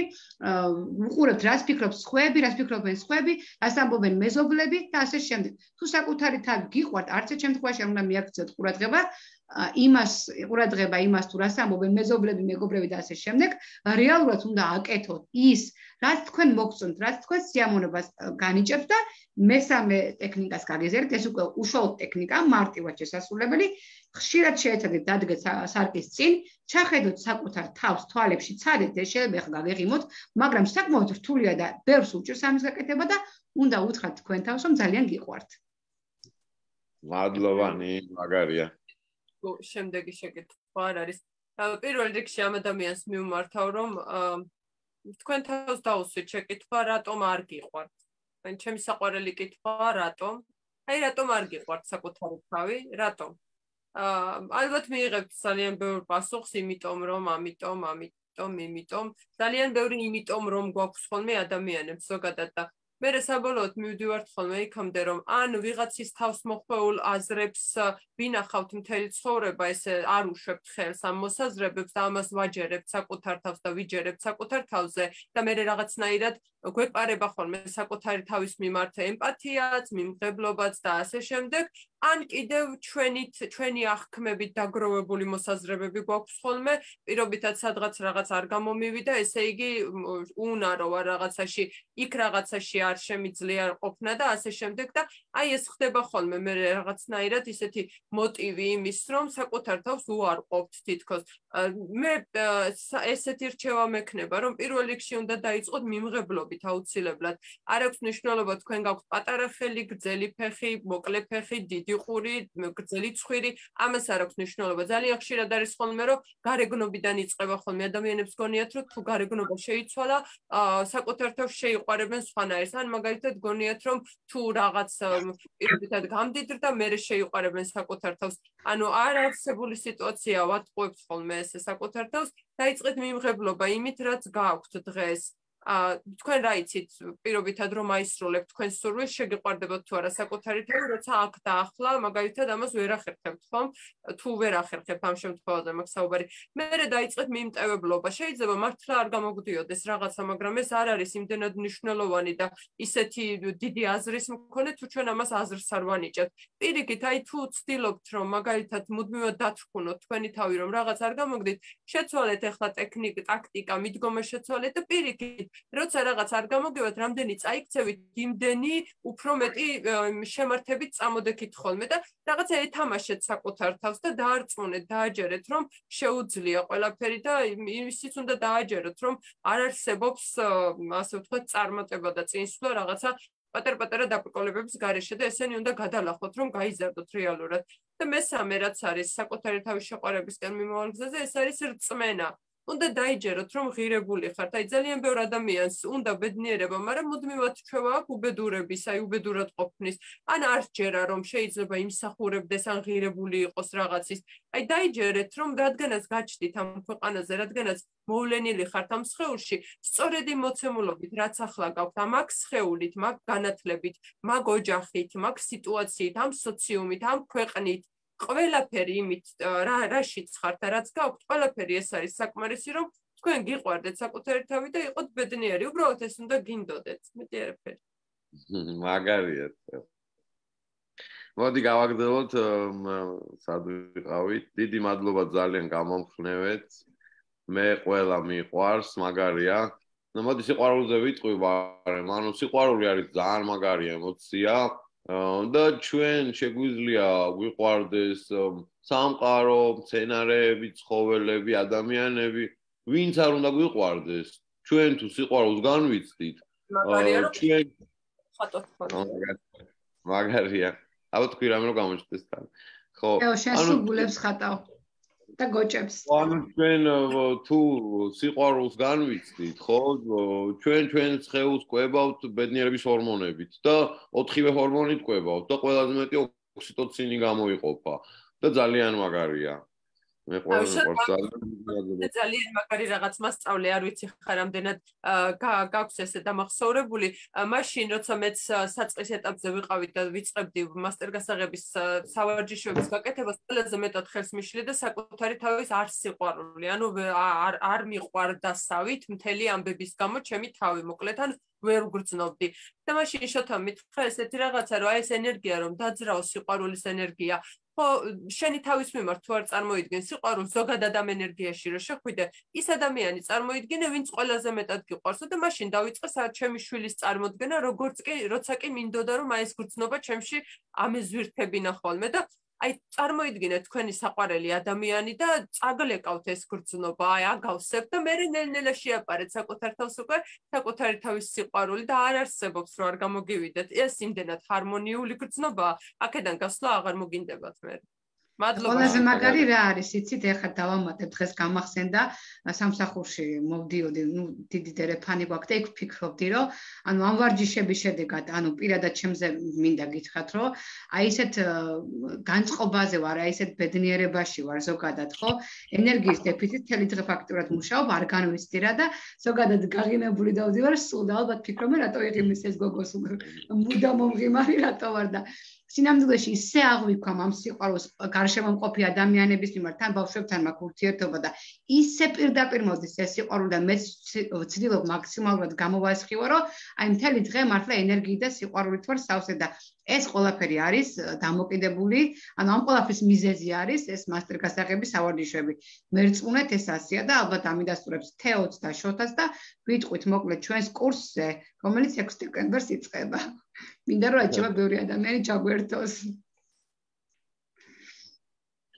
S2: უყურებთ რას ფიქრობს სხვები, რას ფიქრობენ სხვები, რას ამბობენ მეზობლები და ასე შემდეგ. თუ საკუთარი თავი გიყვართ, არც ერთ შემთხვევაში არ უნდა მიაქციოთ ყურადღება იმას, ყურადღება იმას თუ რას ამბობენ მეზობლები, მეგობრები და ასე შემდეგ, რეალურად უნდა აკეთოთ ის, რაც თქვენ მოგწონთ, რაც თქვენ სიამოვნებას განიჭებს და მესამე ტექნიკას გაგეზიარეთ, ეს უკვე უშუალოდ ტექნიკა, მარტივად შესასრულებელი. ხშირად შეეცადეთ დადგეთ სარკის წინ, ჩახედოთ საკუთარ თავს თვალებში, ცადეთ, ეს შეიძლება ხა გაგეღიმოთ, მაგრამ საკმაოდ რთულია და ბევრს უჭირს ამის გაკეთება და უნდა უთხრათ თქვენ თავს, რომ ძალიან გიყვართ.
S1: მადლობანი, მაგარია.
S3: შემდეგი შეკითხვა არ არის. პირველ რიგში ამ ადამიანს მივმართავ, რომ თქვენ თავს დაუსვით შეკითხვა, რატომ არ გიყვართ? ან ჩემი საყვარელი კითხვა, რატომ? აი რატომ არ გიყვართ საკუთარი თავი? რატომ? ალბათ მიიღებთ ძალიან ბევრ პასუხს, იმიტომ რომ, ამიტომ, ამიტომ, იმიტომ, ძალიან ბევრი იმიტომ რომ გვაქვს ხოლმე ადამიანებს ზოგადად და მე საბოლოოდ მივდივართ ხოლმე იქამდე რომ ან ვიღაცის თავს მოხვეულ აზრებს ვინახავთ მთელი ცხოვრება, ესე არ უშვებთ ხელს ამ მოსაზრებებს და ამას ვაჯერებთ საკუთარ თავს და ვიჯერებთ საკუთარ თავზე და მე რაღაცნაირად გვეპარება ხოლმე საკუთარი თავის მიმართ ემპათიაც, მიმღებლობაც და ასე შემდეგ. ან კიდევ ჩვენით, ჩვენი აღქმებით დაგროვებული მოსაზრებები გვაქვს ხოლმე, პირობითად სადღაც რაღაც არ გამომივიდა, ესე იგი უნარო ვარ რაღაცაში, იქ რაღაცაში არ შემიძლია ყოფნა და ასე შემდეგ და აი ეს ხდება ხოლმე მე რაღაცნაირად ისეთი მოტივი იმის, რომ საკუთარ თავს უარყოფთ თითქოს. მე ესეთი რჩევა მექნება, რომ პირველ რიგში უნდა დაიწყოთ მიმღებლობით აუცილებლად. არ აქვს მნიშვნელობა თქვენ გაქვთ პატარა ხელი, გრძელი ფეხი, მოკლე ფეხი, დიდი ყური, გრძელი ცხვირი, ამას არ აქვს მნიშვნელობა. ძალიან ხშირად არის ხოლმე, რომ გარეგნობიდან იწყება ხოლმე ადამიანებს გონიათ, რომ თუ გარეგნობა შეიცვალა, საკუთარ თავს შეიყვარებენ სხვანაირს. ან მაგალითად გონიათ, რომ თუ რაღაც პირობითად გამდიდრდა, მერე შეიყვარებენ საკუთარ თავს. ანუ არ არსებული სიტუაცია ვატყუებთ ხოლმე ესე საკუთარ თავს, დაიწყეთ მიმღებლობა იმით, რაც გააქვთ დღეს. თქვენ რა იცით, პირობითად რომ აისრულებთ თქვენ სურვილს, შეგიყვარდებათ თუ არა საკუთარი თავი, როცა აქ და ახლა მაგალითად ამას ვერ ახერხებთ, ხომ? თუ ვერ ახერხებთ ამ შემთხვევაზე მაქვს საუბარი. მერე დაიწყეთ მიმტევებლობა. შეიძლება მართლა არ გამოგვდიოდეს რაღაცა, მაგრამ ეს არ არის იმდენად მნიშვნელოვანი და ისეთი დიდი აზრის მქონე, თუ ჩვენ ამას აზრს არ ვანიჭებთ. პირიქით, აი თუ ცდილობთ, რომ მაგალითად მუდმივად დათრქუნოთ თქვენი თავი, რომ რაღაც არ გამოგდით, შეცვალეთ ახლა ტექნიკა, ტაქტიკა, მიდგომა შეცვალეთ და პირიქით როცა რაღაც არ გამოგივათ, რამდენი წაიქცევით, იმდენი უფრო მეტი შემართებით წამოდექით ხოლმე და რაღაცა ეთამაშეთ საკუთარ თავს და დაარწმუნეთ, დააჯერეთ, რომ შეუძლია ყველაფერი და ისიც უნდა დააჯეროთ, რომ არ არსებობს, ასე ვთქვათ, წარმატება და წინსვლა რაღაცა პატარ-პატარა დაბრკოლებების გარეშე და ესენი უნდა გადალახოთ, რომ გაიზარდოთ რეალურად. და მესამე რაც არის საკუთარი თავის შეყვარებისკენ მიმავალ გზაზე, ეს არის რწმენა. უნდა დაიჯეროთ, რომ ღირებული ხართ. აი ძალიან ბევრ ადამიანს უნდა ბედნიერება, მაგრამ მუდმივად ჩვევა აქვს უბედურების, აი უბედურად ყოფნის. ან არ ჯერა, რომ შეიძლება იმსახურებდეს, ან ღირებული იყოს რაღაცის. აი დაიჯერეთ, რომ რადგანაც გაჩდით ამ ქვეყანაზე, რადგანაც მოვლენილი ხართ ამ სხეულში, სწორედ იმ მოცემულობით, რაც ახლა გაქვთ, ამ აქ სხეულით, მაგ განათლებით, მაგ ოჯახით, მაგ სიტუაციით, ამ სოციუმით, ამ ქვეყნით, ყველაფერი იმით, რაშიც ხართ და რაც გაქვთ, ყველაფერი ეს არის საკმარისი, რომ თქვენ გიყვარდეთ საკუთარი თავი და იყოთ ბედნიერი. უბრალოდ ეს უნდა გინდოდეთ. მეტი არაფერი.
S1: მაგარია. მოდი გავაგრძელოთ, სად ვიყავით. დიდი მადლობა ძალიან გამომხნევეთ. მე ყველა მიყვარს, მაგარია. ნუ მოდი სიყვარულზე ვიტყვი, მაგრამ ანუ სიყვარული არის ძალიან მაგარი ემოცია და ჩვენ შეგვიძლია გვიყვარდეს სამყარო, მცენარეები, ცხოველები, ადამიანები, ვინც არ უნდა გვიყვარდეს. ჩვენ თუ სიყვარულს განვიცდით, ჩვენ
S3: ხატოთ
S1: მაგარია. აბა თქვი რამე რომ გამოჩნდეს თან. ხო,
S2: ანუ შენ სულებს ხატავ და გოჭებს.
S1: ანუ ჩვენ თუ სიყვარულს განვიცდით, ხო, ჩვენ ჩვენს სხეულს კვებავთ ბედნიერების ჰორმონებით და ოთხივე ჰორმონით კვებავთ და ყველაზე მეტი ოქსიტოცინი გამოიყოფა და ძალიან მაგარია. მე ყველას მიყვარს
S3: ძალიან მაგარი რაღაც მასწავლე არ ვიცი ხარ რამდენად გაქვს ესე დამახსოვრებული მაშინ როცა მეც საწყის ეტაპზე ვიყავი და ვიწყებდი მასტერგასაღების სავარჯიშოების გაკეთებას ყველაზე მეტად ხელს მიშლი და საკუთარი თავის არ სიყვარული ანუ არ არ მიყვარდასავით მთელი ამბების გამო ჩემი თავი მოკლედ ან ვერ ვგრძნობდი და მაშინ შოთა მითხრა ესეთი რაღაცა რომ აი ეს ენერგია რომ დაძრაო სიყვარულის ენერგია ხო შენი თავის მიმართ თუ არ წარმოიდგენ სიყვარულს ზოგადად ამ ენერგიაში რომ შეხვიდე ის ადამიანი წარმოიდგინე ვინც ყველაზე მეტად გიყვარსო და მაშინ დავიწყე ჩემი შვილის წარმოდგენა როგორც კი როცა კი მინდოდა რომ აი ეს გრძნობა ჩემში ამეზვირთებინა ხოლმე და აი წარმოიდგინე თქვენი საყვარელი ადამიანი და წაგლეკავთ ეს გრძნობა აი აგავსებ და მე ნელ-ნელა შეაპარეთ საკუთარ თავს უკვე საკუთარი თავის სიყვარული და არ არსებობს რომ არ გამოგივიდეთ ეს იმდენად ჰარმონიული გრძნობაა აქედან გასვლა აღარ მოგინდებათ მე მადლობა
S2: ყველაზე მაგარი რა არის იცით ეხლა დავამატებ დღეს გამახსენდა სამსახურში მოვდიოდი ნუ დიდი დერეფანი გვაქვს და იქ ვფიქრობდი რომ ანუ ამ ვარჯიშების შედეგად ანუ პირადად ჩემზე მინდა გითხრათ რომ აი ესეთ განწყობაზე ვარ აი ესეთ ბედნიერებაში ვარ ზოგადად ხო ენერგიის დეფიციტი თელი დღე ფაქტურად მუშაობ არ განვიცდი რა და ზოგადად გაღიმებული დავდივარ სულ და ალბათ ფიქრობ მე რატო იღიმის ეს გოგოს მუდამ მომღიმარი რატო ვარ და სინამდვილეში ისე აღვიქვამ ამ სიყვარულს გარშემო მყოფი ადამიანების მიმართ თან ბავშვებთან მაქვს ურთიერთობა და ისე პირდაპირ მოდის ეს სიყვარული და მე ვცდილობ მაქსიმალურად გამოვასხივო რომ აი მთელი დღე მართლა ენერგიით და სიყვარულით ვარ სავსე და ეს ყველაფერი არის დამოკიდებული ანუ ამ ყველაფრის მიზეზი არის ეს მასტერგასაღების სავარჯიშოები მერწმუნეთ ეს ასია და ალბათ ამიდასტურებს თეოც და შოთას და ვიტყვით მოკლედ ჩვენს კურსზე რომელიც ექვსი დეკემბერს იწყება მინდა რომ აჩვენა ბევრი ადამიანი ჩაგვერთოს.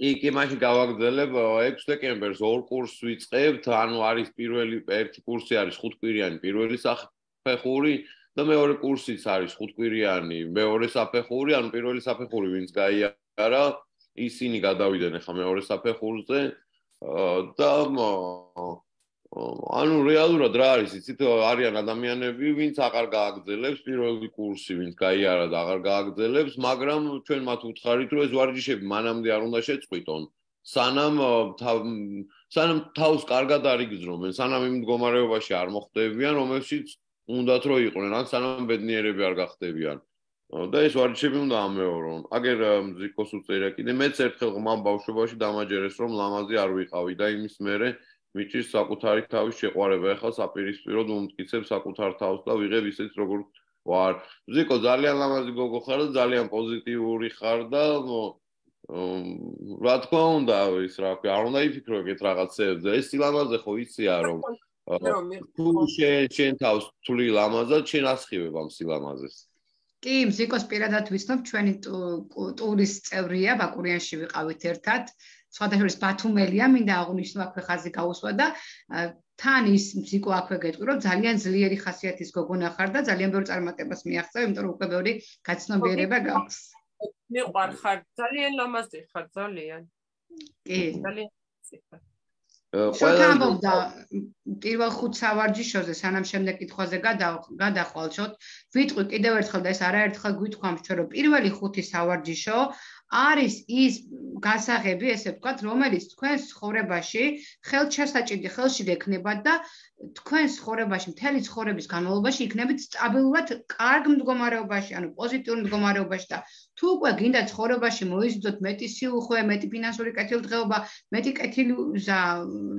S1: კი, კი, მაშინ გავაგრძელებ ექვსი დეკემბერს ორ კურსს ვიწყებთ, ანუ არის პირველი ერთი კურსი არის ხუთკვირიანი პირველი საფეხური და მეორე კურსიც არის ხუთკვირიანი მეორე საფეხური, ანუ პირველი საფეხური ვინც გაიარა, ისინი გადავიდნენ ახლა მეორე საფეხურზე და ანუ რეალურად რა არის იცით არიან ადამიანები ვინც აღარ გააგრძელებს პირველი კურსი ვინც გაიარა და აღარ გააგრძელებს მაგრამ ჩვენ მათ უთხარით რომ ეს ვარჯიშები მანამდე არ უნდა შეწყვიტონ სანამ სანამ თავს კარგად არ იგრძნობენ სანამ იმ მდგომარეობაში არ მოხვდებიან რომელშიც უნდათ რომ იყვნენ ან სანამ ბედნიერები არ გახდებიან და ეს ვარჯიშები უნდა ამეორონ აგერ მზიკოს უწერა კიდე მეც ერთხელ ღმამ ბავშვობაში დამაჯერეს რომ ლამაზი არ ვიყავი და იმის მერე მიჭირს საკუთარი თავის შეყვარება ახლა საპირისპიროდ მომტკიცებ საკუთარ თავს და ვიღებ ისეთ როგორც ვარ ზიკო ძალიან ლამაზი გოგო ხარ და ძალიან პოზიტიური ხარ და რა თქმა უნდა ის რა ქვია არ უნდა იფიქრო ეგეთ რაღაცებზე ეს სილამაზე ხო იცია რომ თუ შენ თავს თვლი ლამაზად შენ ასხივებ ამ სილამაზეს
S2: კი მზიკოს პირადად ვიცნობ ჩვენი ტურის წევრია ბაკურიანში ვიყავით ერთად სხვადასხვა ბათუმელია მინდა აღნიშნო აქვე ხაზი გაუსვა და თან ის მზიკო აქვე გეტყვი რომ ძალიან ძლიერი ხასიათის გოგონა ხარ და ძალიან ბევრ წარმატებას მიაღწევ იმიტომ რომ უკვე ბევრი გაცნობიერება გაქვს
S3: მიყვარ ხარ ძალიან ლამაზი ხარ ძალიან
S2: კი
S3: ძალიან
S2: შოთამბობდა პირველ ხუთ სავარჯიშოზე სანამ შემდეგ კითხვაზე გადახვალშოთ ვიტყვი კიდევ ერთხელ და ეს არაერთხელ გვითქვამს ჩვენ რომ პირველი ხუთი სავარჯიშო არის ის გასაღები ესე ვთქვათ რომელიც თქვენს ცხოვრებაში ხელჩასაჭიდი ხელში გექნებათ და თქვენს ცხოვრებაში მთელი ცხოვრების განმავლობაში იქნებით სტაბილურად კარგ მდგომარეობაში ანუ პოზიტიურ მდგომარეობაში და თუ უკვე გინდა ცხოვრებაში მოიზიდოთ მეტი სიუხვე მეტი ფინანსური კეთილდღეობა მეტი კეთილი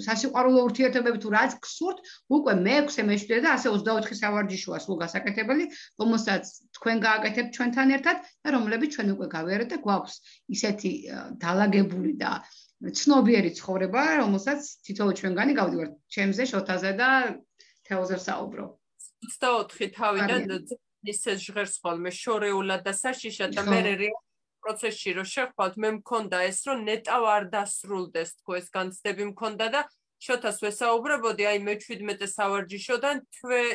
S2: სასიყვარულო ურთიერთობები თუ რაც გსურთ უკვე მეექვსე მეშვიდე და ასე ოცდაოთხი სავარჯიშოა სულ გასაკეთებელი რომელსაც თქვენ გააკეთებთ ჩვენთან ერთად და რომლებიც ჩვენ უკვე გავიარეთ და გვაქვს ისეთი დალაგებული და ცნობიერი ცხოვრება, რომელსაც თითოეულ ჩვენგანი გავდივართ ჩემზე, შოთაზე და თეოზე ვსაუბრო.
S3: ოცდაოთხი თავიდან ისე ჟღერს ხოლმე შორეულად და საშიშად და მე პროცესში რო შეხვალთ, მე მქონდა ეს, რომ ნეტავ არ დასრულდეს თქო ეს განცდები მქონდა და შოთას ვესაუბრებოდი, აი მე შვიდმეტე სავარჯიშოდან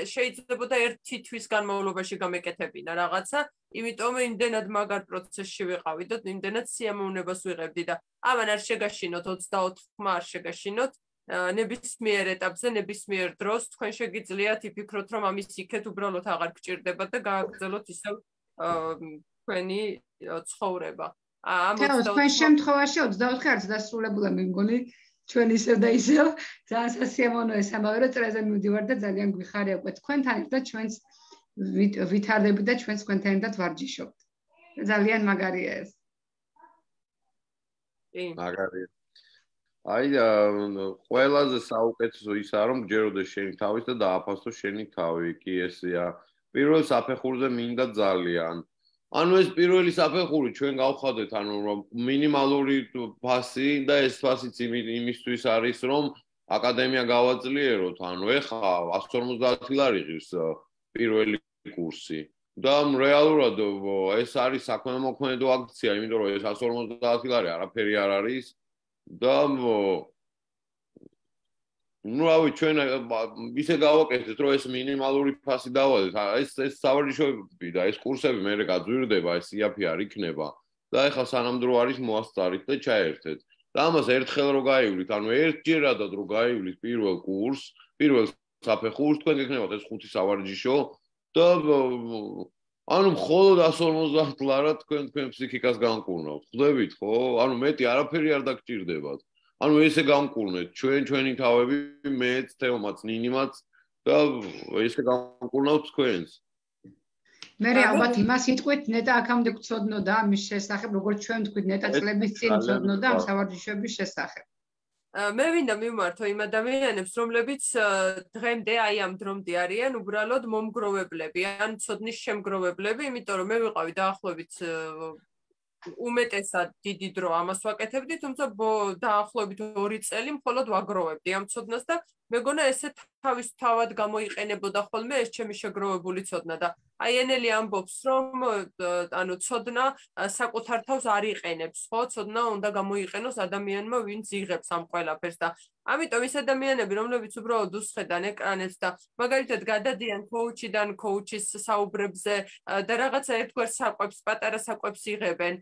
S3: შეიძლებოდა ერთი თვის განმავლობაში გამეკეთებინა რაღაცა, იმიტომ იმდენად მაგარ პროცესში ვიყავი და იმდენად სიამოვნებას ვიღებდი და ამან არ შეგაშინოთ ოცდაოთხმა არ შეგაშინოთ ნებისმიერ ეტაპზე, ნებისმიერ დროს თქვენ შეგიძლიათ იფიქროთ, რომ ამის იქეთ უბრალოდ აღარ გჭირდებათ და გააგრძელოთ ისევ თქვენი ცხოვრება.
S2: თეო, თქვენ შემთხვევაში ოცდაოთხი არც დასრულებულა მე მგონი ჩვენ ისევ და ისევ ძალიან სასიამოვნოა ეს ამბავი, რომ წრეზე მივდივარ და ძალიან გვიხარია უკვე თქვენთან ერთად ჩვენს ვითარდები და ჩვენს თქვენთან ერთად ვარჯიშობთ. ძალიან მაგარია ეს.
S1: მაგარია. აი ყველაზე საუკეთესო ისაა, რომ გჯეროდეს შენი თავის და დააფასო შენი თავი, კი ესეა. პირველ საფეხურზე მინდა ძალიან. ანუ ეს პირველი საფეხური ჩვენ გავხადეთ, ანუ რომ მინიმალური ფასი და ეს ფასიც იმისთვის არის, რომ აკადემია გავაძლიეროთ, ანუ ეხა εκατს ორმოცდაათი ლარი ღირს პირველი კურსი. და რეალურად ეს არის საქმემოქმედო აქცია, იმიტომ რომ ეს εκατს ორმოცდაათი ლარი არაფერი არ არის და ну, რავი, ჩვენ ისე გავაკეთეთ, რომ ეს მინიმალური ფასი დავალეთ. ეს ეს სავარჯიშოები და ეს კურსები მე გაძვირდება, ეს იაფი არ იქნება. და ეხლა სანამ დრო არის მოასწარით და ჩაერთეთ. და ამას ერთხელ რო გაივლით, ანუ ერთჯერადად რო გაივლით პირველ კურსს, პირველ საფეხურს, თქვენ გექნებათ ეს ხუთი სავარჯიშო და ანუ მხოლოდ εκατს ორმოცდაათი ლარად თქვენ თქვენ ფსიქიკას განკურნავთ. ხვდებით, ხო? ანუ მეტი არაფერი არ დაგჭირდებათ. ანუ ესე გამკურნეთ ჩვენ ჩვენი თავები, მეც, თეომაც, ნინიმაც და ესე გამკურნავთ თქვენს.
S2: მე ალბათ იმას იტყვით, ნეტა აქამდე გწოდნოდა ამის შესახებ, როგორც ჩვენ თქვით, ნეტა წლების წინ გწოდნოდა ამ სავარჯიშოების შესახებ.
S3: მე მინდა მივმართო იმ ადამიანებს, რომლებიც დღემდე აი ამ დრომდე არიან უბრალოდ მომგროვებლები, ან ცოდნის შემგროვებლები, იმიტომ რომ მე ვიყავი დაახლოებით უმეტესად დიდი დრო ამას ვაკეთებდი, თუმცა დაახლოებით ორი წელი მხოლოდ ვაგროვებდი ამ ცოდნას და მეგონა ესე თავის თავად გამოიყენებოდა ხოლმე ეს ჩემი შეგროვებული ცოდნა და აი ენელი ამბობს, რომ ანუ ცოდნა საკუთარ თავს არ იყენებს, ხო? ცოდნა უნდა გამოიყენოს ადამიანმა, ვინც იღებს ამ ყველაფერს და ამიტომ ის ადამიანები, რომლებიც უბრალოდ უსხედან ეკრანებს და მაგალითად გადადიან კოუჩიდან კოუჩის საუბრებზე და რაღაცა ერთგვარ საკვებს, პატარა საკვებს იღებენ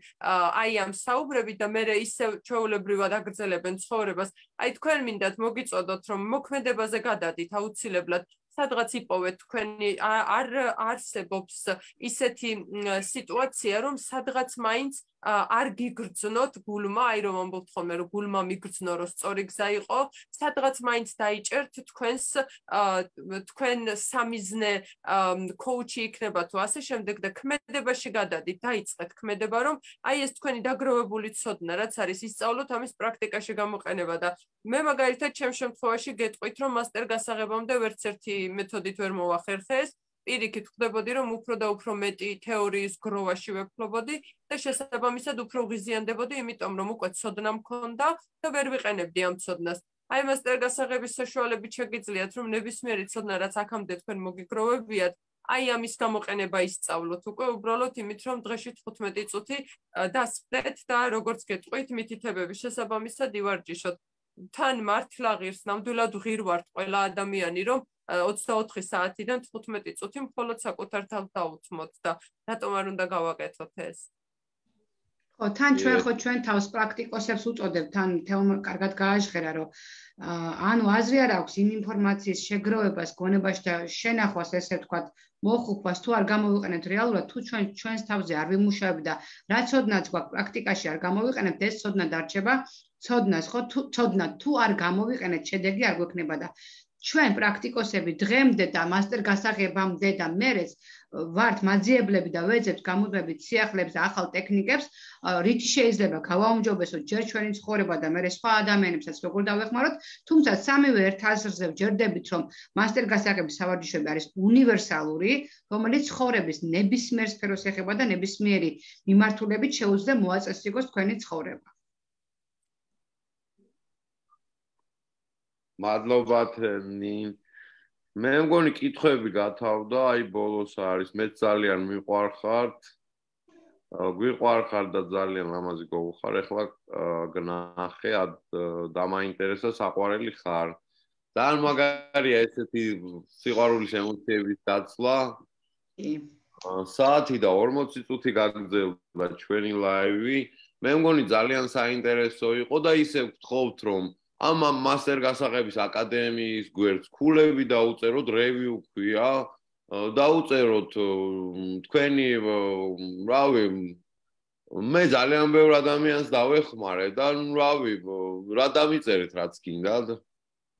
S3: აი ამ საუბრებით და მე ისევ ჩვეულებრივად აგრძელებენ ცხოვრებას. აი თქვენ მინდათ მოგიწოდოთ, რომ მოქმედებაზე გადადით აუცილებლად სადღაც იპოვეთ თქვენი არ არსებობს ისეთი სიტუაცია, რომ სადღაც მაინც არ გიგრძნოთ გულმა, აი რომ ამბობთ ხოლმე, რომ გულმა მიგრძნო, რომ სწორი გზა იყო, სადღაც მაინც დაიჭერთ თქვენს თქვენ სამიზნე კოუჩი იქნება თუ ასე შემდეგ და ქმედებაში გადადით, დაიწყეთ ქმედება, რომ აი ეს თქვენი დაგროვებული ცოდნა, რაც არის, ისწავლოთ ამის პრაქტიკაში გამოყენება და მე მაგალითად ჩემ შემთხვევაში გეტყვით, რომ მასტერ გასაღებამდე ვერც ერთი მეთოდით ვერ მოვახერხე ეს პირიქით ხვდებოდი, რომ უფრო და უფრო მეტი თეორიის გროვაში ვეფლობოდი და შესაბამისად უფრო ღიზიანდებოდი, იმიტომ რომ უკვე ცოდნა მქონდა და ვერ ვიყენებდი ამ ცოდნას. აი მასტერ გასაღების საშუალებით შეგიძლიათ, რომ ნებისმიერი ცოდნა, რაც აქამდე თქვენ მოგიგროვებიათ, აი ამის გამოყენება ისწავლოთ უკვე უბრალოდ იმით, რომ დღეში თხუთმეტი წუთი დასხდეთ და როგორც გეტყვით, მითითებების შესაბამისად ივარჯიშოთ. თან მართლა ღირს, ნამდვილად ღირ ვართ ყველა ადამიანი, რომ ოცდაოთხი საათიდან თხუთმეტი წუთი მხოლოდ საკუთარ თავს დაუთმოთ და რატომ არ უნდა გავაკეთოთ ეს?
S2: ხო, თან ჩვენ ხო ჩვენ თავს პრაქტიკოსებს უწოდებთ, თან თეომ კარგად გააჟღერა, რომ ანუ აზრი არ აქვს იმ ინფორმაციის შეგროვებას, გონებაში და შენახვას, ესე ვთქვათ, მოხუხვას თუ არ გამოვიყენებთ რეალურად, თუ ჩვენ ჩვენს თავზე არ ვიმუშავებთ და რა ცოდნაც გვაქვს პრაქტიკაში არ გამოვიყენებთ, ეს ცოდნა დარჩება ცოდნას, ხო, თუ ცოდნა თუ არ გამოვიყენეთ, შედეგი არ გვექნება და ჩვენ პრაქტიკოსები დღემდე და მასტერ გასაღებამდე და მერეც ვართ მაძიებლები და ვეძებთ გამუდმებით სიახლეებს და ახალ ტექნიკებს, რითი შეიძლება გავაუმჯობესოთ ჯერ ჩვენი ცხოვრება და მერე სხვა ადამიანებსაც როგორ დავეხმაროთ, თუმცა სამივე ერთ აზრზე ვჯერდებით, რომ მასტერ გასაღების სავარჯიშოები არის უნივერსალური, რომელიც ცხოვრების ნებისმიერ სფეროს ეხება და ნებისმიერი მიმართულებით შეუძლია მოაწესრიგოს თქვენი ცხოვრება.
S1: მადლობა ნინ მე მგონი კითხვები გათავდა, აი ბოლოს არის, მე ძალიან მიყვარხართ. გვიყვარხარ და ძალიან ლამაზი გოგოხარ, ეხლა გნახე, დამაინტერესა საყვარელი ხარ. ძალიან მაგარია ესეთი სიყვარულის ემოციების დაცვა.
S2: კი.
S1: საათი და ორმოცი წუთი გაგრძელდა ჩვენი ლაივი. მე მგონი ძალიან საინტერესო იყო და ისე ვთხოვთ, რომ ამ მასტერ გასაღების აკადემიის გვერდს ქულები დაუწეროთ, review ქვია, დაუწეროთ თქვენი, რავი, მე ძალიან ბევრ ადამიანს დავეხმარე და რავი, რა დამიწერეთ რაც გინდათ,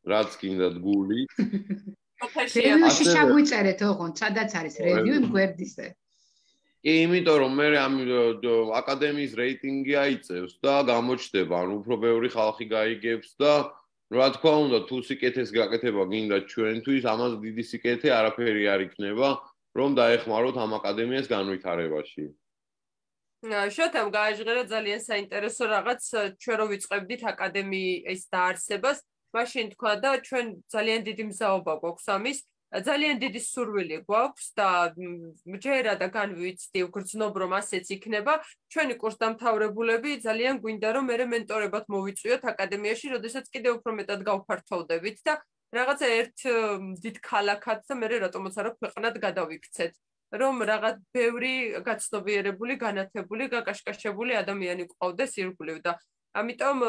S1: რაც გინდათ გული.
S2: Review-ში შაგვიწერეთ, ოღონდ, სადაც არის review იმ გვერდზე.
S1: კი, იმიტომ რომ მე ამ აკადემიის რეიტინგი აიწევს და გამოჩნდება, ანუ უფრო ბევრი ხალხი გაიგებს და რა თქმა უნდა, თუ სიკეთეს გაკეთება გინდა ჩვენთვის, ამას დიდი სიკეთე არაფერი არ იქნება, რომ დაეხმაროთ ამ აკადემიას განვითარებაში.
S3: შოთამ გააჟღერა ძალიან საინტერესო რაღაც, ჩვენ რო ვიწყებდით აკადემიის დაარსებას, მაშინ თქვა და ჩვენ ძალიან დიდი მზაობა გვაქვს ამის. ძალიან დიდი სურვილი გვაქვს და ჯერა და განვიცდი ვგრძნობ რომ ასეც იქნება ჩვენი კურსდამთავრებულები ძალიან გვინდა რომ მე მენტორებად მოვიწვიოთ აკადემიაში როდესაც კიდევ უფრო მეტად გავფართოვდებით და რაღაცა ერთ დიდ ქალაქად და მე რატომაც არა ქვეყნად გადავიქცეთ რომ რაღაც ბევრი გაცნობიერებული განათებული გაკაშკაშებული ადამიანი ყავდეს ირგვლივ და ამიტომ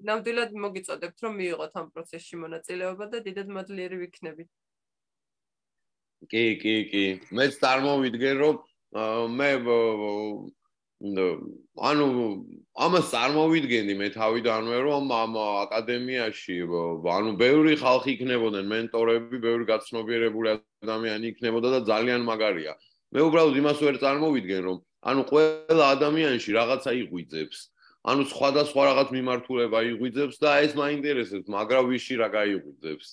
S3: ნამდვილად მოგიწოდებთ რომ მიიღოთ ამ პროცესში მონაწილეობა და დიდად მადლიერი ვიქნებით.
S1: კი, კი, კი. მეც წარმოვიდგენ, რომ მე ანუ ამას წარმოვიდგენდი მე თავიდანვე, რომ ამ აკადემიაში ანუ ბევრი ხალხი იქნებოდნენ მენტორები, ბევრი გაცნობიერებული ადამიანი იქნებოდა და ძალიან მაგარია. მე უბრალოდ იმას ვერ წარმოვიდგენ, რომ ანუ ყველა ადამიანში რაღაცა იღვიძებს. ანუ სხვადასხვა რაღაც მიმართულება იღვიძებს და ეს მაინტერესებს, მაგრამ ვიში რა გაიღვიძებს.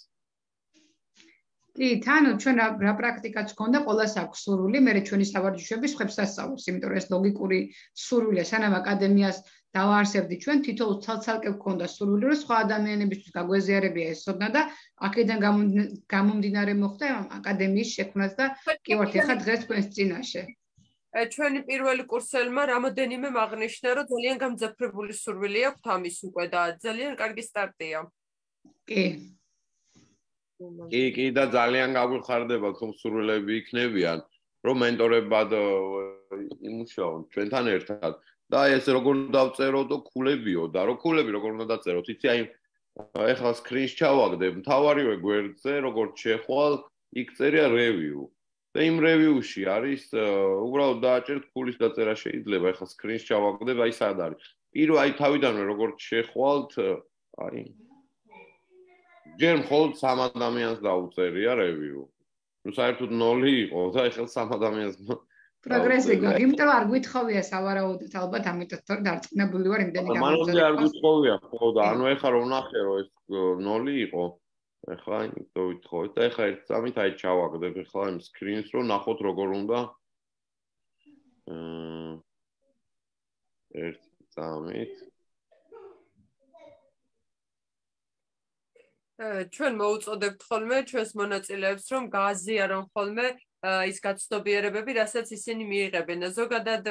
S2: კი, თანო ჩვენ რა პრაქტიკაც გქონდა, ყველას აქვს სურვილი, მე ჩვენი სავარჯიშოები სხვებს ასწავლებს, იმიტომ რომ ეს ლოგიკური სურვილია, სანამ აკადემიას დავაარსებდი ჩვენ თითოეულ ცალ-ცალკე გქონდა სურვილი, რომ სხვა ადამიანებისთვის გაგვეზიარებია ესოდნა და აქედან გამომდინარე მოხდა აკადემიის შექმნაც და კი ვართ ახლა დღეს თქვენს წინაშე.
S3: ჩვენი პირველი კურსელმა რამოდენიმე აღნიშნა, რომ ძალიან გამძაფრებული სურვილი აქვს ამის უკვე და ძალიან კარგი სტარტია.
S2: კი.
S1: კი, კი და ძალიან გაგვიხარდებათ რომ სურვილები იქნებიან, რომ მენტორებად იმუშაონ ჩვენთან ერთად და ეს როგორ დავწეროთ ქულებიო და რო ქულები როგორ უნდა დაწეროთ, იცი აი ეხლა სკრინს ჩავაგდებ, მთავარივე გვერდზე როგორც შეხვალ, იქ წერია review და იმ review-ში არის უბრალოდ დააჭერთ ქულის დაწერა შეიძლება, ეხლა სკრინს ჩავაგდებ, აი სად არის. პირველ აი თავიდანვე როგორც შეხვალთ, აი ჯერ მხოლოდ სამ ადამიანს დაუწერია review. ნუ საერთოდ ნოლი იყო და ეხლა სამ ადამიანს
S2: პროგრესი გვაქვს, იმიტომ არ გვითხოვია სავარაუდოდ ალბათ ამიტომ თორე დარწმუნებული ვარ იმდენი
S1: გამოწვევა. მანამდე არ გვითხოვია, ხო და ანუ ეხლა რომ ნახე რომ ეს ნოლი იყო, ეხლა იმიტომ ვითხოვეთ და ეხლა ერთ წამით აი ჩავაგდებ ეხლა იმ სკრინს რომ ნახოთ როგორ უნდა აა ერთ წამით
S3: ჩვენ მოუწოდებთ ხოლმე ჩვენს მონაწილეებს რომ გააზიარონ ხოლმე ის გაცნობიერებები, რასაც ისინი მიიღებენ. ზოგადად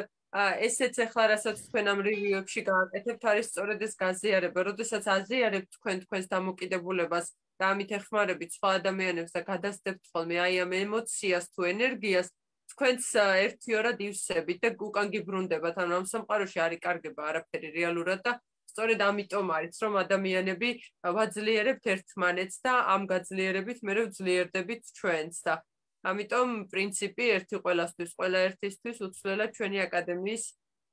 S3: ესეც ახლა რასაც თქვენ ამ review-ებში გააკეთებთ, არის სწორედ ეს გაზიარება. როდესაც აზიარებთ თქვენ თქვენს დამოკიდებულებას და ამით ეხმარებით სხვა ადამიანებს და გადასცემთ ხოლმე აი ამ ემოციას თუ ენერგიას, თქვენც ერთიორად ივსებით და უკან გიბრუნდებათ. ანუ ამ სამყაროში არ იკარგება არაფერი რეალურად და სწორედ ამიტომ არის, რომ ადამიანები ვაძლიერებთ ერთმანეთს და ამ გაძლიერებით მე ვძლიერდებით ჩვენც და ამიტომ პრინციპი ერთი ყველასთვის, ყველა ერთისთვის უცვლელად ჩვენი აკადემიის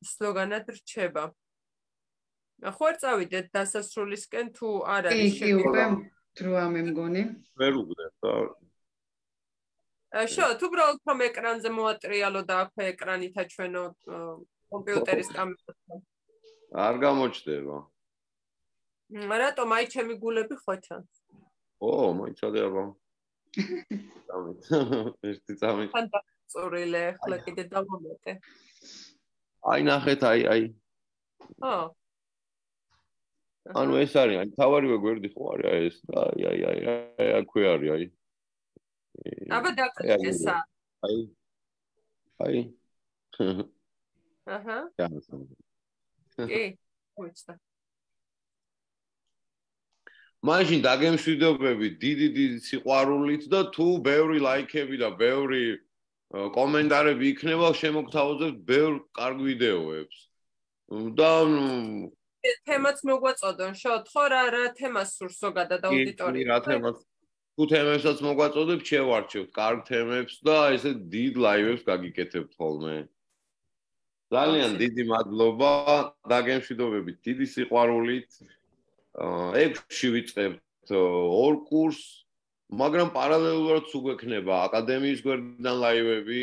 S3: სლოგანად რჩება. ხო არ წავიდეთ დასასრულისკენ თუ არ არის
S2: შეგვიძლია? კი, კი, უკვე დროა მე მგონი.
S1: ვერ უგდებ და
S3: შო, თუ უბრალოდ რომ ეკრანზე მოატრიალო და აქვე ეკრანითა ჩვენო კომპიუტერის კამერასთან.
S1: არ გამოჩდება.
S3: რატომ აი ჩემი გულები ხო ჩანს?
S1: ო, მოიცადე აბა. წამით. ერთი წამით.
S3: ფანტასტიკურია, ახლა კიდე დავამატე.
S1: აი ნახეთ, აი, აი.
S3: ო.
S1: ანუ ეს არის, აი თავარივე გვერდი ხო არის აი ეს და აი, აი, აი, აი, აქვე არის, აი.
S3: აბა დაგესა.
S1: აი. აი.
S3: აჰა. კი, უცდა.
S1: მაშინ დაგემშვიდობებით დიდი დიდი სიყვარულით და თუ ბევრი ლაიქები და ბევრი კომენტარები იქნება, შემოგთავაზებთ ბევრ კარგ ვიდეოებს. და
S3: თემაც მოგვაწოდონ, შოთ ხო რა რა თემას სურს ზოგადად აუდიტორია.
S1: რა თემას? თუ თემებსაც მოგვაწოდებთ, შევარჩევთ კარგ თემებს და ესე დიდ ლაივებს გაგიკეთებთ ხოლმე. ძალიან დიდი მადლობა, დაგემშვიდობებით დიდი სიყვარულით. ექვსში ვიწყებთ ორ კურსს, მაგრამ პარალელურად უგვექნება აკადემიის გვერდიდან ლაივები.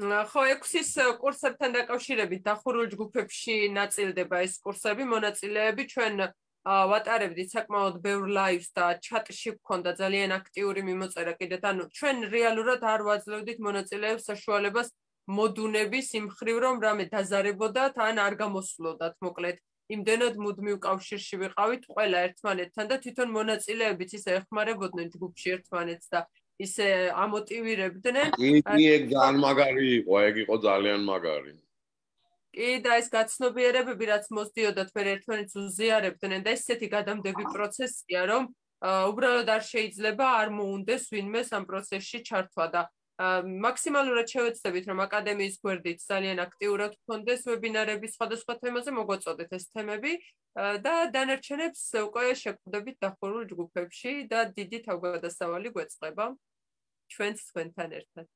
S3: ხო, ექვსის კურსებთან დაკავშირებით დახურულ ჯგუფებში ნაწილდება ეს კურსები, მონაწილეები ჩვენ ვატარებდით საკმაოდ ბევრ ლაივს და ჩატში გვქონდა ძალიან აქტიური მიმოწერა კიდეთ, ანუ ჩვენ რეალურად არ ვაძლევდით მონაწილეებს საშუალებას მოდუნების იმ ხრივ რომ რამე დაზარებოდათ ან არ გამოსვლოდათ, მოკლედ იმდენად მუდმივ კავშირში ვიყავით ყველა ერთმანეთთან და თვითონ მონაწილეებიც ისე ეხმარებოდნენ ჯგუფში ერთმანეთს და ისე ამოტივირებდნენ.
S1: კი, ეგ ძალიან მაგარი იყო, ეგ იყო ძალიან მაგარი.
S3: კი, და ეს გაცნობიერებები რაც მოსდიოდათ მე ერთმანეთს უზიარებდნენ და ესეთი გადამდები პროცესია, რომ უბრალოდ არ შეიძლება არ მოუნდეს ვინმეს ამ პროცესში ჩართვა და მაქსიმალურად შევეცდებით რომ აკადემიის გვერდით ძალიან აქტიურად გქონდეს ვებინარები სხვადასხვა თემაზე მოგვაწოდეთ ეს თემები და დანარჩენებს უკვე შეკვდებით დახურულ ჯგუფებში და დიდი თავგადასავალი გვეწყება ჩვენც თქვენთან ერთად.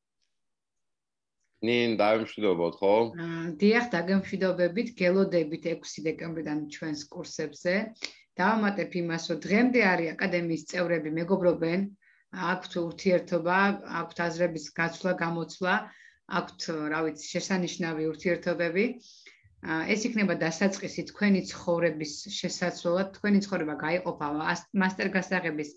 S1: ნინ დაიმშვიდობოთ ხო?
S2: დიახ, დაგემშვიდობებით, გელოდებით ექვსი დეკემბრიდან ჩვენს კურსებზე. დავამატებ იმას, რომ დღემდე არის აკადემიის წევრები მეგობრობენ, აქვთ ურთიერთობა, აქვთ აზრების გაცვლა, გამოცვლა, აქვთ, რა ვიცი, შესანიშნავი ურთიერთობები. ეს იქნება დასაწყისი თქვენი ცხოვრების შესაძლებლად, თქვენი ცხოვრება გაიყოფა მასტერ გასაღების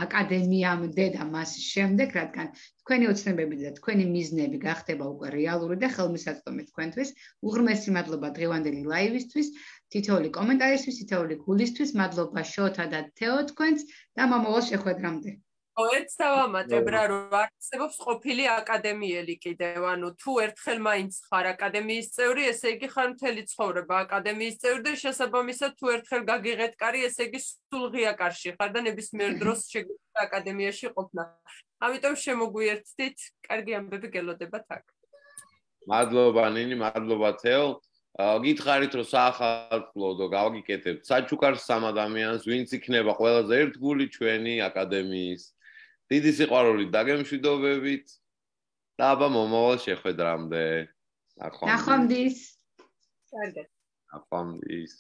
S2: აკადემიამდე და მას შემდეგ, რადგან თქვენი ოცნებები და თქვენი მიზნები გახდება უკვე რეალური და ხელმისაწვდომი თქვენთვის. უღრმესი მადლობა დღევანდელი ლაივისთვის, თითოეული კომენტარისთვის, თითოეული გულისთვის, მადლობა შოთა და თეო თქვენს და მომავალ შეხვედრამდე.
S3: ერთს დავამატებ რა რომ არსებობს ყოფილი აკადემიელი კიდევ, ანუ თუ ერთხელ მაინც ხარ აკადემიის წევრი, ესე იგი ხარ მთელი ცხოვრება აკადემიის წევრი და შესაბამისად თუ ერთხელ გაგიღეთ კარი, ესე იგი სულ ღია კარში ხარ და ნებისმიერ დროს შეგიძლია აკადემიაში ყოფნა. ამიტომ შემოგვიერთდით, კარგი ამბები გელოდებათ აქ.
S1: მადლობა ნინი, მადლობა თეო. გითხარით რომ საახალწლო და გავგიკეთებთ საჩუქარს სამ ადამიანს, ვინც იქნება ყველაზე ერთგული ჩვენი აკადემიის. დიდი სიყვარულით დაგემშვიდობებით და აბა მომავალ შეხვედრამდე.
S2: ნახვამდის.
S3: კარგად.
S1: ნახვამდის.